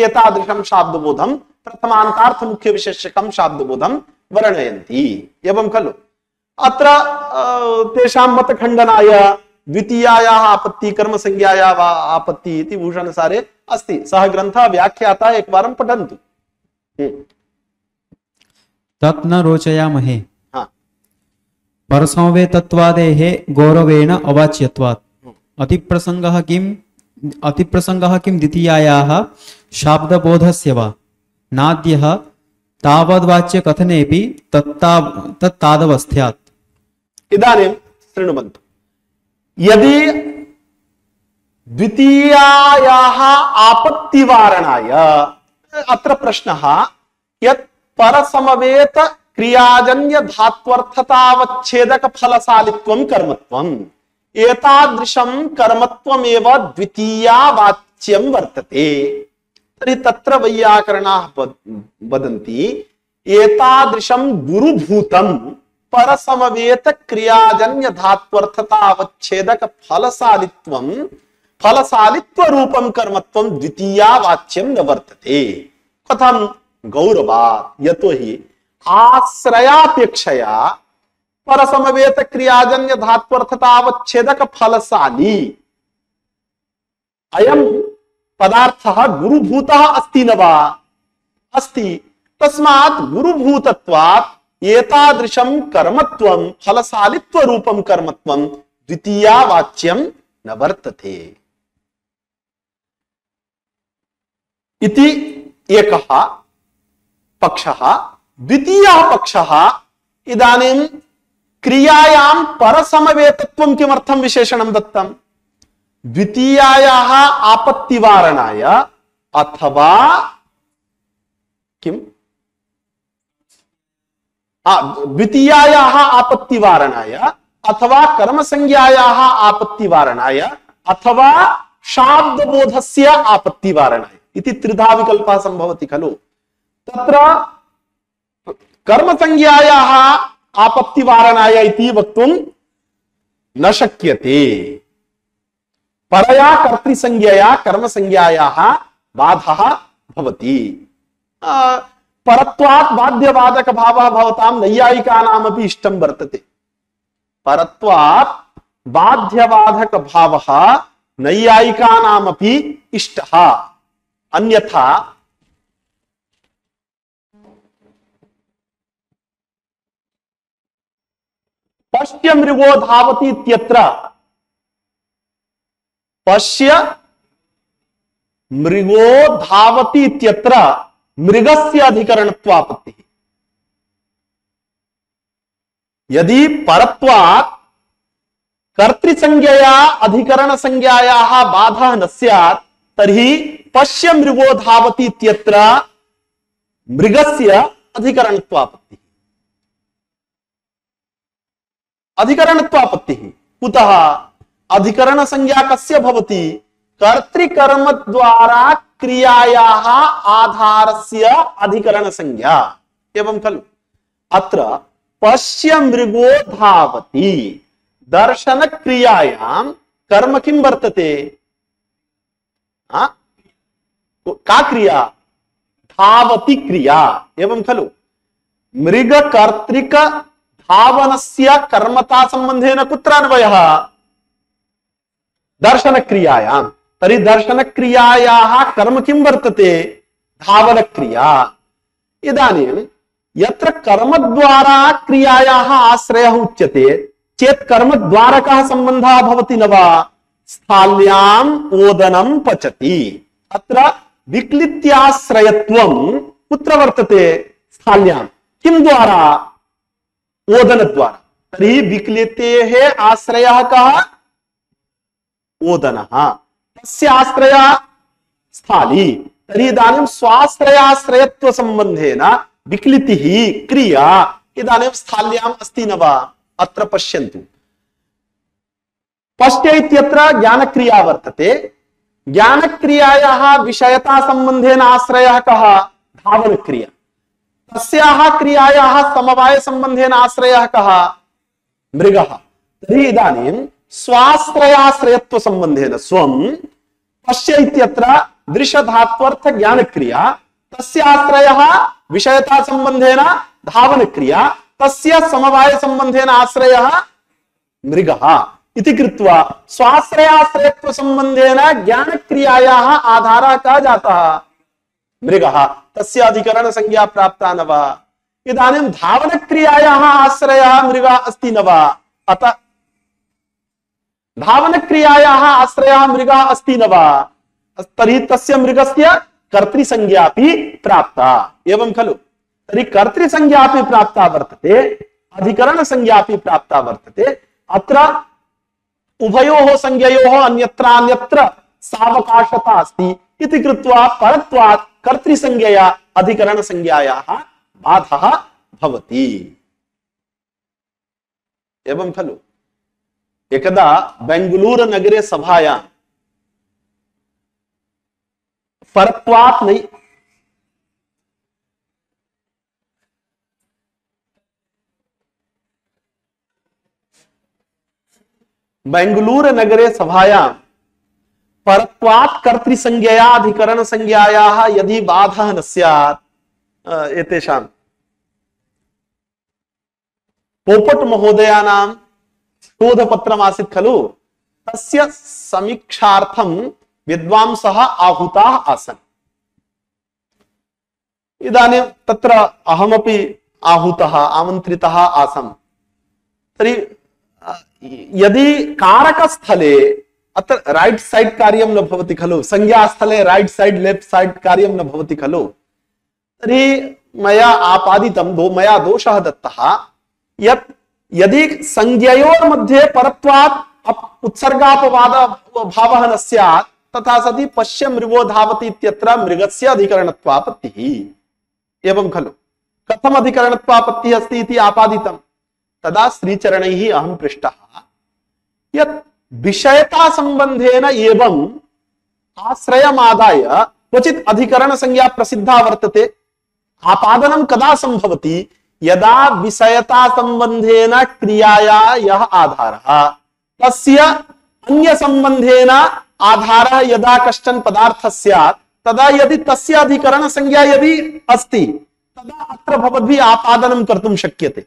[SPEAKER 2] एतादृशं शाब्दबोधं प्रथमान्तार्थ मुख्य विशेषकं शाब्दबोधं वर्णयन्ति एवं खलु अत्र तेषां मतखण्डनाय द्वितीयायाः आपत्ति कर्म संज्ञायाः आपत्ति इति भूषणसारे अस्ति सः ग्रन्थः व्याख्याता एकवारं पठन्तु
[SPEAKER 6] तत् न रोचयामहे
[SPEAKER 2] हाँ
[SPEAKER 6] परसमवेतत्वादेः गौरवेण अवाच्यत्वात् अतिप्रसंगः किं द्वितीयायाः शाब्दबोधस्य वा नाद्यः तावद्वाच्य कथनेपि तत्तादवस्थ्यात्
[SPEAKER 2] इदानीं शृण्वन्तु यदि द्वितीयायाः आपत्तिवारणाय अत्र प्रश्नः यत् परसमवेत क्रियाजन्य धात्वर्थतावच्छेदक फलशालित्वं कर्मत्वम् एतादृशं कर्मत्वमेव द्वितीयावाच्यं वर्तते तर्हि तत्र वैयाकरणाः वदन्ति एतादृशं गुरुभूतं परसमवेत क्रियाजन्य धात्वर्थतावच्छेदक फलशालित्व रूपं कर्मत्वं द्वितीयावाच्यं न वर्तते कथं गौरवात् यतो हि आश्रयापेक्षया परसमवेत क्रियाजन्य धात्वर्थतावच्छेदक फलशाली अयं पदार्थः गुरुभूतः अस्ति न वा? अस्ति। तस्मात् गुरुभूतत्वात् एतादृशं कर्मत्वं फलशालित्व रूपं कर्मत्वं द्वितीया वाच्यं न वर्तते इति एकः पक्षः। द्वितीयः पक्षः, इदानीं क्रियायां परसमवेतत्वं किमर्थं विशेषणं दत्तं? द्वितीयायाः आपत्तिवारणाय अथवा किम्? द्वितीयायाः आपत्तिवारणाय अथवा कर्मसंज्ञायाः आपत्तिवारणाय अथवा शाब्दबोधस्य आपत्तिवारणाय इति त्रिधा विकल्पः सम्भवति खलु। तत्र कर्मसंज्ञायाः आपत्तिवारणाय इति वक्तुं न शक्यते। परया कर्तृसंज्ञया कर्मसंज्ञायाः बाधः भवति। परत्वात् बाध्यवादक भावः भवतां नैयायिकानामपि इष्टं वर्तते। परत्वात् बाध्यवादक भावः नैयायिकानामपि इष्टः। अन्यथा पश्य मृगो धावति इत्यत्र पश्य मृगो धावति इत्यत्र मृगस्य अधिकरणत्वापत्तिः। यदि परत्वात् कर्तृसंज्ञया अधिकरणसंज्ञायाः बाधः न स्यात् तर्हि पश्य मृगो धावति इत्यत्र मृगस्य अधिकरणत्वापत्तिः। अधिकरणत्वापत्तिः कुतः? अधिकरणसंज्ञा कस्य भवति? कर्तृकर्म द्वारा क्रियायाः आधारस्य अधिकरणसंज्ञा। एवं खलु। अत्र पश्य मृगो धावति दर्शन क्रियायां कर्म किं वर्तते? का क्रिया? धावति क्रिया। एवं खलु। मृग कर्तृक धावनस्य कर्मता संबंधेन कुत्र अन्वयः? दर्शन क्रियायां। तर्हि दर्शन क्रियायाः कर्म किं वर्तते? धावन क्रिया। इदानीं यत्र कर्म द्वारा क्रियायाः आश्रयः उच्यते चेत् कर्म द्वारकः संबंधः भवति न वा? स्थाल्याम् ओदनं पचति। अत्र विक्लित्याश्रयत्वं कुत्र वर्तते? स्थाल्यां। किं द्वारा? ओदन द्वारा। तर्हि विक्लितेः आश्रयः कः? ओदनः। तस्य आश्रयः स्थाली। तर्हि इदानीं स्वाश्रयाश्रयत्व संबंधेन विक्लितिः क्रिया इदानीं स्थाल्याम् अस्ति न वा? अत्र पश्यन्तु। पश्य इत्यत्र ज्ञानक्रिया वर्तते। ज्ञानक्रियायाः विषयता संबंधेन आश्रयः कः? धावनक्रिया। तस्याः क्रियायाः समवाय संबंधेन आश्रयः कः? मृगः। तर्हि इदानीं स्वाश्रयाश्रयत्व संबंधेन स्वं पश्य इत्यत्र दृश्यधात्वर्थ ज्ञानक्रिया, तस्य आश्रयः विषयता संबंधेन धावनक्रिया, तस्य समवाय संबंधेन आश्रयः मृगः इति कृत्वा स्वाश्रयाश्रयत्व संबंधेन ज्ञानक्रियायाः आधारः कः जातः? मृगः। तस्य अधिकरण संज्ञा प्राप्ता न वा? इदानीं धावनक्रियायाः आश्रयः मृगः अस्ति न वा? अतः धावनक्रियायाः आश्रयः मृगः अस्ति न वा? तर्हि तस्य मृगस्य कर्तृसंज्ञापि प्राप्ता। एवं खलु। तर्हि कर्तृसंज्ञापि प्राप्ता वर्तते, अधिकरणसंज्ञापि प्राप्ता वर्तते। अत्र उभयोः संज्ञयोः अन्यत्र सावकाशता अस्ति इति कृत्वा परत्वात् कर्तृसंज्ञया अधिकरणसंज्ञायाः बाधः भवति। एवं खलु। एकदा बेंगलुरु नगरे सभायां परत्वात् नहीं बेंगलुरु नगरे सभायां परत्वात् कर्तृसंज्ञया अधिकरण संज्ञायाः यदि बाधः न स्यात् एतेषां पोपट महोदयानां शोधपत्रम् आसीत् खलु, तस्य समीक्षार्थं विद्वांसः आहुताः आसन्। इदानीं तत्र अहमपि आहूतः आमन्त्रितः आसम्। तर्हि यदि कारकस्थले अत्र राइट साइड कार्यं न भवति खलु, संज्ञास्थले राइट साइड लेफ्ट साइड कार्यं न भवति खलु, तर्हि मया आपादितं मया दोषः दत्तः यत् यदि संज्ञयोर्मध्ये परत्वात् उत्सर्गापवाद भावः न स्यात् तथा सति पश्य मृगो धावति इत्यत्र मृगस्य अधिकरणत्वापत्तिः एवं खलु। कथम अधिकरणत्वापत्तिः अस्ति इति आपादितं। तदा श्रीचरणैः अहं पृष्टः यत् विषयता संबंधेन एवं आश्रयमादाय क्वचित् अधिकरण संज्ञा प्रसिद्धा वर्तते। आपादनं कदा संभवति? यदा विषयता संबंधेन क्रियाया यः आधारः तस्य अन्य संबंधेन आधारः यदा कश्चन पदार्थः स्यात् तदा यदि तस्य अधिकरण संज्ञा यदि अस्ति तदा अत्र भवद्भिः आपादनं कर्तुं शक्यते।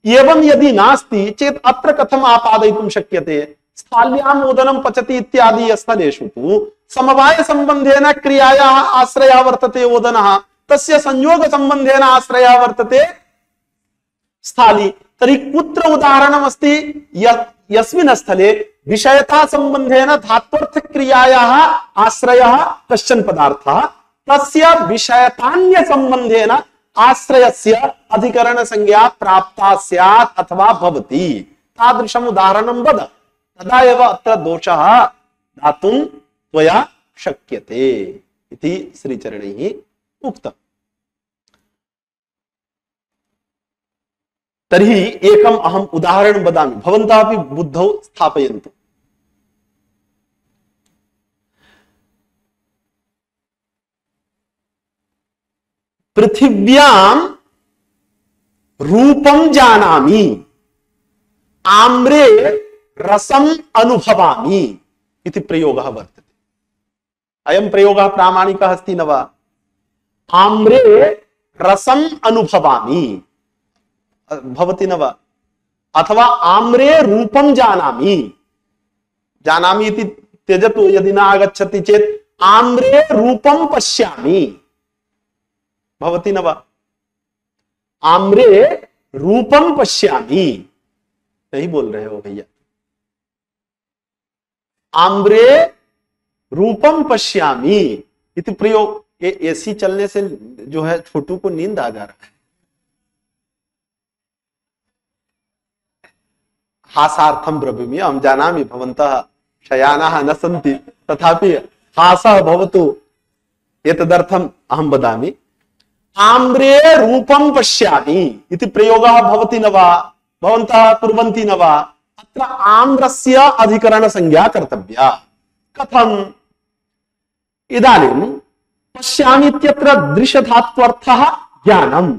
[SPEAKER 2] एवं यदि नास्ति चेत् अत्र कथम् आपादयितुं शक्यते? स्थाल्याम् ओदनं पचति इत्यादि स्थलेषु तु समवाय संबंधेन क्रियायाः आश्रयः वर्तते ओदनः, तस्य संयोग संबंधेन आश्रयः वर्तते स्थाली। तर्हि कुत्र उदाहरणम् अस्ति? यस्मिन् स्थले विषयता संबंधेन धात्वर्थ क्रियायाः आश्रयः कश्चन पदार्थः तस्य विषयतान्य संबंधेन आश्रयस्य अधिकरण संज्ञा प्राप्ता स्यात् अथवा भवति। तादृशम् उदाहरणं वद, तदा एव अत्र दोषः दातुं त्वया शक्यते इति श्रीचरणैः उक्तम्। तर्हि एकम् अहम् उदाहरणं वदामि, भवन्तः अपि बुद्धौ स्थापयन्तु। पृथिव्यां रूपं जानामि, आम्रे रसम् अनुभवामि इति प्रयोगः वर्तते। अयं प्रयोगः प्रामाणिकः अस्ति न वा? आम्रे रसम् अनुभवामि भवति न वा? अथवा आम्रे रूपं जानामि, जानामि इति त्यजतु यदि न आगच्छति चेत् आम्रे रूपं पश्यामि भवति न वा? आम्रे रूपं पश्यामि, सही बोल रहे हो भैया। आम्रे रूपम पश्यामि इति प्रयोग। एसी चलने से जो है छोटू को नींद आ जा रहा है। हासार्थम ब्रवीमि, अहं जानामि भवन्तः शयानाः न सन्ति, तथापि हासः भवतु एतदर्थम् अहं वदामि। आम्रे रूपं पश्यामि इति प्रयोगः भवति न वा? भवन्तः कुर्वन्ति न वा? अत्र आम्रस्य अधिकरण संज्ञा कर्तव्या। कथम्? इदानीं पश्यामि इत्यत्र दृश्यधात्वर्थः ज्ञानम्,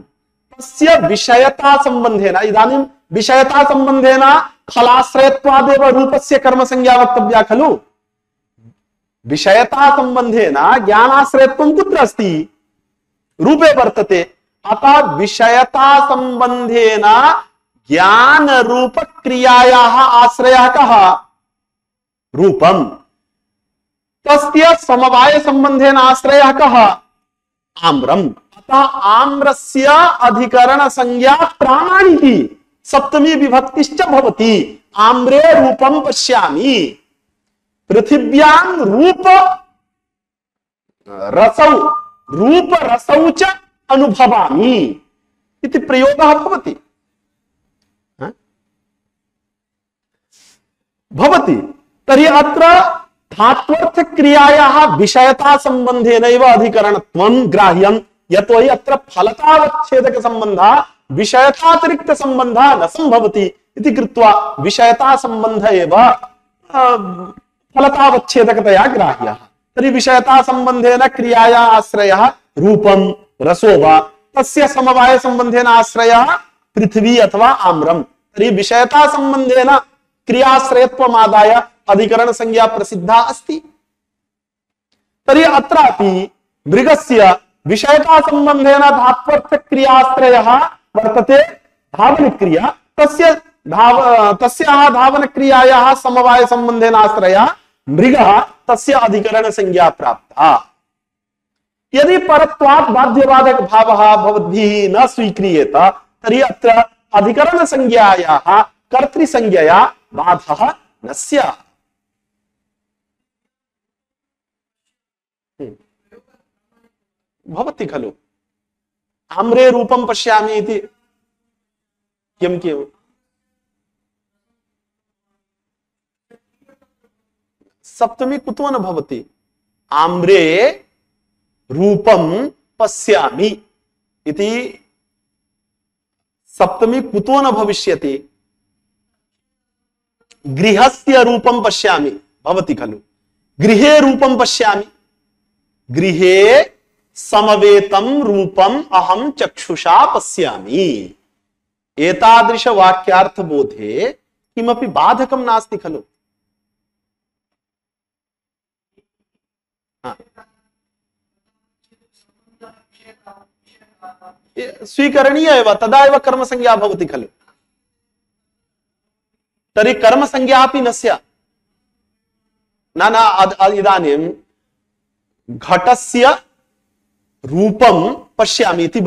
[SPEAKER 2] तस्य विषयता संबंधेन, इदानीं विषयता संबंधेन फलाश्रयत्वादेव रूपस्य कर्म संज्ञा वक्तव्या खलु। विषयता संबंधेन ज्ञानाश्रयत्वं कुत्र अस्ति? रूपे वर्तते। अतः विषयता संबंधेन ज्ञान रूप क्रियायाः आश्रयः कः? रूपम्। तस्य समवाय संबंधेन आश्रयः कः? आम्रम्। अतः आम्रस्य अधिकरण संज्ञा प्रामाणिकी सप्तमी विभक्तिश्च भवति। आम्रे रूपं पश्यामि, पृथिव्यां रूप रसौ, रूप रसौ च अनुभवामि इति प्रयोगः भवति। भवति। तर्हि अत्र धात्वर्थ क्रियायाः विषयता संबंधेनैव अधिकरणत्वं ग्राह्यं, यतोहि अत्र फलतावच्छेदक संबन्धः विषयतातिरिक्त संबन्धः न संभवति इति कृत्वा विषयता संबन्ध एव फलतावच्छेदकतया ग्राह्यः। तर्हि विषयता संबंधेन क्रियाया आश्रयः रूपं रसो वा, तस्य समवाय संबंधेन आश्रयः पृथ्वी अथवा आम्रम्। तर्हि विषयता संबंधेन क्रियाश्रयत्वमादाय अधिकरण संज्ञा प्रसिद्धा अस्ति। तर्हि अत्रापि मृगस्य विषयता संबंधेन धात्वर्थ क्रियाश्रयः वर्तते धावन क्रिया, तस्याः धावन क्रियायाः समवाय संबंधेन आश्रयः मृगः तस्य अधिकरण संज्ञा प्राप्ता। यदि परत्वात् बाध्यबाधक भावः भवद्भिः न स्वीक्रियेत तर्हि अत्र अधिकरण संज्ञायाः कर्तृसंज्ञया बाधः न स्यात्। भवति खलु आम्रे रूपं पश्यामि इति किं किम् सप्तमी कुतो न भवति? आम्रे रूपं पश्यामि इति सप्तमी कुतो न भविष्यति? गृहस्य रूपं पश्यामि भवति खलु, गृहे रूपं पश्यामि, गृहे समवेतं रूपम अहम चक्षुषा पश्यामि। एतादृश वाक्यार्थ बोधे किमपि बाधकं नास्ति खलु। स्वीकरणीय एव, तदा एव कर्म संज्ञा भवति खलु। तर्हि कर्म संज्ञा अपि न स्यात्। न इदानीं घटस्य रूपं पश्यामि इति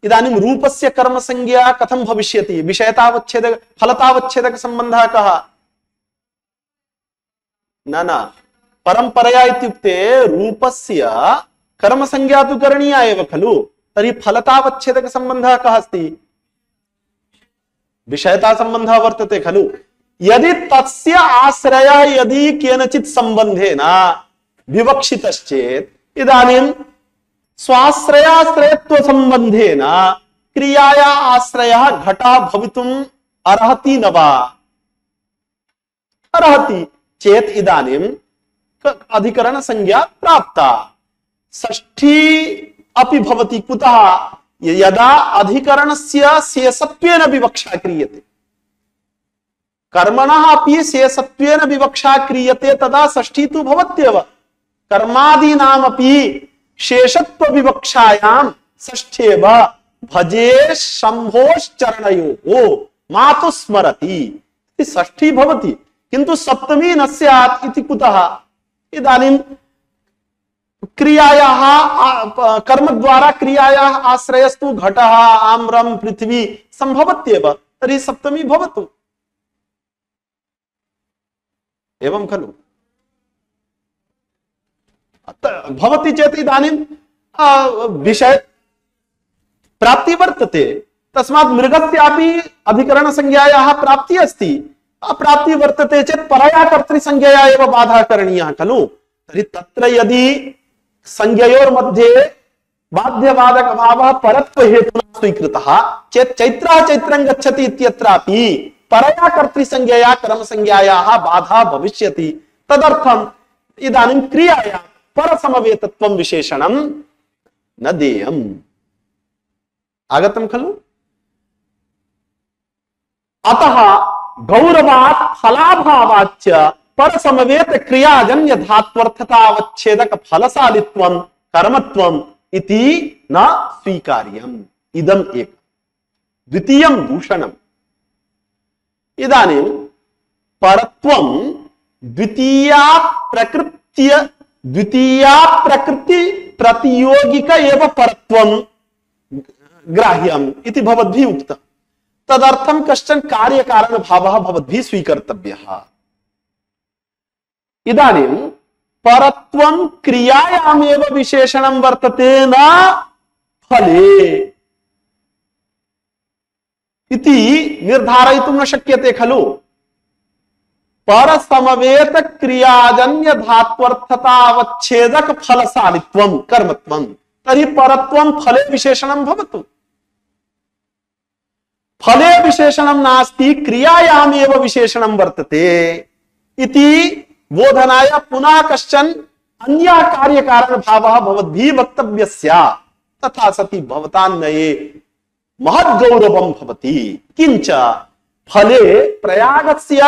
[SPEAKER 2] इदानीं रूपस्य कर्म संज्ञा कथं भविष्यति? विषयतावच्छेदक फलतावच्छेदक संबंधः कः? न परंपरया इत्युक्ते रूपस्य कर्म संज्ञा तु करणीया एव खलु। तर्हि फलतावच्छेदक संबंधः कः अस्ति? विषयता संबंधः वर्तते खलु। यदि तस्य आश्रयः यदि केनचित् संबंधेन विवक्षितश्चेत् इदानीं स्वाश्रयाश्रयत्व संबंधेन क्रियाया आश्रयः घटः भवितुम् अर्हति न वा? अर्हति चेत् इदानीं अधिकरण संज्ञा प्राप्ता। षष्ठी अपि भवति कुतः? यदा अधिकरणस्य शेषत्वेन विवक्षा क्रियते, कर्मणः अपि शेषत्वेन विवक्षा क्रियते तदा षष्ठी तु भवत्येव। कर्मादीनामपि शेषत्व विवक्षायां षष्ठेव भजे शंभोश्चरणयोः मातु स्मरति षष्ठी भवति, किंतु सप्तमी न स्यात् इति कुतः? इदानीं क्रियायाः कर्म द्वारा क्रियायाः आश्रयस्तु घटः आम्रं पृथ्वी संभवत्येव, तर्हि सप्तमी भवतु। एवं खलु भवति चेत् इदानीं विषय प्राप्ति वर्तते, तस्मात् मृगस्यापि अधिकरण संज्ञायाः प्राप्ति अस्ति। अप्राप्ति वर्तते चेत् परया कर्तृसंज्ञया एव बाधा करणीयः खलु। तर्हि तत्र यदि संज्ञयोर्मध्ये बाध्यबाधक भावः परत्व हेतुना स्वीकृतः चेत् चैत्रः चैत्रं गच्छति इत्यत्रापि परया कर्तृसंज्ञया कर्मसंज्ञायाः बाधा भविष्यति। तदर्थम् इदानीं क्रियायां परसमवेतत्वं विशेषणं न देयम्। आगतं खलु? अतः गौरवात् फलाभावाच्च परसमवेत क्रियाजन्य धात्वर्थतावच्छेदक फलशालित्वं कर्मत्वम् इति न स्वीकार्यम्। इदम् एक। द्वितीयं दूषणम्। इदानीं परत्वं द्वितीया प्रकृति प्रतियोगिक एव परत्वं ग्राह्यम् इति भवद्भिः उक्तम्। तदर्थं कश्चन कार्यकारण भावः भवद्भिः स्वीकर्तव्यः। इदानीं परत्वं क्रियायामेव विशेषणं वर्तते न फले इति निर्धारयितुं न शक्यते खलु। परसमवेत क्रियाजन्य धात्वर्थतावच्छेदक फलशालित्वं कर्मत्वं, तर्हि परत्वं फले विशेषणं भवतु। फले विशेषणं नास्ति, क्रियायामेव विशेषणं वर्तते इति बोधनाय पुनः कश्चन अन्यः कार्यकारण भावः भवद्भिः वक्तव्यः स्यात्। तथा सति भवतान्नये महद्गौरवं भवति। किंच फले प्रयागस्य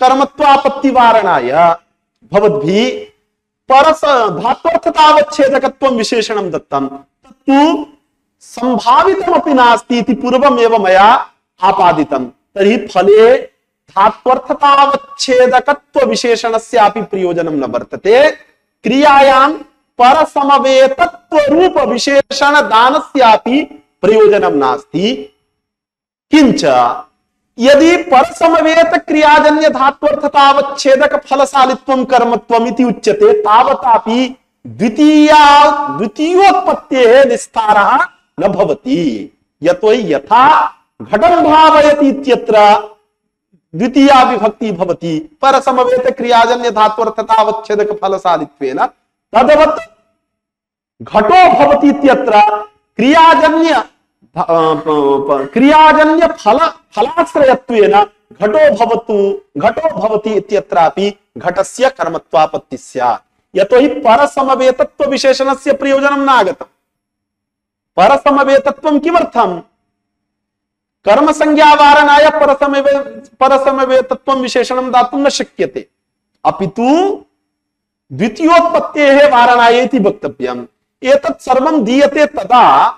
[SPEAKER 2] कर्मत्वापत्तिवारणाय भवद्भिः परस धात्वर्थतावच्छेदकत्वं विशेषणं दत्तं, तत्तु संभावितमपि नास्ति इति पूर्वमेव मया आपादितं। तर्हि फले धात्वर्थतावच्छेदकत्व विशेषणस्यापि प्रयोजनं न वर्तते। क्रियायां परसमवेतत्व रूप विशेषण दानस्यापि प्रयोजनं नास्ति। किंच यदि परसमवेत क्रियाजन्य धात्वर्थतावच्छेदक फलशालित्वं कर्मत्वम् इति उच्यते तावतापि द्वितीयोत्पत्तेः निस्तारः न भवति। यतोहि यथा घटं भावयति इत्यत्र द्वितीया विभक्ति भवति परसमवेत क्रियाजन्य धात्वर्थतावच्छेदक फलशालित्वेन, तद्वत् घटो भवति इत्यत्र क्रियाजन्य फलाश्रयत्वेन घटो भवति इत्यत्रापि घटस्य कर्मत्वापत्ति स्यात्। यतोहि परसमवेतत्व विशेषणस्य प्रयोजनं नागतम्। परसमवेतत्वं किमर्थम्? कर्म संज्ञावारणाय परसमवेतत्वं विशेषणं दातुं न शक्यते, अपितु द्वितीयोत्पत्तेः वारणाय इति वक्तव्यम्। एतत् सर्वं दीयते तदा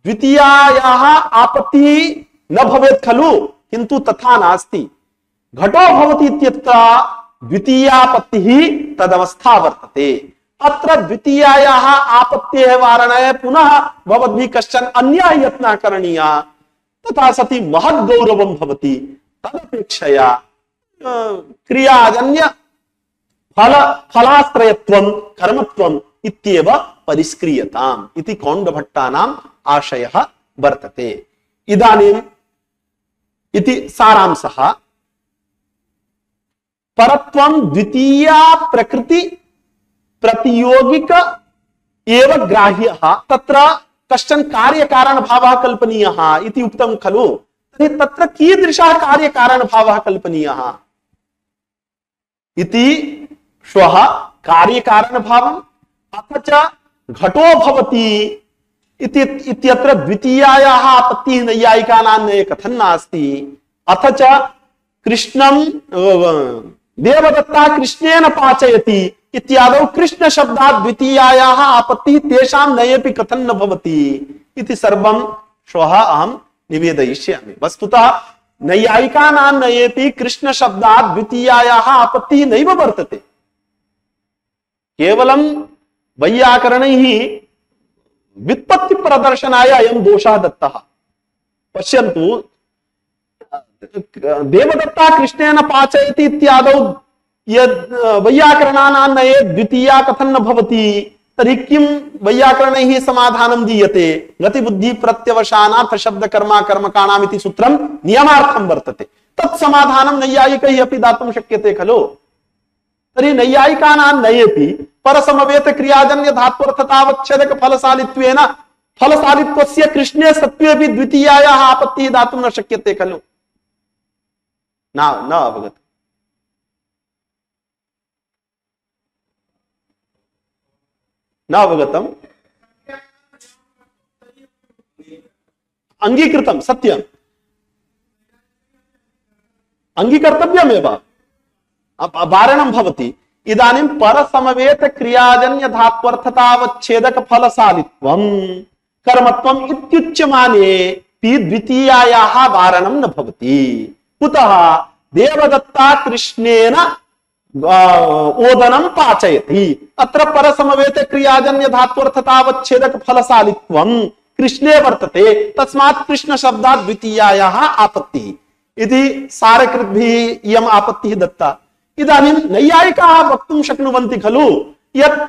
[SPEAKER 2] द्वितीयायाः आपत्तिः न भवेत् खलु, किन्तु तथा नास्ति। घटो भवति इत्यत्र द्वितीयापत्तिः तदवस्था वर्तते। अत्र द्वितीयायाः आपत्तेः वारणाय पुनः भवद्भिः कश्चन अन्यः यत्नः करणीयः, तथा सति महद् गौरवं भवति। तदपेक्षया क्रियाजन्य फलाश्रयत्वं कर्मत्वम् इत्येव परिस्क्रियताम् इति कौण्डभट्टानाम् आशयः वर्तते। इदानीम् इति सारांशः। परत्वं द्वितीया प्रकृति प्रतियोगिक एव ग्राह्यः, तत्र कश्चन कार्यकारण भावः कल्पनीयः इति उक्तं खलु। तर्हि तत्र कीदृशः कार्यकारण भावः कल्पनीयः इति श्वः कार्यकारण भावम् अथ च घटो भवति इत्यत्र द्वितीयायाः आपत्तिः नैयायिकानां कथन नास्ति। अथ च कृष्णं देवदत्ता कृष्णेन पाचयति इत्यादौ कृष्ण शब्दात् द्वितीयायाः आपत्तिः तेषां नयेपि कथन न भवति इति सर्वं श्वः अहं निवेदयिष्यामि। वस्तुतः नैयायिकानां नयेपि कृष्ण शब्दात् द्वितीयायाः आपत्तिः नैव वर्तते। केवलं वैयाकरणैः व्युत्पत्ति प्रदर्शनाय अयं दोषः दत्तः। पश्यन्तु, देवदत्ता कृष्णेन पाचयति इत्यादौ यद् वैयाकरणानां नये द्वितीया कथन न भवति, तर्हि किं वैयाकरणैः समाधानं दीयते? गतिबुद्धि प्रत्यवसानार्थ शब्द कर्मा कर्मकाणाम् इति सूत्रं नियमार्थं वर्तते। तत् समाधानं नैयायिकैः अपि दातुं शक्यते खलु। तर्हि नैयायिकानां नयेपि परसमवेत क्रियाजन्य धात्वर्थतावच्छेदक फलशालित्वेन फलशालित्वस्य कृष्णे सत्त्वेपि द्वितीयायाः आपत्तिः दातुं न शक्यते खलु। न अवगत? न अवगतम्? अंगीकृतं, सत्यम्, अंगीकर्तव्यमेव, वारणं भवति। इदानीं परसमवेत क्रियाजन्य धात्वर्थतावच्छेदक फलशालित्वं कर्मत्वम् इत्युच्यमाने द्वितीयायाः वारणं न भवति। कुतः? देवदत्ता कृष्णेन ओदनं पाचयति, अत्र परसमवेत क्रियाजन्य धात्वर्थतावच्छेदक फलशालित्वं कृष्णे वर्तते, तस्मात् कृष्ण शब्दात् द्वितीयायाः आपत्तिः इति सारकृद्भिः इयम् आपत्तिः दत्ता। इदानीं नैयायिकाः वक्तुं शक्नुवन्ति खलु यत्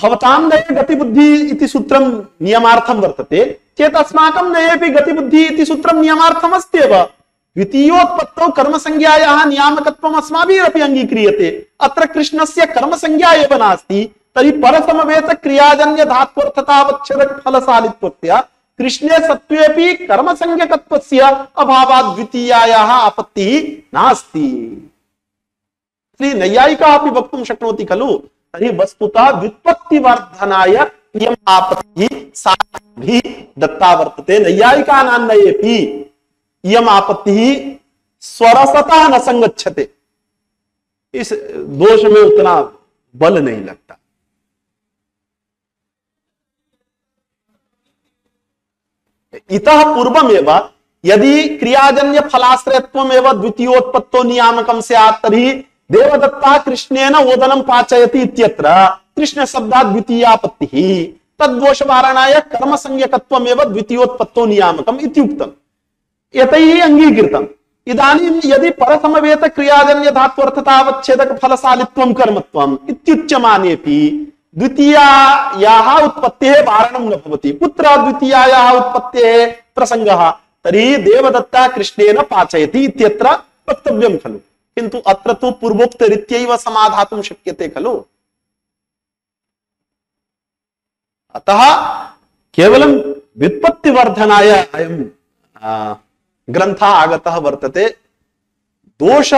[SPEAKER 2] भवतां नये गतिबुद्धि इति सूत्रं नियमार्थं वर्तते चेत् अस्माकं नयेपि गतिबुद्धि इति सूत्रं नियमार्थम् अस्त्येव। द्वितीयोत्पत्तौ कर्मसंज्ञायाः नियामकत्वम् अस्माभिरपि अङ्गीक्रियते। अत्र कृष्णस्य कर्मसंज्ञा एव नास्ति, तर्हि परसमवेत क्रियाजन्य धात्वर्थतावच्छेदक फलशालित्वस्य कृष्णे सत्त्वेपि कर्मसंज्ञकत्वस्य अभावात् द्वितीयायाः आपत्तिः नास्ति। नैयायिकाः अपि वक्तुं शक्नोति खलु। तर्हि वस्तुतः व्युत्पत्तिवर्धनाय इयम् आपत्तिः सारभिः दत्ता वर्तते। नैयायिकानां नयेपि इयम् आपत्तिः स्वरसतः न संगच्छते, इस दोष में उतना बल नहीं लगता। इतः पूर्वमेव यदि क्रियाजन्य फलाश्रयत्वम एवं द्वितीयोत्पत्तो नियामकम स्यात् तर्हि देवदत्ता कृष्णेन ओदनं पाचयति इत्यत्र कृष्ण शब्दात् द्वितीयापत्तिः तद्दोष वारणाय कर्म संज्ञकत्वम एवं द्वितीयोत्पत्तो नियामकम इत्युक्तम् एतैः अंगीकृतम् इदानीं यदि परसमवेत क्रियाजन्य धात्वर्थतावच्छेदक फलशालित्वं कर्मत्वम् इत्युच्यमानेपि द्वितीयायाः उत्पत्तेः वारणं न भवति। कुत्र द्वितीयायाः उत्पत्तेः प्रसंगः? तर्हि देवदत्ता कृष्णेन पाचयति इत्यत्र वक्तव्यं खलु, किन्तु अत्र तु पूर्वोक्तरीत्यैव समाधातुं शक्यते खलु। अतः केवलं व्युत्पत्तिवर्धनाय अयं ग्रन्थः आगतः वर्तते। दोष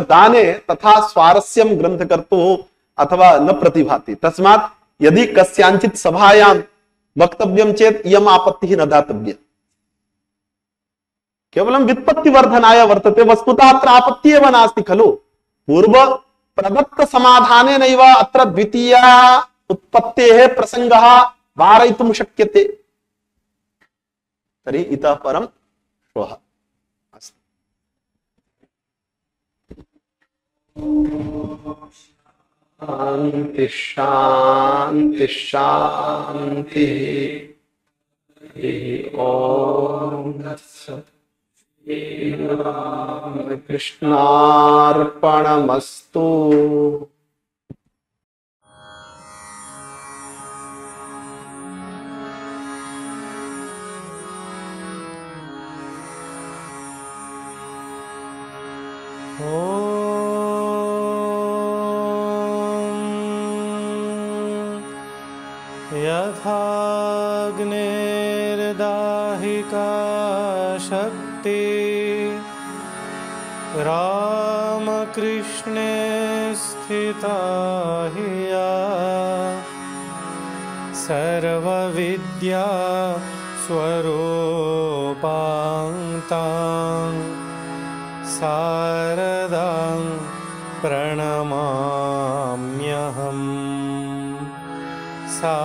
[SPEAKER 2] दाने तथा स्वारस्यं ग्रन्थकर्तुः अथवा न प्रतिभाति। तस्मात् यदि कस्याञ्चित् सभायां वक्तव्यं चेत् इयम् आपत्तिः न दातव्या, केवलं व्युत्पत्तिवर्धनाय वर्तते। वस्तुतः अत्र आपत्तिः एव नास्ति खलु। पूर्व प्रदत्त समाधानेनैव अत्र द्वितीया उत्पत्तेः प्रसंगः वारयितुं शक्यते। तर्हि इतः परं श्वः अस्तु। शान्ति शान्ति शान्ति। ओम तत्सत्। कृष्णार्पणमस्तु।
[SPEAKER 1] यथाग्निर्दाहिका शक्ति रामकृष्णे स्थिता हि या सर्वविद्या स्वरूपां शारदां प्रणमाम्यहम्। सा